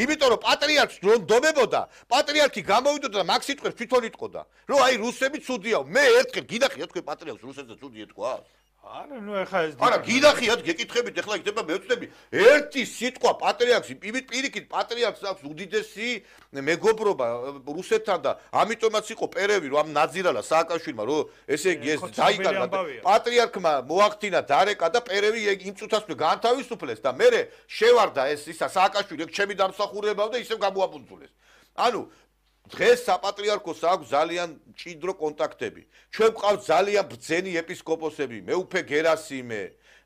იმიტომ რომ პატრიარქს რო ნდობებოდა, პატრიარქი გამოვიდოდა და მაგ სიტყვებს თვითონ იტყოდა, რომ აი რუსები ცუდია. მე ერთხელ გინახიათ თქვენ პატრიარქს რუსეთზე ცუდი ეთქვა? არა, ნუ ეხა ეს არა, გინახიათ, გეკითხებით, ეხლა იქნება მეუწდები. ერთი სიტყვა პატრიარქს, პირიქით პატრიარქს აქვს უდიდესი მეგობრობა რუსეთთან და ამიტომაც იყო პერევი, რომ ამ ნაძირალა სააკაშვილმა, რომ ესე იგი ეს დაიკარგა. პატრიარქმა მოახდინა დარეკა და პერევი იმ წუთას განთავისუფლეს და მე შევარდა ეს ისა სააკაშვილი, ეგ ჩემი დამსახურებაა და ისევ გამოაბუნძულეს. ანუ დღეს საპატრიარქოს აქვს ძალიან მჭიდრო კონტაქტები. ჩვენ გვყავთ ძალიან ბრძენი ეპისკოპოსები, მეუფე გერასიმე,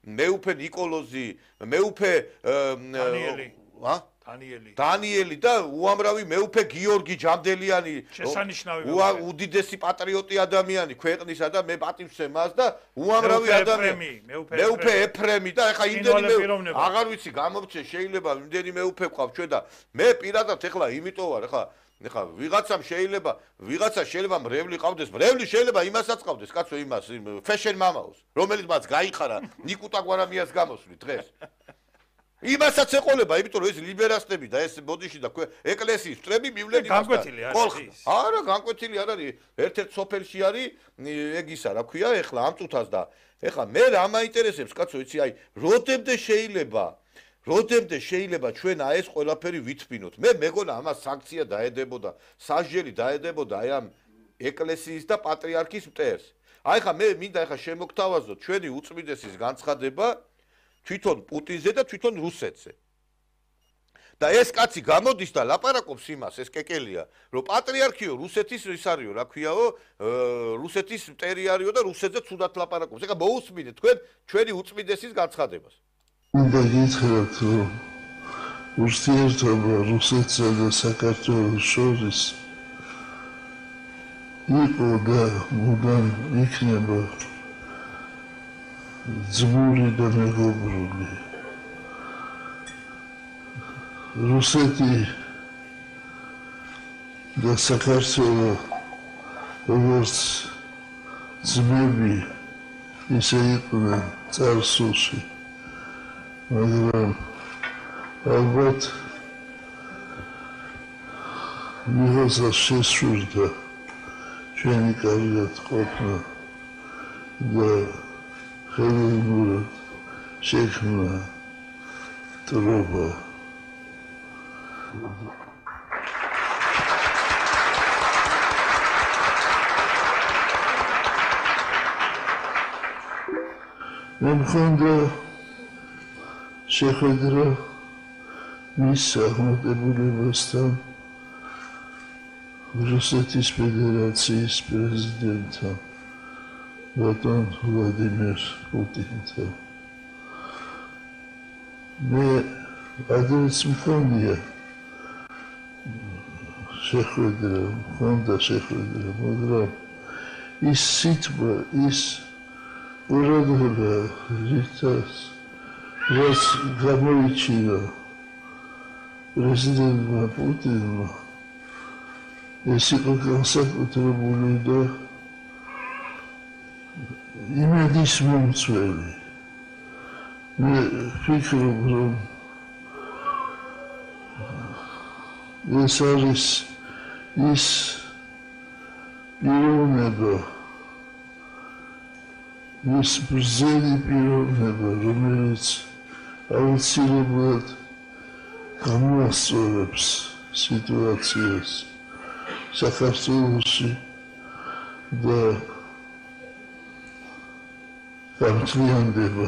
მეუფე ნიკოლოზი, მეუფე დანიელი. ა? დანიელი. დანიელი და უამრავი მეუფე გიორგი ჯამდელიანი, შესანიშნავი უდიდესი პატრიოტი ადამიანი ქვეყნისა და მე პატივცემ მას და უამრავი ადამიანი. მეუფე ეფრემი და ეხა იმდენი მე აღარ ვიცი გამომწე შეიძლება იმდენი მეუფე გვყავთ ჩვენ და მე პირადად ეხლა იმიტომ ვარ ეხლა ეხა ვიღაცამ შეიძლება ვიღაცა შეიძლება მრევლი ყავდეს, მრევლი შეიძლება იმასაც ყავდეს, კაცო იმას, ფეშენ მამაოს, რომელიც მას გაიხარა ნიკუტა გვარამიას გამოსვლით დღეს. იმასაც ეყოლება, იმიტომ რომ ეს ლიბერასტები და ეს ბოდიში და ეკლესიის მტრები მივლენ იმასთან. განკვეთილი არის. არა, განკვეთილი არ არის. ერთ-ერთ სოფელში არის ეგ ისა, რა ქვია, ეხლა ამ წუთას და ეხლა მე რა მაინტერესებს, კაცო, იცი, აი, როდემდე შეიძლება როდემდე შეიძლება ჩვენ აი ეს ყველაფერი ვითბინოთ. მე მეგონა ამას სანქცია დაედებოდა, სასჯელი დაედებოდა აი ამ ეკლესიის და პატრიარქის მტერს. აი ხა მე მინდა ახლა შემოგთავაზოთ ჩვენი უწმიდესის განცხადება თვითონ პუტინზე და თვითონ რუსეთზე. და ეს კაცი გამოდის და ლაპარაკობს იმას, ეს კეკელია, რომ პატრიარქიო რუსეთის ის არისო, რა ქვიაო, რუსეთის მტერი არისო და რუსეთზე ცუდად ლაპარაკობს. ეხლა მოусმინეთ თქვენ ჩვენი უწმიდესის განცხადებას. უნდა გითხრათ, რომ ურთიერთობა რუსეთსა და საქართველოს შორის იყო და მუდამ იქნება ძმური და მეგობრული. რუსეთი და საქართველო როგორც ძმები ისე იყვნენ წარსულში, მაგრამ ალბათ მიღწევს შესურდა ჩვენი კარგად ყოფნა და ხელოვნურად შექმნა დროება. მე მქონდა შეხვედრა მის აღმატებულებასთან რუსეთის ფედერაციის პრეზიდენტთან ბატონ ვლადიმერ პუტინთან. მე ადრეც მქონია შეხვედრა, მქონდა შეხვედრა, მაგრამ ის სიტყვა, ის ურადღება, რითაც რაც გამოიჩინა პრეზიდენტმა პუტინმა, ეს იყო განსაკუთრებული და იმედის მომცველი. მე ვფიქრობ, რომ ეს არის ის პიროვნება, ის ბრძენი პიროვნება, რომელიც აუცილებლად გამოასწორებს სიტუაციას საქართველოში და გამძლიანდება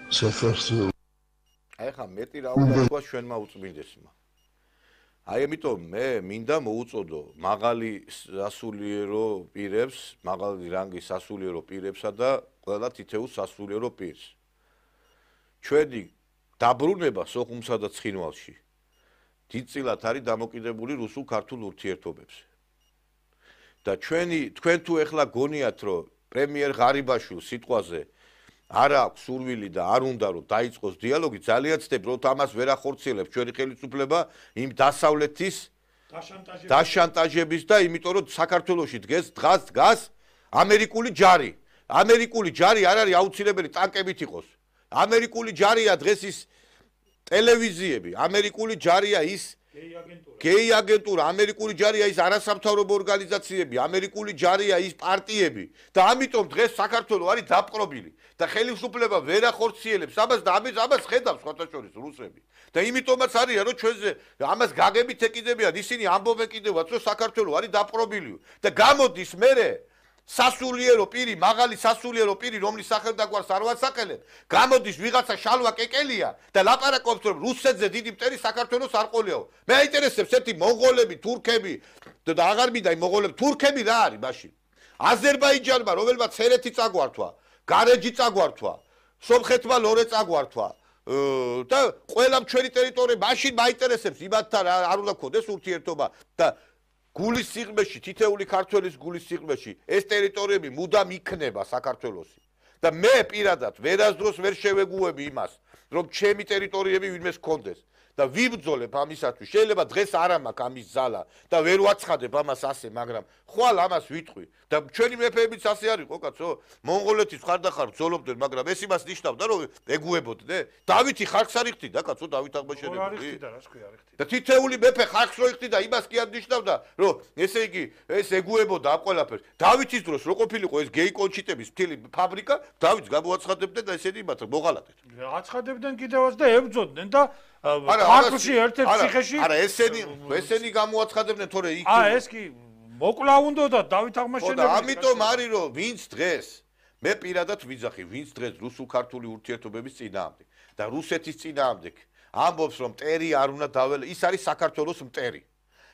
საქართველო. აი ხა მეტი რა უნდა თქვა ჩვენმა უწმინდესმა. აი ამიტომ მე მინდა მოუწოდო მაღალი სასულიერო პირებს, მაღალი რანგის სასულიერო პირებსა და ყველა თითოეულ სასულიერო პირს. ჩვენი დაბრუნება სოხუმსა და ცხინვალში დიდწილად არის დამოკიდებული რუსულ-ქართულ ურთიერთობებზე. და ჩვენი თქვენ თუ ეხლა გონიათ, რომ პრემიერ ღარიბაშვილ სიტყვაზე არ აქვს სურვილი და არ უნდა რომ დაიწყოს დიალოგი, ძალიან ვცდებ, რომ ამას ვერ ახორციელებს ჩვენი ხელისუფლება იმ დასავლეთის დაშანტაჟების და იმიტომ რომ საქართველოში დღეს დღას დგას ამერიკული ჯარი. ამერიკული ჯარი არ არის აუცილებელი ტანკებით იყოს. ამერიკული ჯარია დღეს ის ტელევიზიები, ამერიკული ჯარია ის გეი აგენტურა, ამერიკული ჯარია ის არასამთავრობო ორგანიზაციები, ამერიკული ჯარია ის პარტიები და ამიტომ დღეს საქართველოს არის დაპყრობილი და ხელისუფლება ვერ ახორციელებს ამას და ამას ამას ხედავს სხვათაშორის რუსები. და იმიტომაც არის რომ ჩვენზე ამას გაგებით ეკიდებიან, ისინი ამბობენ კიდევაც რომ საქართველოს არის დაპყრობილი და გამოდის მერე სასულიერო პირი, მაღალი სასულიერო პირი, რომლის სახელდაგვარს არ ვასაყელებ, გამოდის ვიღაცა შალვა კეკელია და ლაპარაკობს რომ რუსეთზე დიდი მტერი საქართველოს არ ყოლიაო. მე აინტერესებს ერთი მონღოლები, თურქები და აღარ მინდა იმ მონღოლები, თურქები რა არის მაშინ? აზერბაიჯანმა, რომელმაც ჰერეთი წაგვართვა, გარეჯი წაგვართვა, სომხეთმა ლორე წაგვართვა და ყველა ჩვენი ტერიტორია მაშინ მაინტერესებს იმათთან არ უნდა გქონდეს ურთიერთობა და გულის სიღრმეში, თითეული ქართველის გულის სიღრმეში ეს ტერიტორიები მუდამ იქნება საქართველოსი. და მე პირადად ვერასდროს ვერ შევეგუები იმას, რომ ჩემი ტერიტორიები ვინმეს გქონდეს და ვიბრძოლებ ამისათვის. შეიძლება დღეს არ მაქვს ამის ძალა და ვერ ვაცხადებ ამას ასე, მაგრამ ხვალ ამას ვიტყვი და ჩვენი მეფეებიც ასე არის ხო კაცო? მონღოლეთის ხარდახარ ბრძოლობდნენ, მაგრამ ეს იმას ნიშნავდა, რომ ეგუებოდნენ. დავითი ხალხს არ იხდიდა, კაცო, დავით აღმაშენებელი. და თითეული მეფე ხალხს რო იხდიდა, იმას კი არ ნიშნავდა, რომ ესე იგი ეს ეგუებოდა ამ ყველაფერს. დავითის დროს რო ყოფილიყო ეს გეი კონჩიტების მთელი ფაბრიკა, დავითს გამოაცხადებდნენ და ესენი მათ მოღალატეთ. აცხადებდნენ კიდევაც და ებრძოდნენ და ქართლში ერთ-ერთ ციხეში არა ესენი ესენი გამოაცხადებდნენ თორე იქ აა ეს კი მოკლა უნდოდა დავით აღმაშენებელი. და ამიტომ არის რომ ვინც დღეს მე პირადად ვიძახი, ვინც დღეს რუსულ-ქართული ურთიერთობების წინააღმდეგ და რუსეთის წინააღმდეგ ამბობს რომ მტერი არ უნდა დაველე, ის არის საქართველოს მტერი.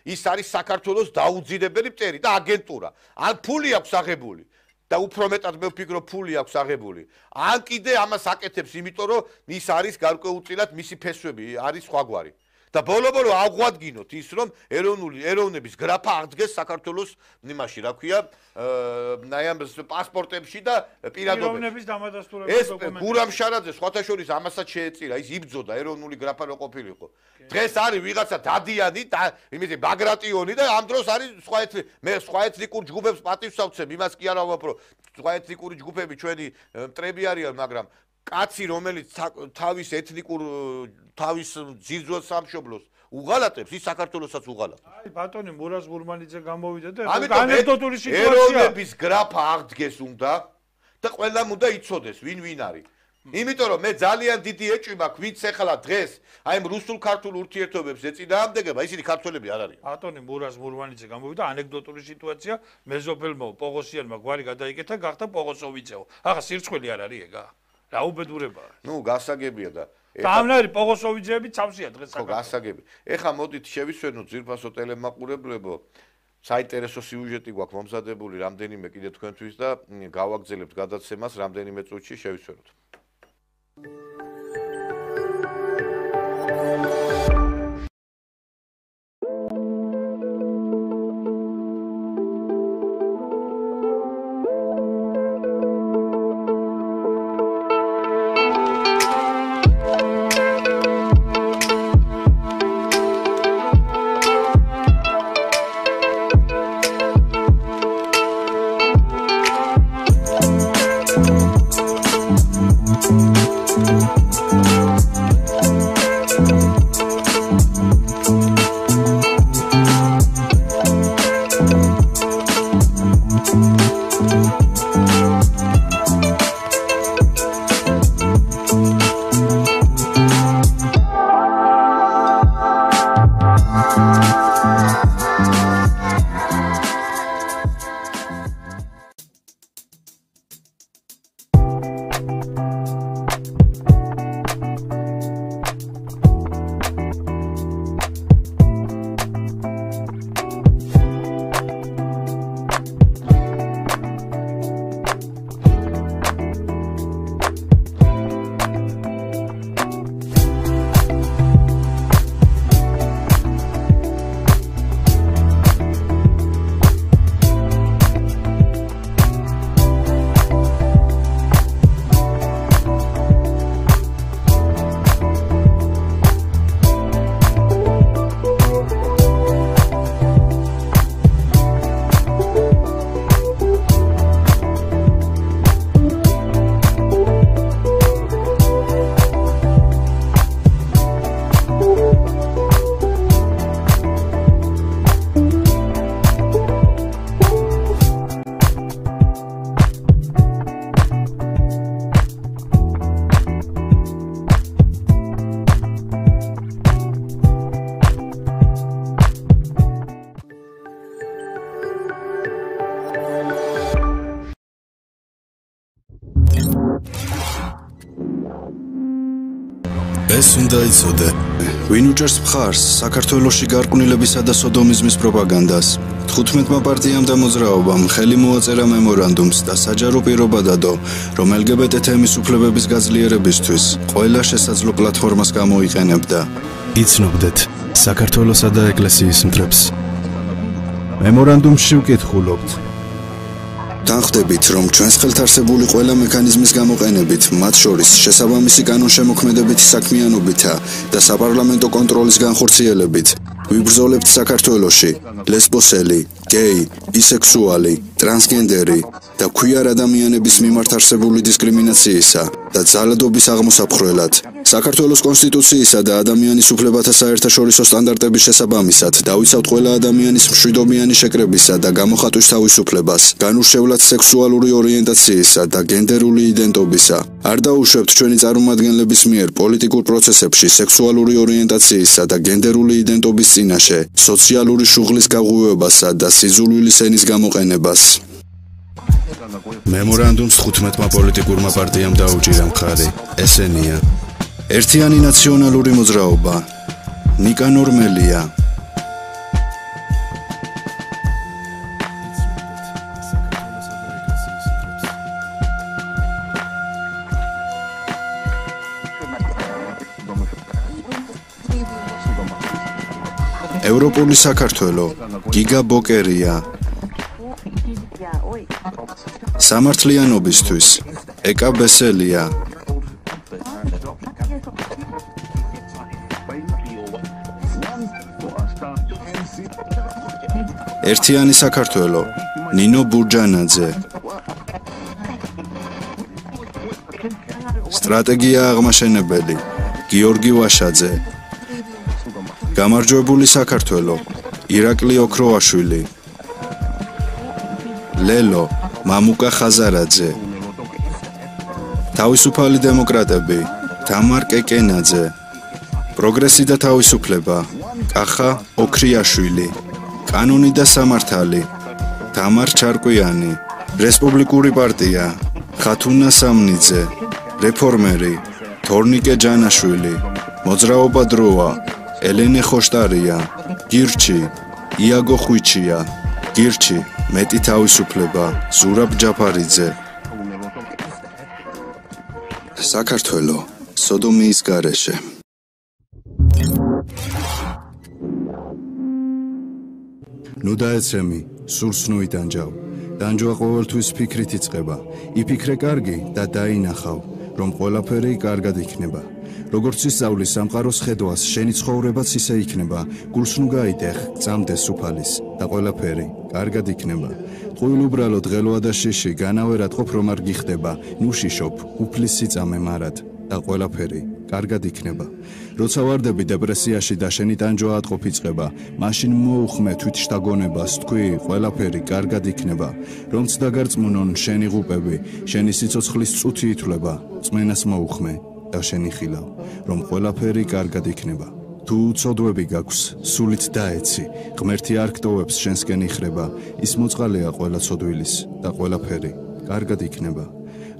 ის არის საქართველოს დაუძინებელი მტერი და აგენტურა. ან ფული აქვს აღებული და უფრო მეტად მე ვფიქრობ ფული აქვს აღებული. ან კიდე ამას აკეთებს, იმიტომ რომ ის არის გარკვეულწილად მისი ფესვები არის სხვაგვარი. და ბოლო-ბოლო აღვადგინოთ ის, რომ ეროვნული ეროვნების გრაფა აღდგეს საქართველოს იმაში, რა ქვია, აი ამ პასპორტებში და პირადობებში. ეროვნების დამადასტურებელი ეს დოკუმენტები. გურამ შარაძე სხვათა შორის ამასაც შეეწირა, ის იბრძოდა ეროვნული გრაფა რო ყოფილიყო. დღეს არის ვიღაცა დადიანი და იმითი ბაგრატიონი და ამ დროს არის სხვა ეთნი მე სხვა ეთნიკურ ჯგუფებს პატივს ავცემ, იმას კი არა ვაფრო, სხვა ეთნიკური ჯგუფები ჩვენი მტრები არიან, მაგრამ კაცი რომელიც თავის ეთნიკურ თავის ძირძველ სამშობლოს უღალატებს, ის საქართველოსაც უღალატებს. აი ბატონი მურაზ გურმანიძე გამოვიდა და ამიტომ ანეკდოტური სიტუაცია. ეროვნების გრაფა აღდგეს უნდა და ყველამ უნდა იცოდეს ვინ ვინ არის. იმიტომ რომ მე ძალიან დიდი ეჭვი მაქვს, ვინც ახლა დღეს აი ამ რუსულ-ქართულ ურთიერთობებს ეწინააღმდეგება, ისინი ქართველები არ არიან. ბატონი მურაზ გურმანიძე გამოვიდა ანეკდოტური სიტუაცია, მეზობელმა პოღოსიანმა გვარი გადაიკეთა, გახდა პოღოსოვიძეო. ახლა სირცხველი არ არის ეგა? რა უბედურებაა? ნუ გასაგებია და და ამნაირი პოღოსოვიძეები ცავსია დღეს საქართველოს. ხო, გასაგები. ეხლა მოდით შევისვენოთ ძირფასო ტელემაყურებლებო. საინტერესო სიუჟეტი გვაქვს მომზადებული რამდენიმე კიდე თქვენთვის და გავაგრძელებთ გადაცემას რამდენიმე წუთში შევისვენოთ. ეს უნდა იცოდე, ვინ უჭერს მხარს საქართველოში გარყვნილებისა და სოდომიზმის პროპაგანდას. თხუთმეტმა პარტიამ და მოძრაობამ ხელი მოაწერა მემორანდუმს და საჯარო პირობა დადო, რომ ელ გი ბე ტე თემის უფლებების გაძლიერებისთვის ყველა შესაძლო პლატფორმას გამოიყენებდა. იცნობდეთ საქართველოსა და ეკლესიის მტრებს. მემორანდუმში ვკითხულობთ. Თანხდებით, რომ ჩვენს ხელთ არსებული ყველა მექანიზმის გამოყენებით, მათ შორის შესაბამისი კანონშემოქმედებითი საქმიანობითა და საპარლამენტო კონტროლის განხორციელებით, ვიბრძოლებთ საქართველოში ლესბოსელი, გეი, ბისექსუალი, ტრანსგენდერი და ქვიარ ადამიანების მიმართ არსებული დისკრიმინაციისა და ძალადობის აღმოსაფხრელად, საქართველოს კონსტიტუციისა და ადამიანის უფლებათა საერთაშორისო სტანდარტების შესაბამისად, დავიცავთ ყველა ადამიანის მშვიდობიანი შეკრებისა და გამოხატვის თავისუფლებას, განურჩევლად სექსუალური ორიენტაციისა და გენდერული იდენტობისა. არ დაუშვებთ ჩვენი წარმომადგენლების მიერ პოლიტიკურ პროცესებში სექსუალური ორიენტაციისა და გენდერული იდენტობის წინაშე, სოციალური შუღლის გაღვივებასა და სიძულვილის ენის გამოყენებას. მემორანდუმს თხუთმეტმა პოლიტიკურმა პარტიამ დაუჭირა მხარი. ესენია: ერთიანი ნაციონალური მოძრაობა, ნიკანორ მელია, ევროპული საქართველო, გიგა ბოკერია. სამართლიანობისთვის, ეკა ბესელია. ერთიანი საქართველო, ნინო ბურჯანაძე. სტრატეგია აღმაშენებელი, გიორგი ვაშაძე. გამარჯვებული საქართველო, ირაკლი ოქროაშვილი. ლელო, მამუკა ხაზარაძე. თავისუფალი დემოკრატები, თამარ კეკენაძე. პროგრესი და თავისუფლება, კახა ოქრიაშვილი. კანონი და სამართალი, თამარ ჩარკვიანი. რესპუბლიკური პარტია, ხათუნა სამნიძე. რეფორმერი, თორნიკე ჯანაშვილი. მოძრაობა დროა, ელენე ხოშტარია. გირჩი, იაგო ხვიჩია. გირჩი, მეტი თავისუფლება, ზურაბ ჯაფარიძე. საქართველო, სოდომიის გარეშე. ნუ დაეცემი, სურს ნუ იტანჯავ. დანჯვა ყოველთვის ფიქრით იწყება. იფიქრე კარგი და დაინახავ, რომ ყველაფერი კარგად იქნება. როგორც ისწავლის სამყაროს ხედვას, შენი ცხოვრებაც ისე იქნება. გულს ნუ გაიტეხ, წამდეს უფალის და ყველაფერი კარგად იქნება. ტყუილ უბრალო დღელოა და შიში, განავერად ყოფ რომ არ გიხდება. ნუ შიშობ, უფლის სიწამე მარად და ყველაფერი კარგად იქნება. როცა ვარდები დეპრესიაში და შენი ტანჯვა ატყობ იწყება, მაშინ მოუხმე თვით შთაგონებას, თქვი ყველაფერი კარგად იქნება. რომც დაგარწმუნონ შენი ღუპები, შენი სიცოცხლის წუთი ითვლება, წმენას მოუხმე და შენი ხილავ, რომ ყველაფერი კარგად იქნება. თუ უცოდვები გაქვს, სულით დაეცი, ღმერთი არ გტოვებს შენსკენ იხრება, ის მოწყალეა ყველა ცოდვილის და ყველაფერი კარგად იქნება.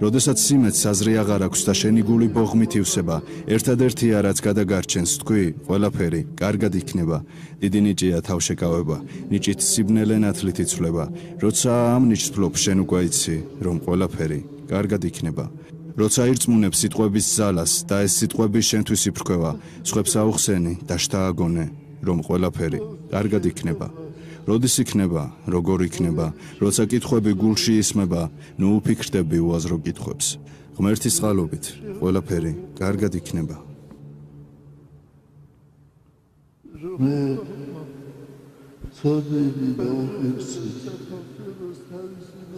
როდესაც სიმეც საზრი აღარ აქვს და შენი გული ბოღმით ივსება, ერთადერთია რაც გადაგარჩენს, თქვი ყველაფერი კარგად იქნება. დიდი ნიჭია თავშეკავება, ნიჭით სიბნელე ნათლით იცვლება. როცა ამ ნიჭს ფლობ, შენ უკვე იცი, რომ ყველაფერი კარგად იქნება. როცა ირწმუნებ სიტყვების ძალას და ეს სიტყვები შენთვის იფრქვევა, სხვებს აუხსენი და შთააგონე, რომ ყველაფერი კარგად იქნება. როდის იქნება, როგორ იქნება, როცა კითხვები გულში ისმება, ნუ უფიქრდები უაზრო კითხვებს. ღმერთის წყალობით ყველაფერი კარგად იქნება. მე ცოდნები დაუხერხე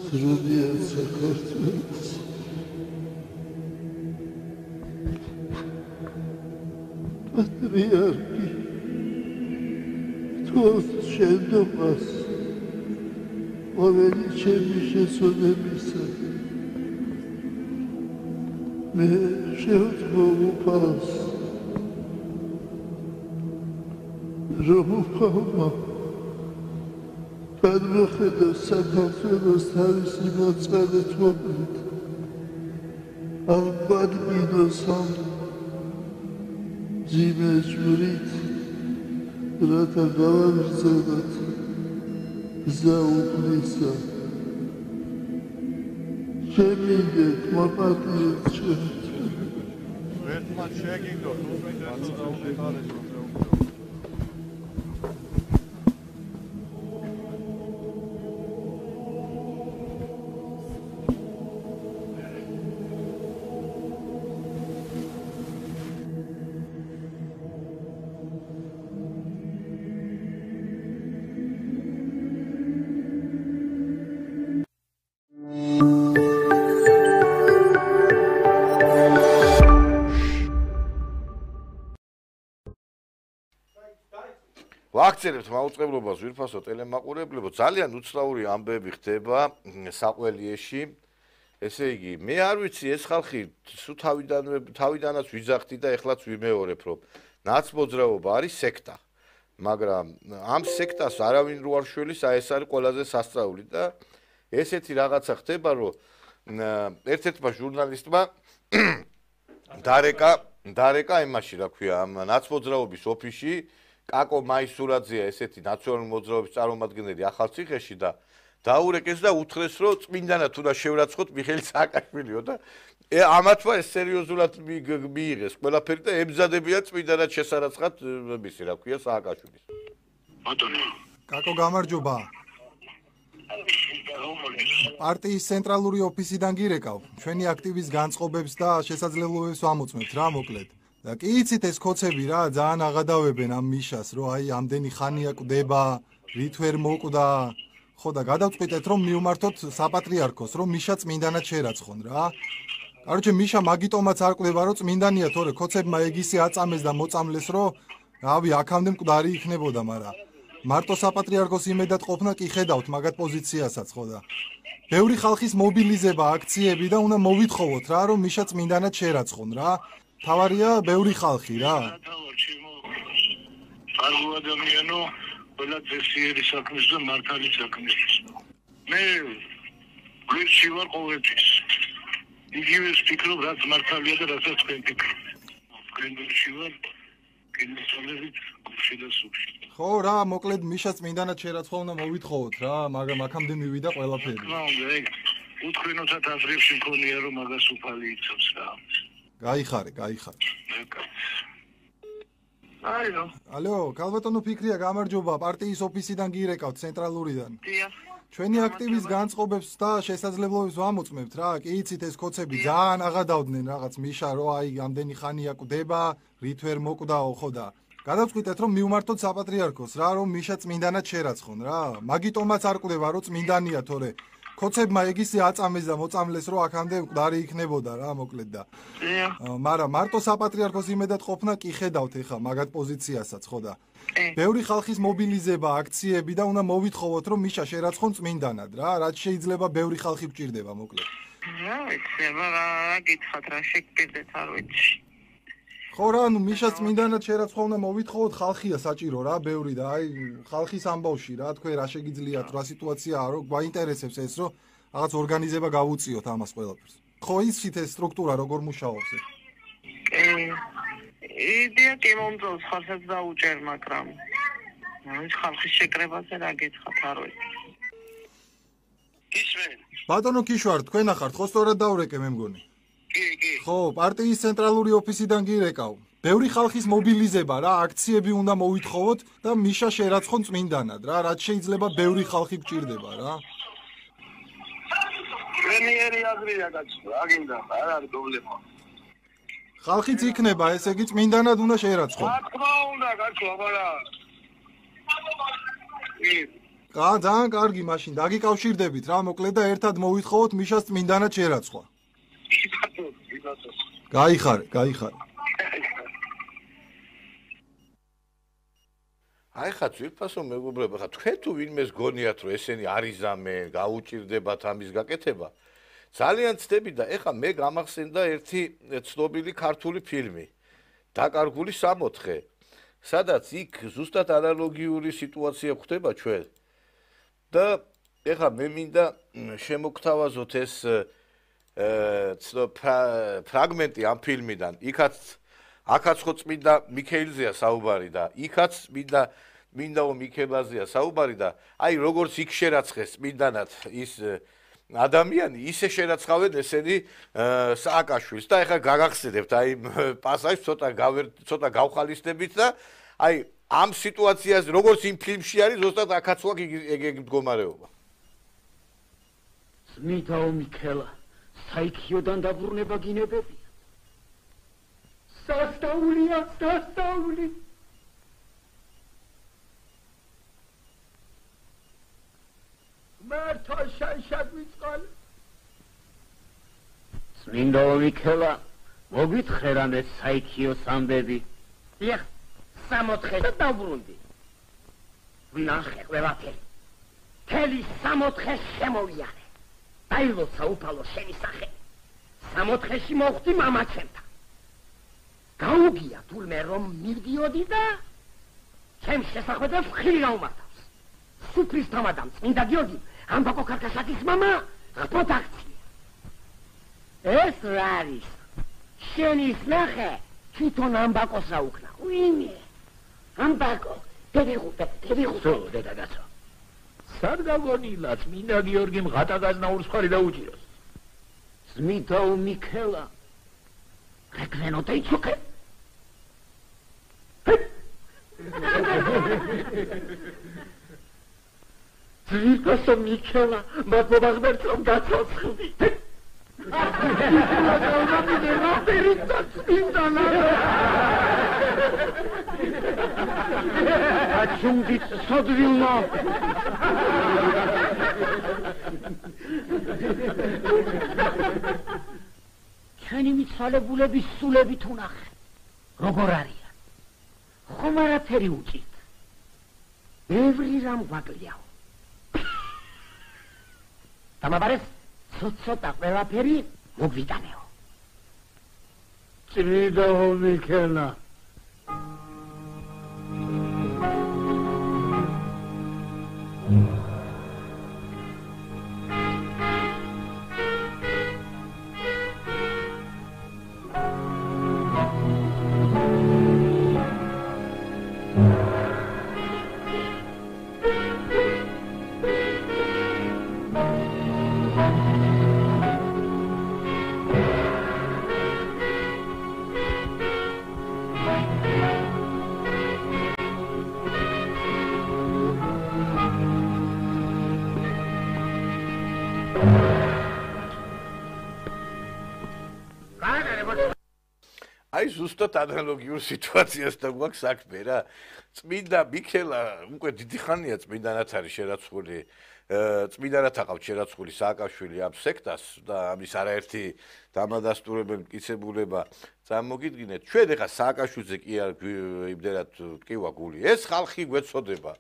სრულიად საქართველოს პატრიარქი თოს შენდობას ყოველი ჩემი შესვენებისა მე შევთხოვ უფალს რომ უფალმა გადმოხედა საქართველოს თავისი მოწყალეთ მომент ამ ბადმინოსამ ძიმე ჭვრით რათა გავაგრძელოთ გზა უფლისა ჩემი მოპატიეთ ჩვენ ერთმანეთს შეგიგდოთ უბრალოდ დაუყარეთ ვაქცერებთ მაუწყებლობას ვირფასო ტელემაყურებლებო ძალიან უცნაური ამბები ხდება საყველიეში ესე იგი მე არ ვიცი ეს ხალხი სულ თავიდანვე თავიდანაც ვიძახდი და ეხლაც ვიმეორებ რომ ნაცმოძრაობა არის სექტა მაგრამ ამ სექტას არავინ რო არ შველის აი ეს არის ყველაზე სასწაული და ესეთი რაღაცა ხდება რომ ერთ-ერთმა ჟურნალისტმა დარეკა დარეკა იმაში რა ქვია ამ ნაცმოძრაობის ოფისში კაკო მაისურაძეა ესეთი ნაციონალური მოძრაობის წარმომადგენელი ახალციხეში და დაურეკეს და უთხრეს რომ წმინდანად უნდა შევრაცხოთ მიხეილ სააკაშვილიო და ამათმა ეს სერიოზულად მიიღეს ყველაფერი და ემზადებიან წმინდანად შესარაცხად მისი რა ქვია სააკაშვილის ბატონო. კაკო გამარჯობა. პარტიის ცენტრალური ოფისიდან გირეკავ. ჩვენი აქტივის განწყობებს და შესაძლებლობებს ვამოწმებთ რა მოკლედ. და კი იცით ეს კოცები რა ძალიან აღადავებენ ამ მიშას, რომ აი ამდენი ხანია კვდება, რით ვერ მოკვდა. ხო და გადავწყვიტეთ რომ მივმართოთ საპატრიარქოს, რომ მიშა წმინდანად შერაცხონ რა. კაროჩე მიშა მაგიტომაც არ კვდება, რომ წმინდანია თორე კოცებმა ეგისი აწამეს და მოწამლეს, რომ რავი აქამდე მკვდარი იქნებოდა, მაგრამ მარტო საპატრიარქოს იმედად ყოფნა კი ხედავთ მაგათ პოზიციასაც ხო და ბევრი ხალხის მობილიზება, აქციები და უნდა მოვითხოვოთ რა, რომ მიშა წმინდანად შერაცხონ რა. თავარია ბევრი ხალხი რა. კარგი ადამიანო, ყველა წესიერი საქმის და მართალი საქმის. მე გვერდში ვარ ყოველთვის. იგივე ვფიქრობ, რაც მართალია და რასაც თქვენ ფიქრობთ. გვერდში ვარ, კინოსალებით გუშინ და სუში. ხო რა, მოკლედ მიშა წმინდანად შერაცხვა უნდა მოვითხოვოთ რა, მაგრამ აქამდე მივიდა ყველაფერი. რა უნდა ეგ უთხრინოთად აზრებში მქონია რომ მაგას უფალი იცავს რა. გაიხარე, გაიხარე. ალო. ალო, კალბატონო ფიქრია, გამარჯობა, პარტიის ოფისიდან გირეკავთ ცენტრალურიდან. დიახ. ჩვენი აქტივის განწყობებს და შესაძლებლობებს ვამოწმებთ რა. კი იცით ეს კოცები ძალიან აღადავდნენ რაღაც მიშა, რომ აი ამდენი ხანია კვდება, რით ვერ მოკვდაო ხო და გადავწყვიტეთ რომ მივმართოთ საპატრიარქოს რა, რომ მიშა წმინდანად შერაცხონ რა. მაგიტომაც არ კვდება, რომ წმინდანია თორე კოცებმა ეგისი აწამეს და მოწამლეს, რომ აქამდე მკვდარი იქნებოდა რა, მოკლედ და. მაგრამ მარტო საპატრიარქოს იმედად ყოფნა კი ხედავთ ეხა მაგათ პოზიციასაც ხო და. ბევრი ხალხის მობილიზება, აქციები და უნდა მოვითხოვოთ, რომ მიშა შერაცხონ წმინდანად რა, რაც შეიძლება ბევრი ხალხი გჭირდება, მოკლედ. რა ვიცი, რა გითხათ, რა შეგკიდეთ, არ ვიცი. ხო რა, ნუ მიშა წმინდანად შერაცხვა უნდა მოვითხოვოთ, ხალხია საჭირო რა, ბევრი და აი ხალხის ამბავში რა, თქვენ რა შეგიძლიათ, რა სიტუაციაა, რომ გვაინტერესებს ეს, რომ რაღაც ორგანიზება გავუწიოთ ამას ყველაფერს. ხო იცით ეს სტრუქტურა როგორ მუშაობს ეს? იდეა კი მომწონს, ხალხს დაუჭერ, მაგრამ ის ხალხის შეკრებაზე რა გეცხათ, არ ვიცი. ისმენ. ბატონო კიშვარ, თქვენ ახართ, ხო სწორად დავრეკე მე მგონი? კი, კი. ხო, პარტიის ცენტრალური ოფისიდან გირეკავ. ბევრი ხალხის მობილიზება რა, აქციები უნდა მოვითხოვოთ და მიშა შერაცხონ წმინდანად რა, რაც შეიძლება ბევრი ხალხი გჭირდება რა. პრემიერი აზრია გაჩნდა, აგინდა, არ არის პრობლემა. ხალხიც იქნება, ესე იგი წმინდანად უნდა შერაცხონ. რა თქმა უნდა, გაჩვლა, მაგრამ კა, ძალიან კარგი მაშინ, დაგიკავშირდებით რა, მოკლედ და ერთად მოვითხოვოთ მიშას წმინდანად შერაცხვა. გაიხარე, გაიხარე. აი ხა ძვირფასო მეგობრებო, ხა თქვენ თუ ვინმეს გონიათ რომ ესენი არიზამენ, გაუჭირდებათ ამის გაკეთება? ძალიან ცდები და ეხა მე გამახსენდა ერთი ცნობილი ქართული ფილმი დაკარგული სამოთხე, სადაც იქ ზუსტად ანალოგიური სიტუაცია ხდება ჩვენ. და ეხა მე მინდა შემოგთავაზოთ ეს ფრაგმენტი ამ ფილმიდან. იქაც აქაც ხო წმინდა მიქეილზეა საუბარი და იქაც მინდა მინდაო მიქელაზეა საუბარი და აი როგორც იქ შერაცხეს წმინდანად ის ადამიანი, ისე შერაცხავენ ესენი სააკაშვილს და ეხლა გაგახსენებთ აი პასაჟს ცოტა ცოტა გავხალისდებით და აი ამ სიტუაციას როგორც იმ ფილმში არის, ზუსტად აქაც ვაკ ეგ მდგომარეობა. წმინდაო მიქელა, საიქიოდან დაბრუნება გინებებია. სასწაულია, სასწაული. მართო შანშად ვიწყალე. წმინდაო მიქელა, მოგვითხრან ეს საიქიოს ამბები. დიახ, სამოთხე დაბრუნდი. ვნახე ყველაფერი. თელი სამოთხე შემოვიარე. დაილოცა უფალო შენი სახე. სამოთხეში მოხვდი მამაცემთან. გაუგია თურმე რომ მივდიოდი და ჩემს შესახვედრებს ხილი გაუმართავს. სუფრის თამადამ წმინდა გიორგი ამბაკო კარკაშატის მამა ღპოთაქცია. ეს რა არის? შენის ნახე თვითონ ამბაკოს აუქნა. ვინმე? ამბაკო, დედიღუპე, დედიღუპე. სულ დედაგაცო. სად გაგონილა წმინდა გიორგიმ ღატაგაზნაურს ხარი დაუჭიროს. წმინდაო მიქელა რეკвено დაიცოკე. ძვირფასო მიქელა, მადლობა ღმერთს რომ გაცოცხლდი. Ачундит содвилно. ჩვენი მიცვალებულების სულებით უნახე. როგორ არიან? ხომ არაფერი უჭირთ. ბევრი რამ გვაკლიაო. დამაბარეს ცოტ-ცოტა ყველაფერი მოგვიტანეო. წმინდა მიქელა. აი ზუსტად ანალოგიურ სიტუაციასთან გვაქვს საქმე რა. წმინდა მიქელა უკვე დიდი ხანია წმინდანად არის შერაცხული. წმინდანად აყავთ შერაცხული სააკაშვილი ამ სექტას და ამის არაერთი დამადასტურებელი მტკიცებულება წარმოგიდგინეთ. ჩვენ ეხა სააკაშვილზე კი არ იმდენად ტკივა გული. ეს ხალხი გვეცოდება.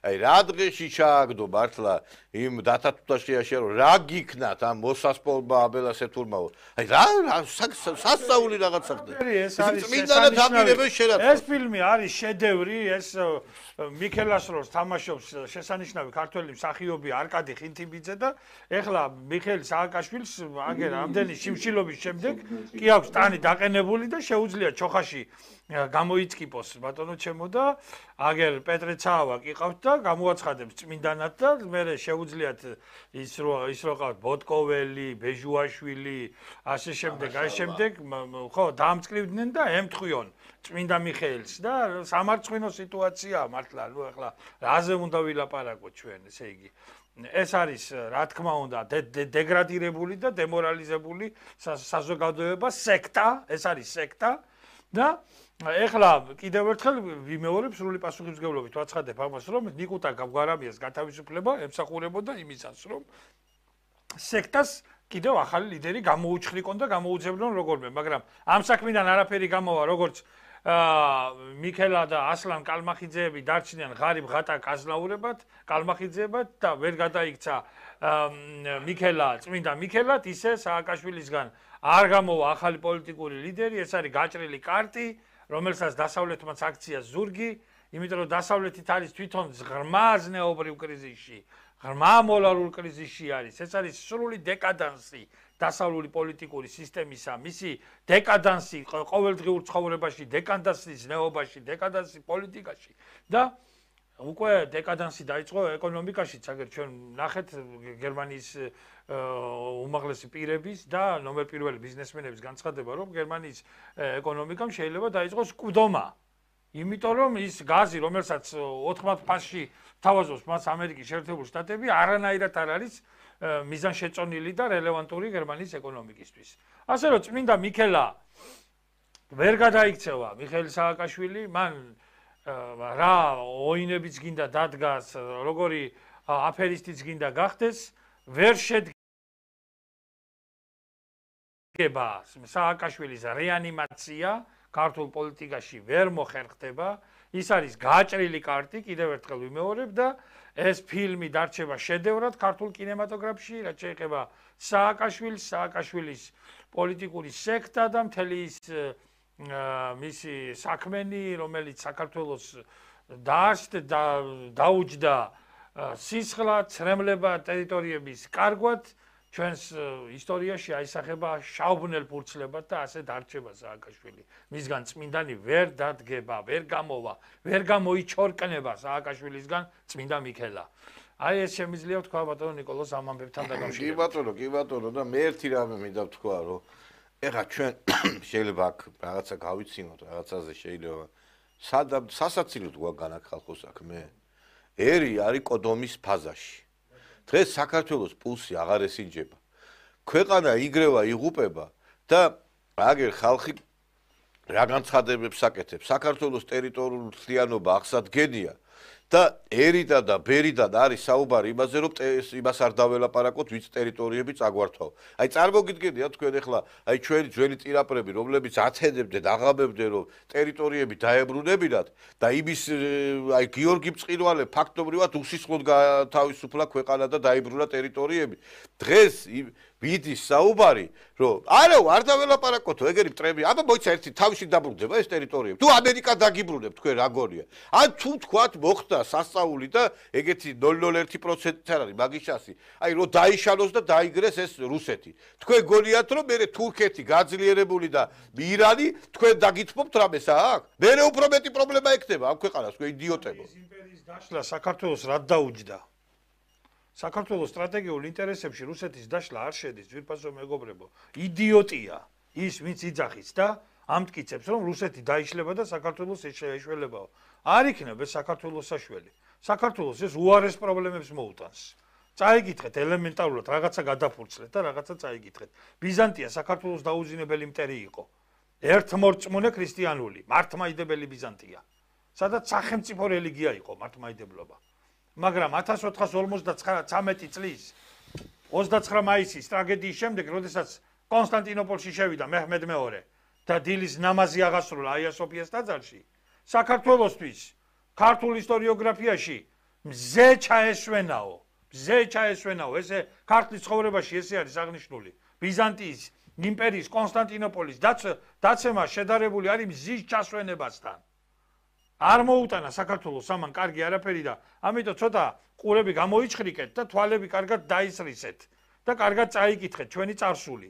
აი რა დღეში ჩააგდო მართლა იმ დათათუთაშიაში რომ რა გიქნათ ამ მოსასპოლმა აბელასეთურმაო. აი რა სასწაული რაღაცა ხდება. ეს არის წმინდანად აპირებენ შერაცხული. ეს ფილმი არის შედევრი, ეს მიქელას როლს თამაშობს შესანიშნავი ქართველი მსახიობი არკადი ხინთიბიძე და ეხლა მიხეილ სააკაშვილს აგერ ამდენი შიმშილობის შემდეგ კი აქვს ტანი დაყენებული და შეუძლია ჩოხაში გამოიწკიპოს ბატონო ჩემო და აგერ პეტრე ცაავა კი ყავთ და გამოაცხადებს წმინდანად და მე შეუძლიათ ის რო ის რო ყავთ ბოტკოველი, ბეჟუაშვილი, ასე შემდეგ, აი შემდეგ ხო დაამწყრივდნენ და ემთხვიონ წმინდა მიხეილს და სამარცხვინო სიტუაციაა მართლა ნუ ახლა რაზე უნდა ვილაპარაკოთ ჩვენ ესე იგი ეს არის რა თქმა უნდა დეგრადირებული და დემორალიზებული საზოგადოება სექტა ეს არის სექტა და ეხლა კიდევ ერთხელ ვიმეორებ სრული პასუხისმგებლობით ვაცხადებ ამას რომ ნიკუტა გაგვარამიას გათავისუფლება ემსახურებოდა იმისას რომ სექტას კიდევ ახალი ლიდერი გამოუჩხრიკონ და გამოუძებნონ როგორმე მაგრამ ამ საქმიდან არაფერი გამოვა როგორც მიქელა და ასლან კალმახიძეები დარჩნენ ღარიბ ღატაკ აზნაურებად, კალმახიძეებად და ვერ გადაიქცა მიქელა, წმინდა მიქელად, ისე სააკაშვილისგან არ გამოვა ახალი პოლიტიკური ლიდერი, ეს არის გაჭრილი კარტი, რომელსაც დასავლეთმაც აქცია ზურგი, იმიტომ რომ დასავლეთით არის თვითონ ღრმა ზნეობრივ კრიზისში, ღრმა მორალურ კრიზისში არის, ეს არის სრული დეკადანსი. დასავლური პოლიტიკური სისტემისა, მისი დეკადანსი ყოველდღიურ ცხოვრებაში, დეკადანსის ნეობაში, დეკადანსი პოლიტიკაში და უკვე დეკადანსი დაიწყო ეკონომიკაშიც, აგერ ჩვენ ნახეთ გერმანიის უმაღლესი პირების და ნომერ პირველი ბიზნესმენების განცხადება, რომ გერმანიის ეკონომიკამ შეიძლება დაიწყოს კვდომა. იმიტომ რომ ის გაზი, რომელსაც ოთხმად ფასში თავაზობს მას ამერიკის შეერთებული შტატები, არანაირად არ არის მიზანშეწონილი და რელევანტური გერმანიის ეკონომიკისთვის. ასე რომ წმინდა მიქელა ვერ გადაიქცევა მიხეილ სააკაშვილი, მან რა ოინებიც გინდა დადგას, როგორი აფერისტიც გინდა გახდეს, ვერ შედგება სააკაშვილის რეანიმაცია ქართულ პოლიტიკაში ვერ მოხერხდება, ის არის გაჭრილი კარტი, კიდევ ერთხელ ვიმეორებ და ეს ფილმი დარჩება შედევრად ქართულ კინემატოგრაფში, რაც შეეხება სააკაშვილს, სააკაშვილის პოლიტიკური სექტა და მთელი ის მისი საქმენი, რომელიც საქართველოს დაუჯდა სისხლად, ცრემლება ტერიტორიების კარგვად, ჩვენს ისტორიაში აისახება შავბნელ ფურცლებად და ასე დარჩება სააკაშვილი. მისგან წმინდანი ვერ დადგება, ვერ გამოვა, ვერ გამოიჩორკნება სააკაშვილისგან წმინდა მიქელა. აი ეს შემიძლია ვთქვა ბატონო ნიკოლოზ ამ ამბებთან დაკავშირებით. კი ბატონო, კი ბატონო და მე ერთი რამე მინდა ვთქვა, რომ ეხლა ჩვენ შეიძლება აქ რაღაცა გავიცინოთ, რაღაცაზე შეიძლება სადამ სასაცილოდ გვაგან აქ ხალხო საქმე. ერი არის კოდომის ფაზაში. დღეს საქართველოს პულსი აღარ ესინჯება. ქვეყანა იგრევა იღუპება და აგერ ხალხი რა განცხადებებს აკეთებს. საქართველოს ტერიტორიული მთლიანობა აღსადგენია და ერიდან და ბერიდან არის საუბარი იმაზე, რომ იმას არ დაველაპარაკოთ, ვიც ტერიტორიები წაგვართვაო. აი წარმოგიდგენია თქვენ ახლა, აი ჩვენი ძველი წინაპრები, რომლებიც ათენებდნენ, აღამებდნენ, რომ ტერიტორიები დაებრუნებინათ და იმის აი გიორგი მწყინვალე ფაქტობრივად უსისხლოდ გათავისუფლა ქვეყანა და დაიბრუნა ტერიტორიები. დღეს ვიდის საუბარი, რომ არა, არ დაველაპარაკოთო, ეგერი მტრები, აბა მოიცა ერთი თავში დაბრუნდება ეს ტერიტორიები. თუ ამერიკა დაგიბრუნებ, თქვენ რა გონია? ან თუ თქვათ მოხდა სასწაული და ეგეთი ნული ნული ერთი პროცენტი არ არის მაგის ჩასი. აი რომ დაიშალოს და დაიგრეს ეს რუსეთი. თქვენ გონიათ რომ მე თურქეთი გაძლიერებული და ირანი თქვენ დაგითმობთ რამეს აქ? მე უფრო მეტი პრობლემა ექნება ამ ქვეყანას, თქვენ იდიოტებო. ეს იმპერიის დაშლა საქართველოს რად დაუჯდა? საქართველოს სტრატეგიულ ინტერესებში რუსეთის დაშლა არ შედის, ძვირფასო მეგობრებო. იდიოტია ის, ვინც იძახის და ამტკიცებს, რომ რუსეთი დაიშლება და საქართველოს ეშველებაო. არ იქნება ეს საქართველოს საშველი. საქართველოს ეს უარეს პრობლემებს მოუტანს. წაიგითხეთ ელემენტარულად რაღაცა გადაფურცლეთ და რაღაცა წაიგითხეთ. ბიზანტია საქართველოს დაუძინებელი მტერი იყო. ერთმორწმუნე ქრისტიანული, მართლმადიდებელი ბიზანტია. სადაც სახელმწიფო რელიგია იყო მართლმადიდებლობა. მაგრამ ათას ოთხას ორმოცდათრამეტი წლის ოცდაცხრა მაისის ტრაგედიის შემდეგ, როდესაც კონსტანტინოპოლში შევიდა მეჰმედ მეორე და დილის ნამაზი აღასრულა აია სოფიას ტაძარში, საქართველოსთვის ქართულ ისტორიოგრაფიაში მზე ჩაესვენაო, მზე ჩაესვენაო, ესე ქართლის ცხოვრებაში ესე არის აღნიშნული. ბიზანტიის იმპერიის კონსტანტინოპოლის დაცემა შედარებული არის მზის ჩასვენებასთან. არ მოუტანა საქართველოს ამან კარგი არაფერი და ამიტომ ცოტა ყურები გამოიჩხრიკეთ და თვალები კარგად დაისრისეთ და კარგად წაიკითხეთ ჩვენი წარსული.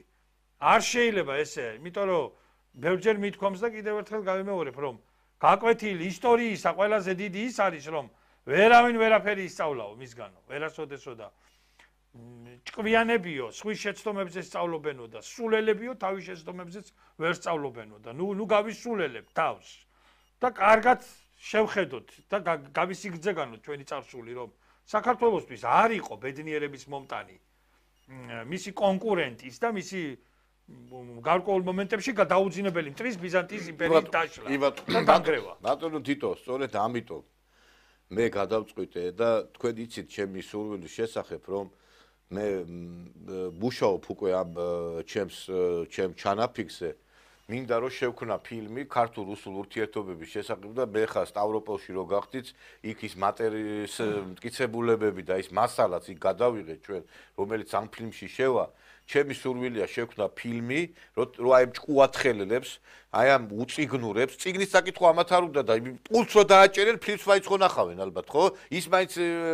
არ შეიძლება ესე, იმიტომ რომ ბევრჯერ მithქვამს და კიდევ ერთხელ გავიმეორებ, რომ გაკვეთილი ისტორიისა ყველაზე დიდი ის არის, რომ ვერავინ ვერაფერი ისწავლაო მისგანო, ვერასოდესო და ჭკვიანებიო, სხვის შეცდომებზე სწავლობენო და სულელებიო, თავის შეცდომებზეც ვერ სწავლობენო და ნუ ნუ გავისულელებთ თავს. და კარგად შევხედოთ და გავისიგრძეგანოთ ჩვენი წარსული, რომ საქართველოსთვის არ იყო ბედნიერების მომტანი მისი კონკურენტის და მისი გარკვეულ მომენტებში გადაუძინებელი მტრის ბიზანტიის იმპერიის დაშლა და დანგრევა. ბატონო თითო, სწორედ ამიტომ მე გადავწყვიტე და თქვენ იცით ჩემი სურვილის შესახებ, რომ მე მუშაობ უკვე ამ ჩემს ჩემ ჩანაფიქზე. მინდა რომ შევქნა ფილმი ქართულ-რუსულ ურთიერთობების შესახებ და მე ხა სტავროპოლში რო გახდით, იქ ის მატერიის მტკიცებულებები და ის მასალაც იქ გადავიღეთ ჩვენ, რომელიც ამ ფილმში შევა. ჩემი სურვილია შევქნა ფილმი, რომ აი ჭკუათხელებს, აი ამ უწიგნურებს, წიგნის საკითხვა ამათ არ უნდა და პულს რო დააჭერენ, ფილმს მაინც ხო ნახავენ ალბათ, ხო? ის მაინც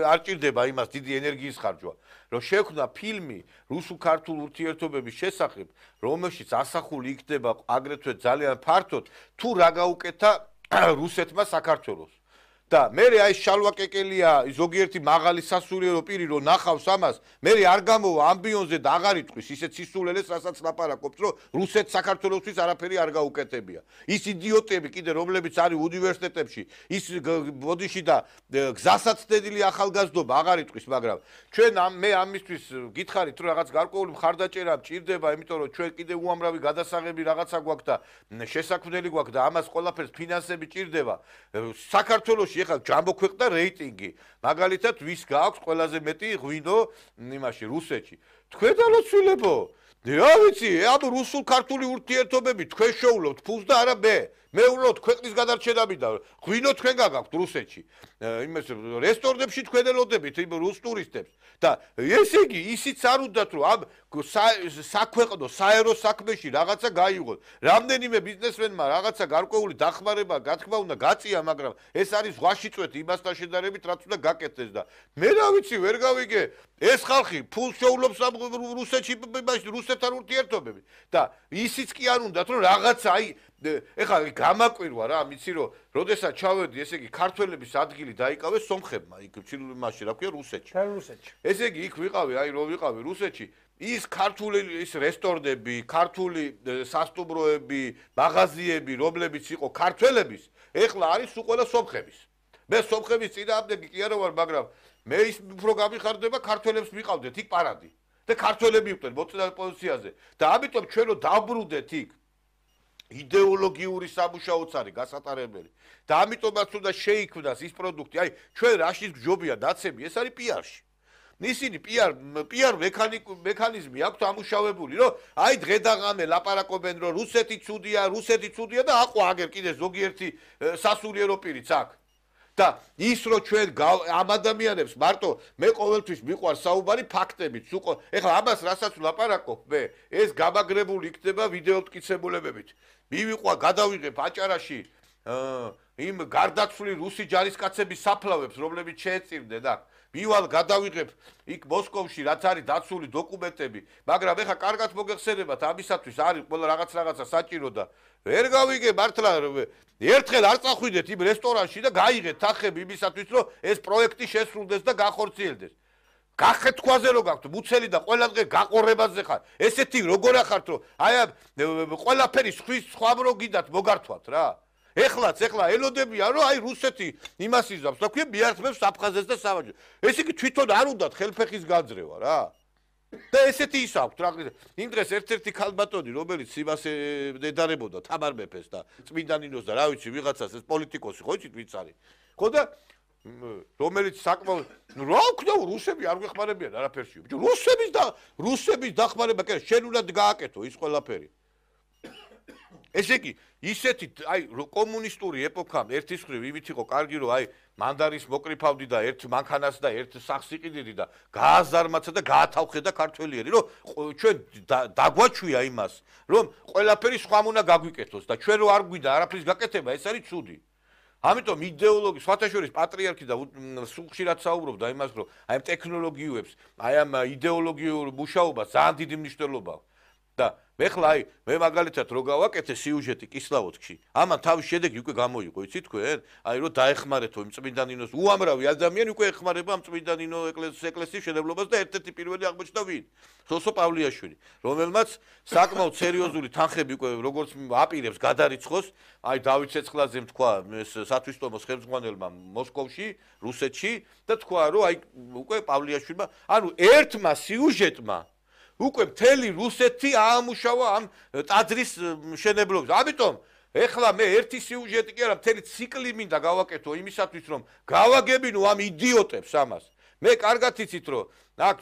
არ ჭირდება იმას დიდი ენერგიის ხარჯვა. რომ შევქნა ფილმი რუსულ-ქართულ ურთიერთობების შესახებ, რომელშიც ასახული იქნება აგრეთვე ძალიან ფართოდ, თუ რა გაუკეთა რუსეთმა საქართველოს. და მე აი შალვა კეკელია ზოგიერთი მაღალი სასულიერო პირი რო ნახავს ამას, მე არ გამოვა ამბიონზე და აღარ იტყვის ისეთ სისულელეს, რასაც ლაპარაკობს, რომ რუსეთ საქართველოსთვის არაფერი არ გაუკეთებია. ის იდიოტები კიდე რომლებიც არის უნივერსიტეტებში, ის ბოდიში და გზასაცდენილი ახალგაზრდობა აღარ იტყვის, მაგრამ ჩვენ მე ამისთვის გითხარით, რომ რაღაც გარკვეული მხარდაჭერა მჭირდება, იმიტომ რომ ჩვენ კიდე უამრავი გადასაღები რაღაცა გვაქვს და შესაქმნელი გვაქვს და ამას ყველაფერს ფინანსები ჭირდება. საქართველოში ეხლა ჯამბო ქვეყნა რეიტინგი. მაგალითად, ვის გააქვს ყველაზე მეტი ღვინო იმაში რუსეთში. თქვენ დალოცვილებო. რა ვიცი, ამ რუსულ-ქართული ურთიერთობები თქვენ შეულობთ ფულს და არა მე. მე ვლოთ ქვეყნის გადარჩენა მინდა. ღვინო თქვენ გაგაქვთ რუსეთში. იმას რესტორნებში თქვენ ელოდებით იმ რუს ტურისტებს. და ესე იგი, ისიც არ უნდათ რომ ამ საქვეყნო საერო საქმეში რაღაცა გაიღოთ. რამდენიმე ბიზნესმენმა რაღაცა გარკვეული დახმარება, გათქმა უნდა გაწია, მაგრამ ეს არის ზღვაში წვეთი იმასთან შედარებით, რაც უნდა გაკეთდეს და მე რა ვიცი, ვერ გავიგე, ეს ხალხი ფულს შეულობს ამ რუსეთში, რუსეთთან ურთიერთობები და ისიც კი არ უნდათ რომ რაღაცა აი ეხლა გამაკვირვა რა, მიცი რომ როდესაც ჩავედი, ესე იგი ქართველების ადგილი დაიკავეს სომხებმა, იქ ჩილიმაში, რა ქვია, რუსეთში. რუსეთში. ესე იგი იქ ვიყავი, აი რომ ვიყავი რუსეთში, ის ქართული ის რესტორნები, ქართული სასტუმროები, მაღაზიები, რომლებიც იყო ქართველების, ეხლა არის უყველა სომხების. მე სომხების წინააღმდეგი კი არა ვარ, მაგრამ მე ის უფრო გამიხარდება ქართველებს მიყავდეთ იქ პარადი და ქართველები იყვნენ მოწინავე პოზიციაზე და ამიტომ ჩვენ რო დავბრუნდეთ იქ იდეოლოგიური სამუშაოც არის გასატარებელი და ამიტომაც უნდა შეიქმნას ის პროდუქტი, აი ჩვენ რაშიც გჯობია ნაცები, ეს არის პიარში. ისინი პიარ პიარ მექანიზმი აქვთ ამუშავებული, რომ აი დღე და ღამე ლაპარაკობენ, რომ რუსეთი ცუდია, რუსეთი ცუდია და აყვა აგერ კიდე ზოგიერთი სასულიერო პირიც აქ. და ის რო ჩვენ ამ ადამიანებს მარტო მე ყოველთვის მიყვარს საუბარი ფაქტებით, უყო ეხლა ამას რასაც ლაპარაკობ მე, ეს გამაგრებული იქნება ვიდეო მტკიცებულებებით. მივიყვა გადავიღებ აჭარაში იმ გარდაცვლილი რუსი ჯარისკაცების საფლავებს, რომლებიც შეეწირდნენ აქ. მივალ გადავიღებ იქ მოსკოვში რაც არის დაცული დოკუმენტები, მაგრამ ეხა კარგად მოგეხსენებათ ამისათვის არის ყველა რაღაც რაღაცა საჭირო და ვერ გავიგებ მართლა ერთხელ არ წახვიდეთ იმ რესტორანში და გაიღეთ თანხები იმისათვის რომ ეს პროექტი შესრულდეს და გახორციელდეს. გახეთ თქვაზე რო გაქვთ მუცელი და ყველა დღე გაყორებაზე ხარ. ესეთი როგორ ახართ რომ აი ყველაფერი სხვის სხვამ რო გიდათ მოგართვათ რა. ეხლაც ეხლა ელოდებიან რომ აი რუსეთი იმას იზამს და ქვია მიართმევს აფხაზეთს და სამაჯოს. ეს იგი თვითონ არ უნდათ ხელფეხის გაძრევა რა. და ესეთი ის აქვს რა. იმ დღეს ერთ-ერთი ქალბატონი რომელიც იმას ედარებოდა თამარ მეფეს და წმინდა ნინოს და რა ვიცი ვიღაცას ეს პოლიტიკოსი ხო იცით ვინც არის. ხო და რომელიც საკმაოდ რა ვქნა რუსები არ გვეხმარებიან არაფერში. რუსების და რუსების დახმარება კი შენ უნდა გააკეთო ის ყველაფერი. ესე იგი ისეთი აი კომუნისტური ეპოქამ ერთის მხრივ იმით იყო კარგი რომ აი მანდარის მოკრიფავდი და ერთ მანქანას და ერთ სახს იყიდიდი და გააზარმაცა და გაათავხედა ქართველიერი რომ ჩვენ დაგვაჩვია იმას რომ ყველაფერი სხვამ უნდა გაგვიკეთოს და ჩვენ რო არ გვიდა არაფრის გაკეთება ეს არის ცუდი. ამიტომ იდეოლოგი სხვათა შორის პატრიარქი და სულ ხშირად საუბრობდა იმას რომ აი ამ ტექნოლოგიებს აი ამ იდეოლოგიურ მუშაობას ძალიან დიდი მნიშვნელობა აქვს. და ეხლა აი მე მაგალითად რო გავაკეთე სიუჟეტი კისლავოდში ამან თავის შედეგი უკვე გამოიყო იცი თქვენ აი რო დაეხმარეთო იმ წმინდა ნინოს უამრავი ადამიანი უკვე ეხმარება ამ წმინდა ნინო ეკლესიის შენებლობას და ერთ-ერთი პირველი აღმოჩნდა ვინ სოსო პავლიაშვილი რომელმაც საკმაოდ სერიოზული თანხები უკვე როგორც აპირებს გადარიცხოს აი დავით ცეცხლაძემ თქვა ეს სათვისტომოს ხელმძღვანელმა მოსკოვში რუსეთში და თქვა რომ აი უკვე პავლიაშვილმა ანუ ერთმა სიუჟეტმა უკვე მთელი რუსეთი აამუშავა ამ ტაძრის შენებლობას. ამიტომ ეხლა მე ერთი სიუჟეტი კი არა, მთელი ციკლი მინდა გავაკეთო იმისათვის, რომ გავაგებინო ამ იდიოტებს ამას. მე კარგად იცით, რომ აქ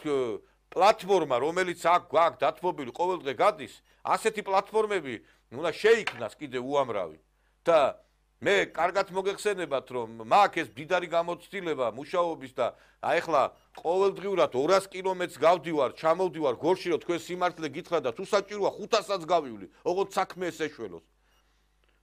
პლატფორმა, რომელიც აქ გვაქვს დათმობილი ყოველდღე გადის, ასეთი პლატფორმები უნდა შეიქმნას კიდე უამრავი. და მე კარგად მოგეხსენებათ, რომ მაქვს ეს დიდარი გამოცდილება მუშაობის და აი ახლა ყოველდღიურად ორას კილომეტრს გავდივარ, ჩამოვდივარ გორში, რომ თქვენ სიმართლე გითხრათ და თუ საჭიროა ხუთასაც გავივლი, ოღონდ საქმე ეს ეშველოს.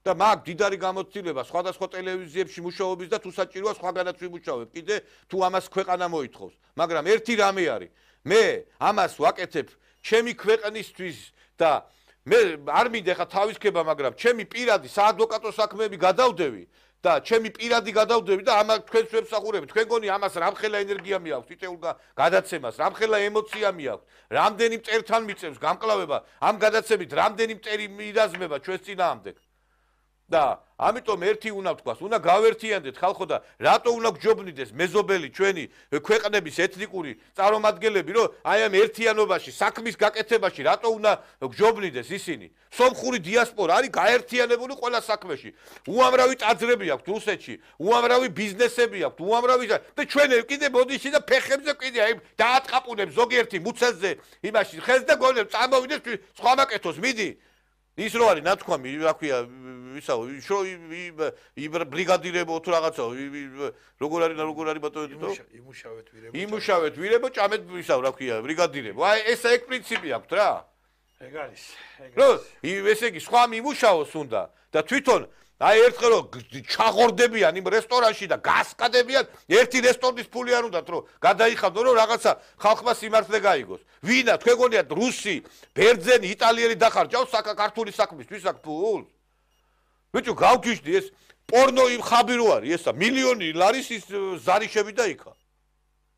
და მაქვს დიდარი გამოცდილება სხვადასხვა ტელევიზიებში მუშაობის და თუ საჭიროა სხვაგანაც ვიმუშავებ, კიდე თუ ამას ქვეყანა მოითხოვს. მაგრამ ერთი რამე არის, მე ამას ვაკეთებ ჩემი ქვეყნისთვის და მე არ მინდა ხა თავისქება, მაგრამ ჩემი პირადი საადვოკატო საქმეები გადავდევი და ჩემი პირადი გადავდევი და ამას თქვენს ვებსახურებით. თქვენ გონი ამას რამხელა ენერგია მიაქვს, თითოეულ გადაცემას, რამხელა ემოცია მიაქვს, რამდენი მტერთან მიწევს გამკლავება, ამ გადაცემით რამდენი მტერი მირაზმება ჩვენს წინააღმდეგ. და ამიტომ ერთი უნდა ვთქვას, უნდა გავერთიანდეთ ხალხო და რატო უნდა გჯობნიდეს მეზობელი ჩვენი ქვეყნების ეთნიკური წარმომადგენლები, რომ აი ამ ერთიანობაში, საქმის გაკეთებაში რატო უნდა გჯობნიდეს ისინი? სომხური დიასპორა არის გაერთიანებული ყველა საქმეში. უამრავი ტაძრები აქვთ რუსეთში, უამრავი ბიზნესები აქვთ, უამრავი და ჩვენ კიდე მოდიში და ფეხებზე კიდე აი დაატყაპუნებს ზოგიერთი მუცელზე იმაში ხეს და გონებს წამოვიდეს სხვა მაკეთოს მიდი. ის რო არის ნათქვამი, რა ქვია, ისაო, ბრიგადირებო თუ რაღაცა, როგორ არის, როგორ არის ბატონო? იმუშავეთ ვირებო. იმუშავეთ ვირებო, ჭამეთ ისაო, რა ქვია, ბრიგადირებო. აი ესა ეგ პრინციპი აქვს რა. ეგ არის, ეგ არის. ესე იგი, სხვა მიმუშაოს უნდა და თვითონ აი ერთხელ რომ ჩაღორდებიან იმ რესტორანში და გასკადებიან, ერთი რესტორნის ფული არ უნდათ რომ გადაიხადო რომ რაღაცა ხალხმა სიმართლე გაიგოს. ვინა თქვენ გონიათ რუსი, ბერძენი, იტალიელი დახარჯავს საქართველოს საქმისთვის აქ ფულს? ბიჭო, გავგიჟდი ეს პორნო იმ ხაბი რო არის ესა, მილიონი ლარის ის ზარიშები და იქა.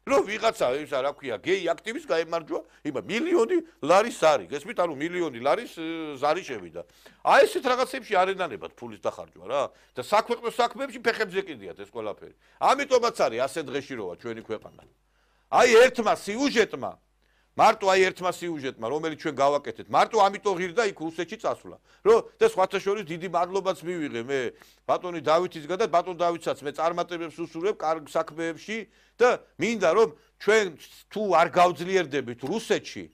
რომ ვიღაცა ის რა ქვია, გეი აქტივის გაემარჯვა, იბა მილიონი ლარის ზარი. გესმით, ანუ მილიონი ლარის ზარი შევიდა. აი ესეთ რაღაცებში არ ენანებათ ფულის დახარჯვა რა. და საქვეყნო საქმეებში ფეხებზე კიდიათ ეს ყველაფერი. ამიტომაც არის ასე დღეში როა ჩვენი ქვეყანა. აი ერთმა სიუჟეტმა მარტო აი ერთმა სიუჟეტმა, რომელიც ჩვენ გავაკეთეთ, მარტო ამიტომ ღირდა იქ რუსეთში წასვლა. რომ და სხვათა შორის დიდი მადლობაც მივიღე მე ბატონი დავითისგან და ბატონ დავითსაც მე წარმატებებს უსურვებ კარგ საქმეებში და მინდა რომ ჩვენ თუ არ გავძლიერდებით რუსეთში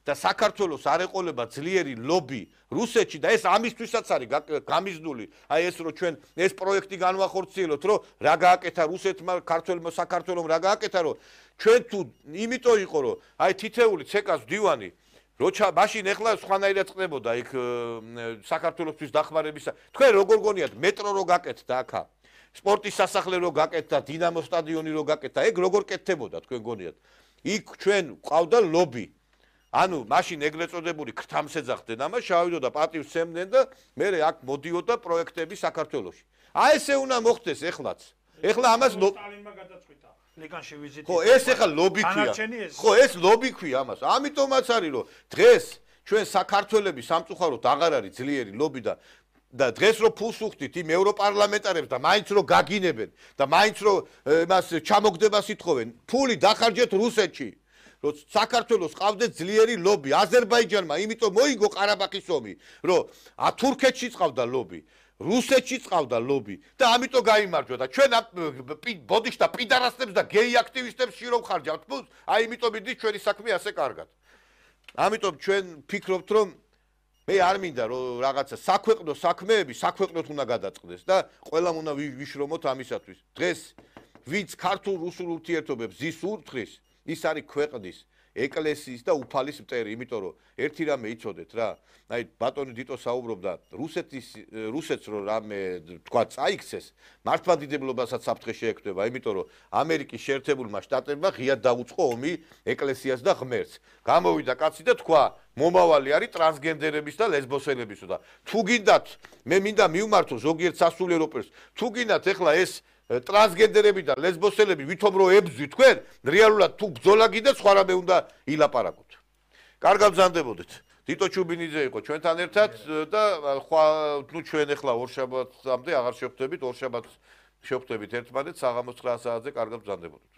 და საქართველოს არ ეყოლება ძლიერი ლობი რუსეთში და ეს ამისთვისაც არის გამიზნული აი ეს რომ ჩვენ ეს პროექტი განვახორციელოთ რომ რა გააკეთა რუსეთმა ქართველმა საქართველოს რა გააკეთა რომ ჩვენ თუ იმიტომ იყო რომ აი თითეული ცეკას მდივანი როცა მაშინ ეხლა სხვანაირად წდებოდა იქ საქართველოსთვის დახმარებისა თქვენ როგორ გონიათ მეტრო რო გაკეთდა აქა სპორტის სასახლე რო გაკეთდა დინამო სტადიონი რო გაკეთდა ეგ როგორ კეთდებოდა თქვენ გონიათ იქ ჩვენ ყავდა ლობი ანუ მაშინ ეგრეთ წოდებული ქრთამსეძახდნენ ამას შევიდოდა პატივს სცემდნენ და მე აქ მოდიოდა პროექტები საქართველოში აი ესე უნდა მოხდეს ეხლაც ეხლა ამას სტალინმა გადაწყვიტა ლეგანში ვიზიტი ხო ეს ეხლა ლობი ქვია ხო ეს ლობი ქვია ამას ამიტომაც არის რომ დღეს ჩვენ საქართველოს სამწუხაროდ აღარ არის ძლიერი ლობი და და დღეს რო ფულს უხდით იმ ევროპარლამენტარებს და მაინც რო გაგინებენ და მაინც რო მას ჩამოგდებას ითხოვენ ფული დახარჯეთ რუსეთში რომ საქართველოს ყავდეთ ძლიერი ლობი აზერბაიჯანმა იმიტომ მოიგო ყარაბაღის ომი რომ თურქეთში ყავდა ლობი რუსეთში ყავდა ლობი და ამიტომ გაიმარჯვა და ჩვენ ბოდიშ და პიდარასებს და გეი აქტივისტებს შირო ხარჯავთ ფულს აი იმიტომ მიდით ჩვენი საქმე ასე კარგად ამიტომ ჩვენ ფიქრობთ რომ მე არ მინდა რომ რაღაცა საქვეყნო საქმეები საქვეყნოთ უნდა გადაწყდეს და ყველამ უნდა ვიშრომოთ ამისათვის დღეს ვინც ქართულ რუსულ ურთიერთობებს ზის ურთხრის ის არის ქვეყნის ეკლესიის და უფალის მტერი იმიტომ რომ ერთი რამე იცოდეთ რა აი ბატონი დიტო საუბრობდა რუსეთის რუსეთს რომ რამე თქვა წაიქცეს მართლმადიდებლობასაც საფრთხე შეექმნება იმიტომ რომ ამერიკის შეერთებულმა შტატებმა ღიად დაუწყო ომი ეკლესიას და ღმერთს გამოვიდა კაცი და თქვა მომავალი არის ტრანსგენდერების და ლესბოსელების და თუ გინდათ მე მინდა მივმართო ზოგიერთ სასულიერო პირს თუ გინდათ ეხლა ეს ტრანსგენდერები და ლესბოსელები ვითომ რო ებზვი თქვენ რეალურად თუ ბრძოლა გინდა სხვა რამე უნდა ილაპარაკოთ კარგად ბრძანდებოდეთ დიტო ჩუბინიძე იყო ჩვენთან ერთად და ნუ ჩვენ ეხლა ორშაბათამდე აღარ შევხვდებით ორშაბათს შევხვდებით ერთმანეთს საღამოს ცხრა საათზე კარგად ბრძანდებოდეთ